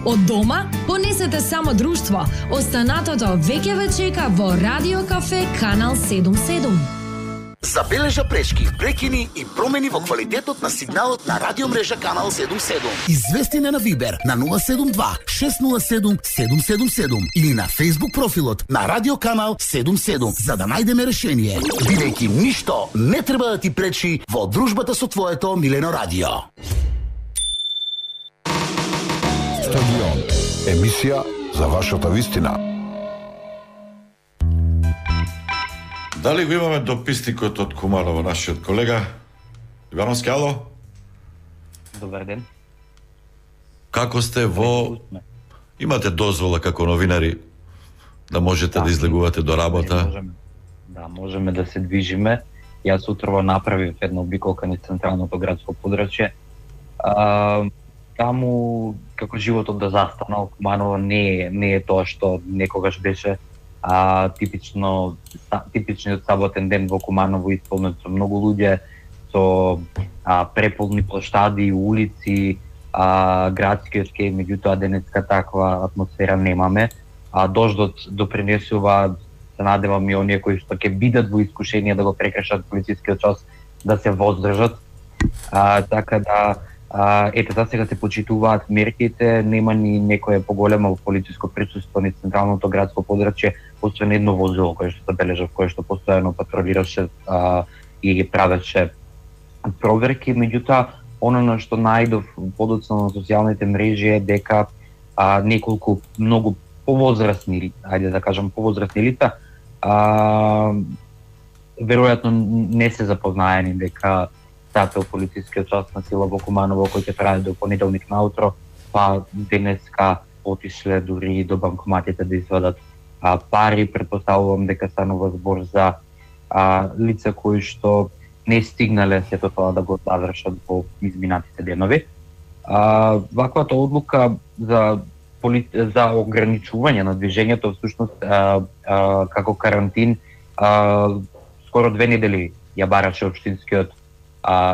Од дома понесете само друштво. Останатото веќе ве чека во Радио Кафе Канал 77. Забележа пречки, прекини и промени во квалитетот на сигналот на радиомрежа Канал 77. Извести на Вибер на 072 607 777 или на Facebook профилот на Радио Канал 77 за да најдеме решение. Бидејќи ништо не треба да ти пречи во дружбата со твоето милено радио. Стадион. Емисија за вашата вистина. Дали го имаме дописникот од Куманово, нашиот колега? Ивановски, ало? Добар ден. Како сте имате дозвола како новинари да можете да излегувате до работа? Можеме да се движиме. Јас утрво направив една обиколка низ централното градско подрачје. Таму како животот да застанал, Куманово не е тоа што некогаш беше. Типичниот саботен ден во Куманово исполнет со многу луѓе, со преполни плоштади, улици, градски очки, меѓутоа денеска таква атмосфера немаме. Дождот допринесува, се надевам и оние кои што ќе бидат во искушение да го прекршат полицискиот час да се воздржат. Така да за сега се почитуваат мерките, нема ни некое поголемо полициско присуство низ централното градско подрачје, освен едно возило кое што забележав, кое што постојано патролираше и правеше проверки. Меѓутоа, оно на што најдов подоцна на социјалните мрежи е дека неколку многу повозрастни, ајде да кажам повозрастни лица, веројатно не се запознаени дека стапел полицискиот час на сила во Куманово кој ќе трае до понеделник наутро, па денеска отишле дури до банкоматите да извадат пари. Претпоставувам дека станува збор за лица кои што не стигнале сето тоа да го завршат во изминатите денови. Ваквата одлука за ограничување на движењето всушност како карантин скоро 2 недели ја бараше општинскиот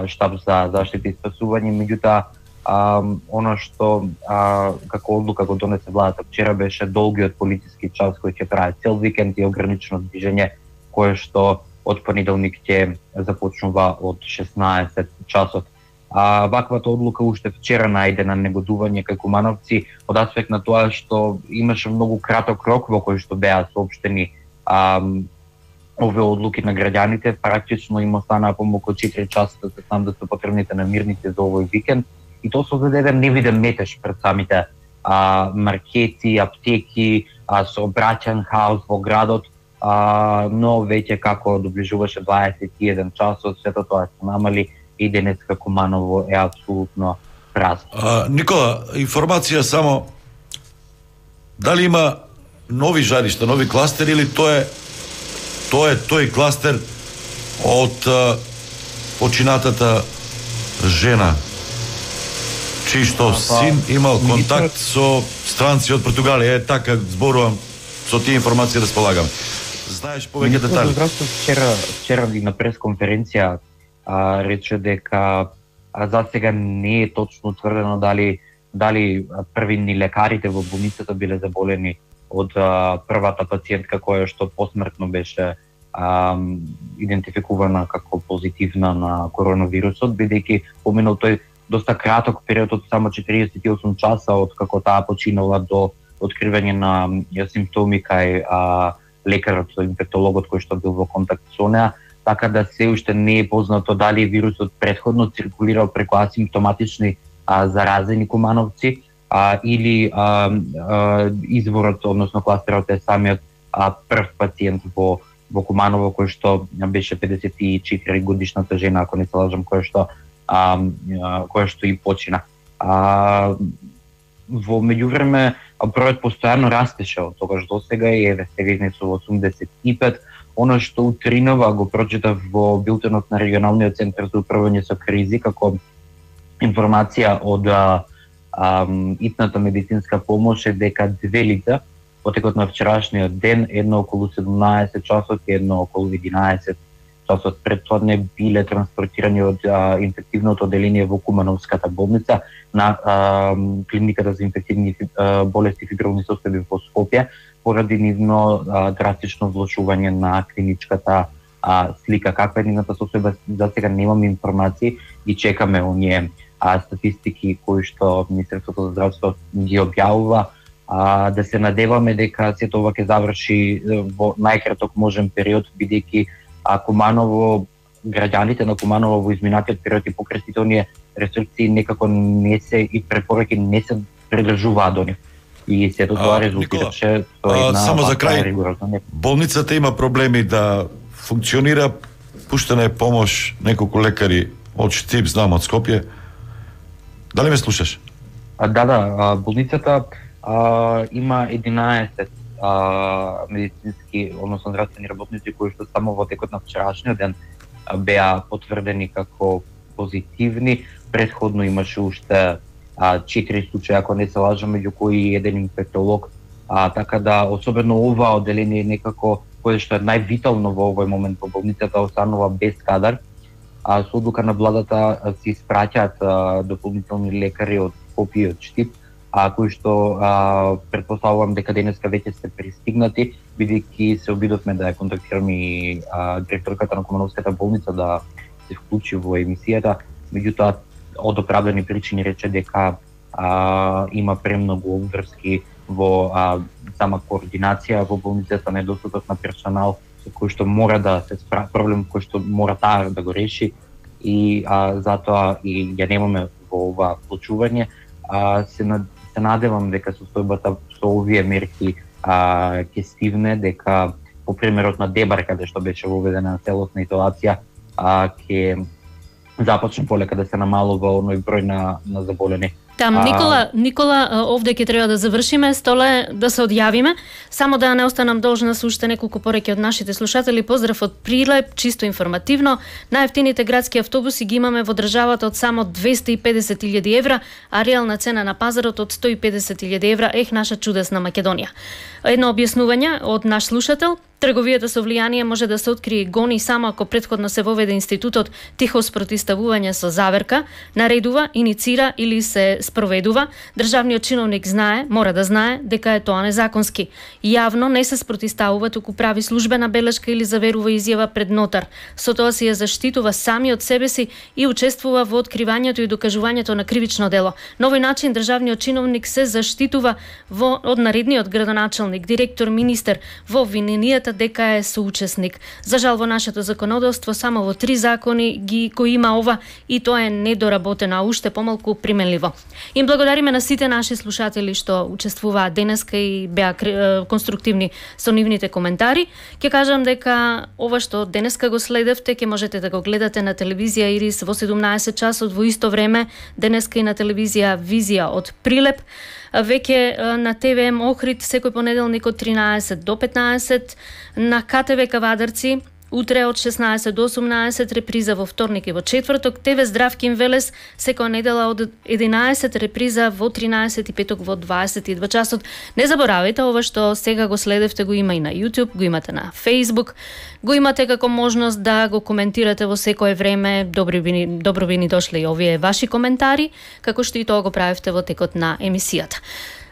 штаб за заштита и спасување, меѓутоа оно што како одлука го донесе владата вчера беше долгиот полициски час кој ќе трае цел викенд и ограничено движење кое што од понеделник ќе започнува од 16 часот. Ваквата одлука уште вчера најде на негодување кај кумановци од аспект на тоа што имаше многу краток рок во кој што беа соопштени овие одлуки на граѓаните. Практично им останаа помалку 4 часа да се снабдат со потребните намирници за овој викенд и тоа создаде еден невиден метеж пред самите маркети, аптеки, сообраќаен хаос во градот, но веќе како доближуваше 21 часот, сето тоа се намали и денеска Куманово е апсолутно празно. Никола, информација само дали има нови жаришта, нови кластери или тој кластер од починатата жена чиј што син имал контакт со странци од Португалија. Така зборувам, со тие информации располагам. Знаеш повеќе детали? Вчера на пресконференција рече дека за сега не е точно утврдено дали првини лекарите во болницата биле заболени од првата пациентка која што посмртно беше идентификувана како позитивна на коронавирусот, бидејќи поминал тој доста краток период од само 48 часа од како таа починала до откривање на симптоми кај лекарот, инфектологот кој што бил во контакт со неа, така да се уште не е познато дали вирусот претходно циркулирал преку асимптоматични заразени кумановци или изворот, односно кластерот е самиот прв пациент во Куманово кој што беше 54 годишната жена, ако не се лажам, која што и почина. Во меѓувреме бројот постојано растеше од тогаш до сега и еве сега изнесува 85. Оно што утринова го прочитав во билтенот на регионалниот центар за управување со кризи како информација од итната медицинска помош е дека 2 лица во текот на вчерашниот ден, едно околу 17 часот и едно околу 11 часот претходне биле транспортирани од инфективното оделение во Кумановската болница на клиниката за инфективни болести и фибрилни состојби во Скопје поради нивно драстично влошување на клиничката слика. Каква е нивната состојба, за сега немаме информации и чекаме оние статистики кои што Министерството за здравство ги објавува. Да се надеваме дека сето ова ќе заврши во најкраток можен период, бидејќи Куманово, граѓаните на Куманово во изминатиот период и покрај сите оние рестрикции некако не се и препораки не се придржуваат до нив. И сето тоа резултираше со една само за крај, болницата има проблеми да функционира, пуштена е помош неколку лекари од Штип, знам од Скопје. Дали ме слушаш? Болницата има 11 медицински, односно здравствени работници кои што само во текот на вчерашниот ден беа потврдени како позитивни. Претходно имаше уште 4 случаи, ако не се лажам, меѓу кои еден инфектолог. Така да, особено ова одделение некако, кое што е највитално во овој момент во болницата, останува без кадар. Со одлука на владата се испраќаат дополнителни лекари од Скопје и од Штип, кои што претпоставувам дека денеска веќе се пристигнати, бидејќи се обидовме да ја контактираме и директорката на Комановската болница да се вклучи во емисијата, меѓутоа од оправдани причини рече дека има премногу обврски во сама координација во болницата, недостаток на персонал со кој што мора да се справи, проблем кој што мора таа да го реши и затоа и ја немаме во ова вклучување. Се надевам дека состојбата со овие мерки ќе стигне, дека по примерот на Дебар, каде што беше воведена целосна изолација, ќе започне полека да се намалува оној број на заболени. Никола, овде ќе треба да завршиме, Столе, да се одјавиме. Само да не останам должна со уште неколку пореки од нашите слушатели. Поздрав од Прилеп, чисто информативно. Најефтините градски автобуси ги имаме во државата од само 250.000 евра, а реална цена на пазарот од 150.000 евра. Наша чудесна Македонија. Едно објаснување од наш слушател. Трговијата со влијание може да се открие и гони само ако претходно се воведе институтот тихо спротиставување со заверка, наредува, иницира или се спроведува. Државниот чиновник знае, мора да знае дека е тоа незаконски. Јавно не се спротиставува, туку прави службена белешка или заверува изјава пред нотар. Со тоа се ја заштитува сами од себе си и учествува во откривањето и докажувањето на кривично дело. На овој начин државниот чиновник се заштитува од наредниот градоначалник, директор, министер во обвиненијата дека е соучесник. За жал во нашето законодавство само во 3 закони кои има ова и тоа е недоработено, а уште помалку применливо. Им благодариме на сите наши слушатели што учествуваат денеска и беа конструктивни со нивните коментари. Ќе кажам дека ова што денеска го следевте ќе можете да го гледате на телевизија Ирис во 17 часот во исто време, денеска и на телевизија Визија од Прилеп. Веќе на ТВМ Охрид секој понеделник од 13 до 15, на КТВ Кавадарци утре од 16 до 18, реприза во вторник и во четврток, ТВ Здравкин Велес секоја недела од 11, реприза во 13 и петок во 22 часот. Не заборавајте, ова што сега го следевте го има и на YouTube, го имате на Facebook, го имате како можност да го коментирате во секое време. Добро би ни дошле и овие ваши коментари, како што и тоа го правевте во текот на емисијата.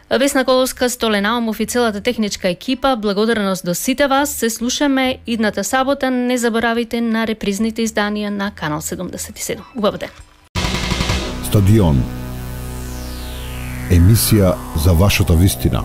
Весна Коловска, Столе Наумов и целата техничка екипа, благодарност до сите вас. Се слушаме идната сабота. Не заборавајте на репризните изданија на Канал 77. Убав ден. Стадион. Емисија за вашата вистина.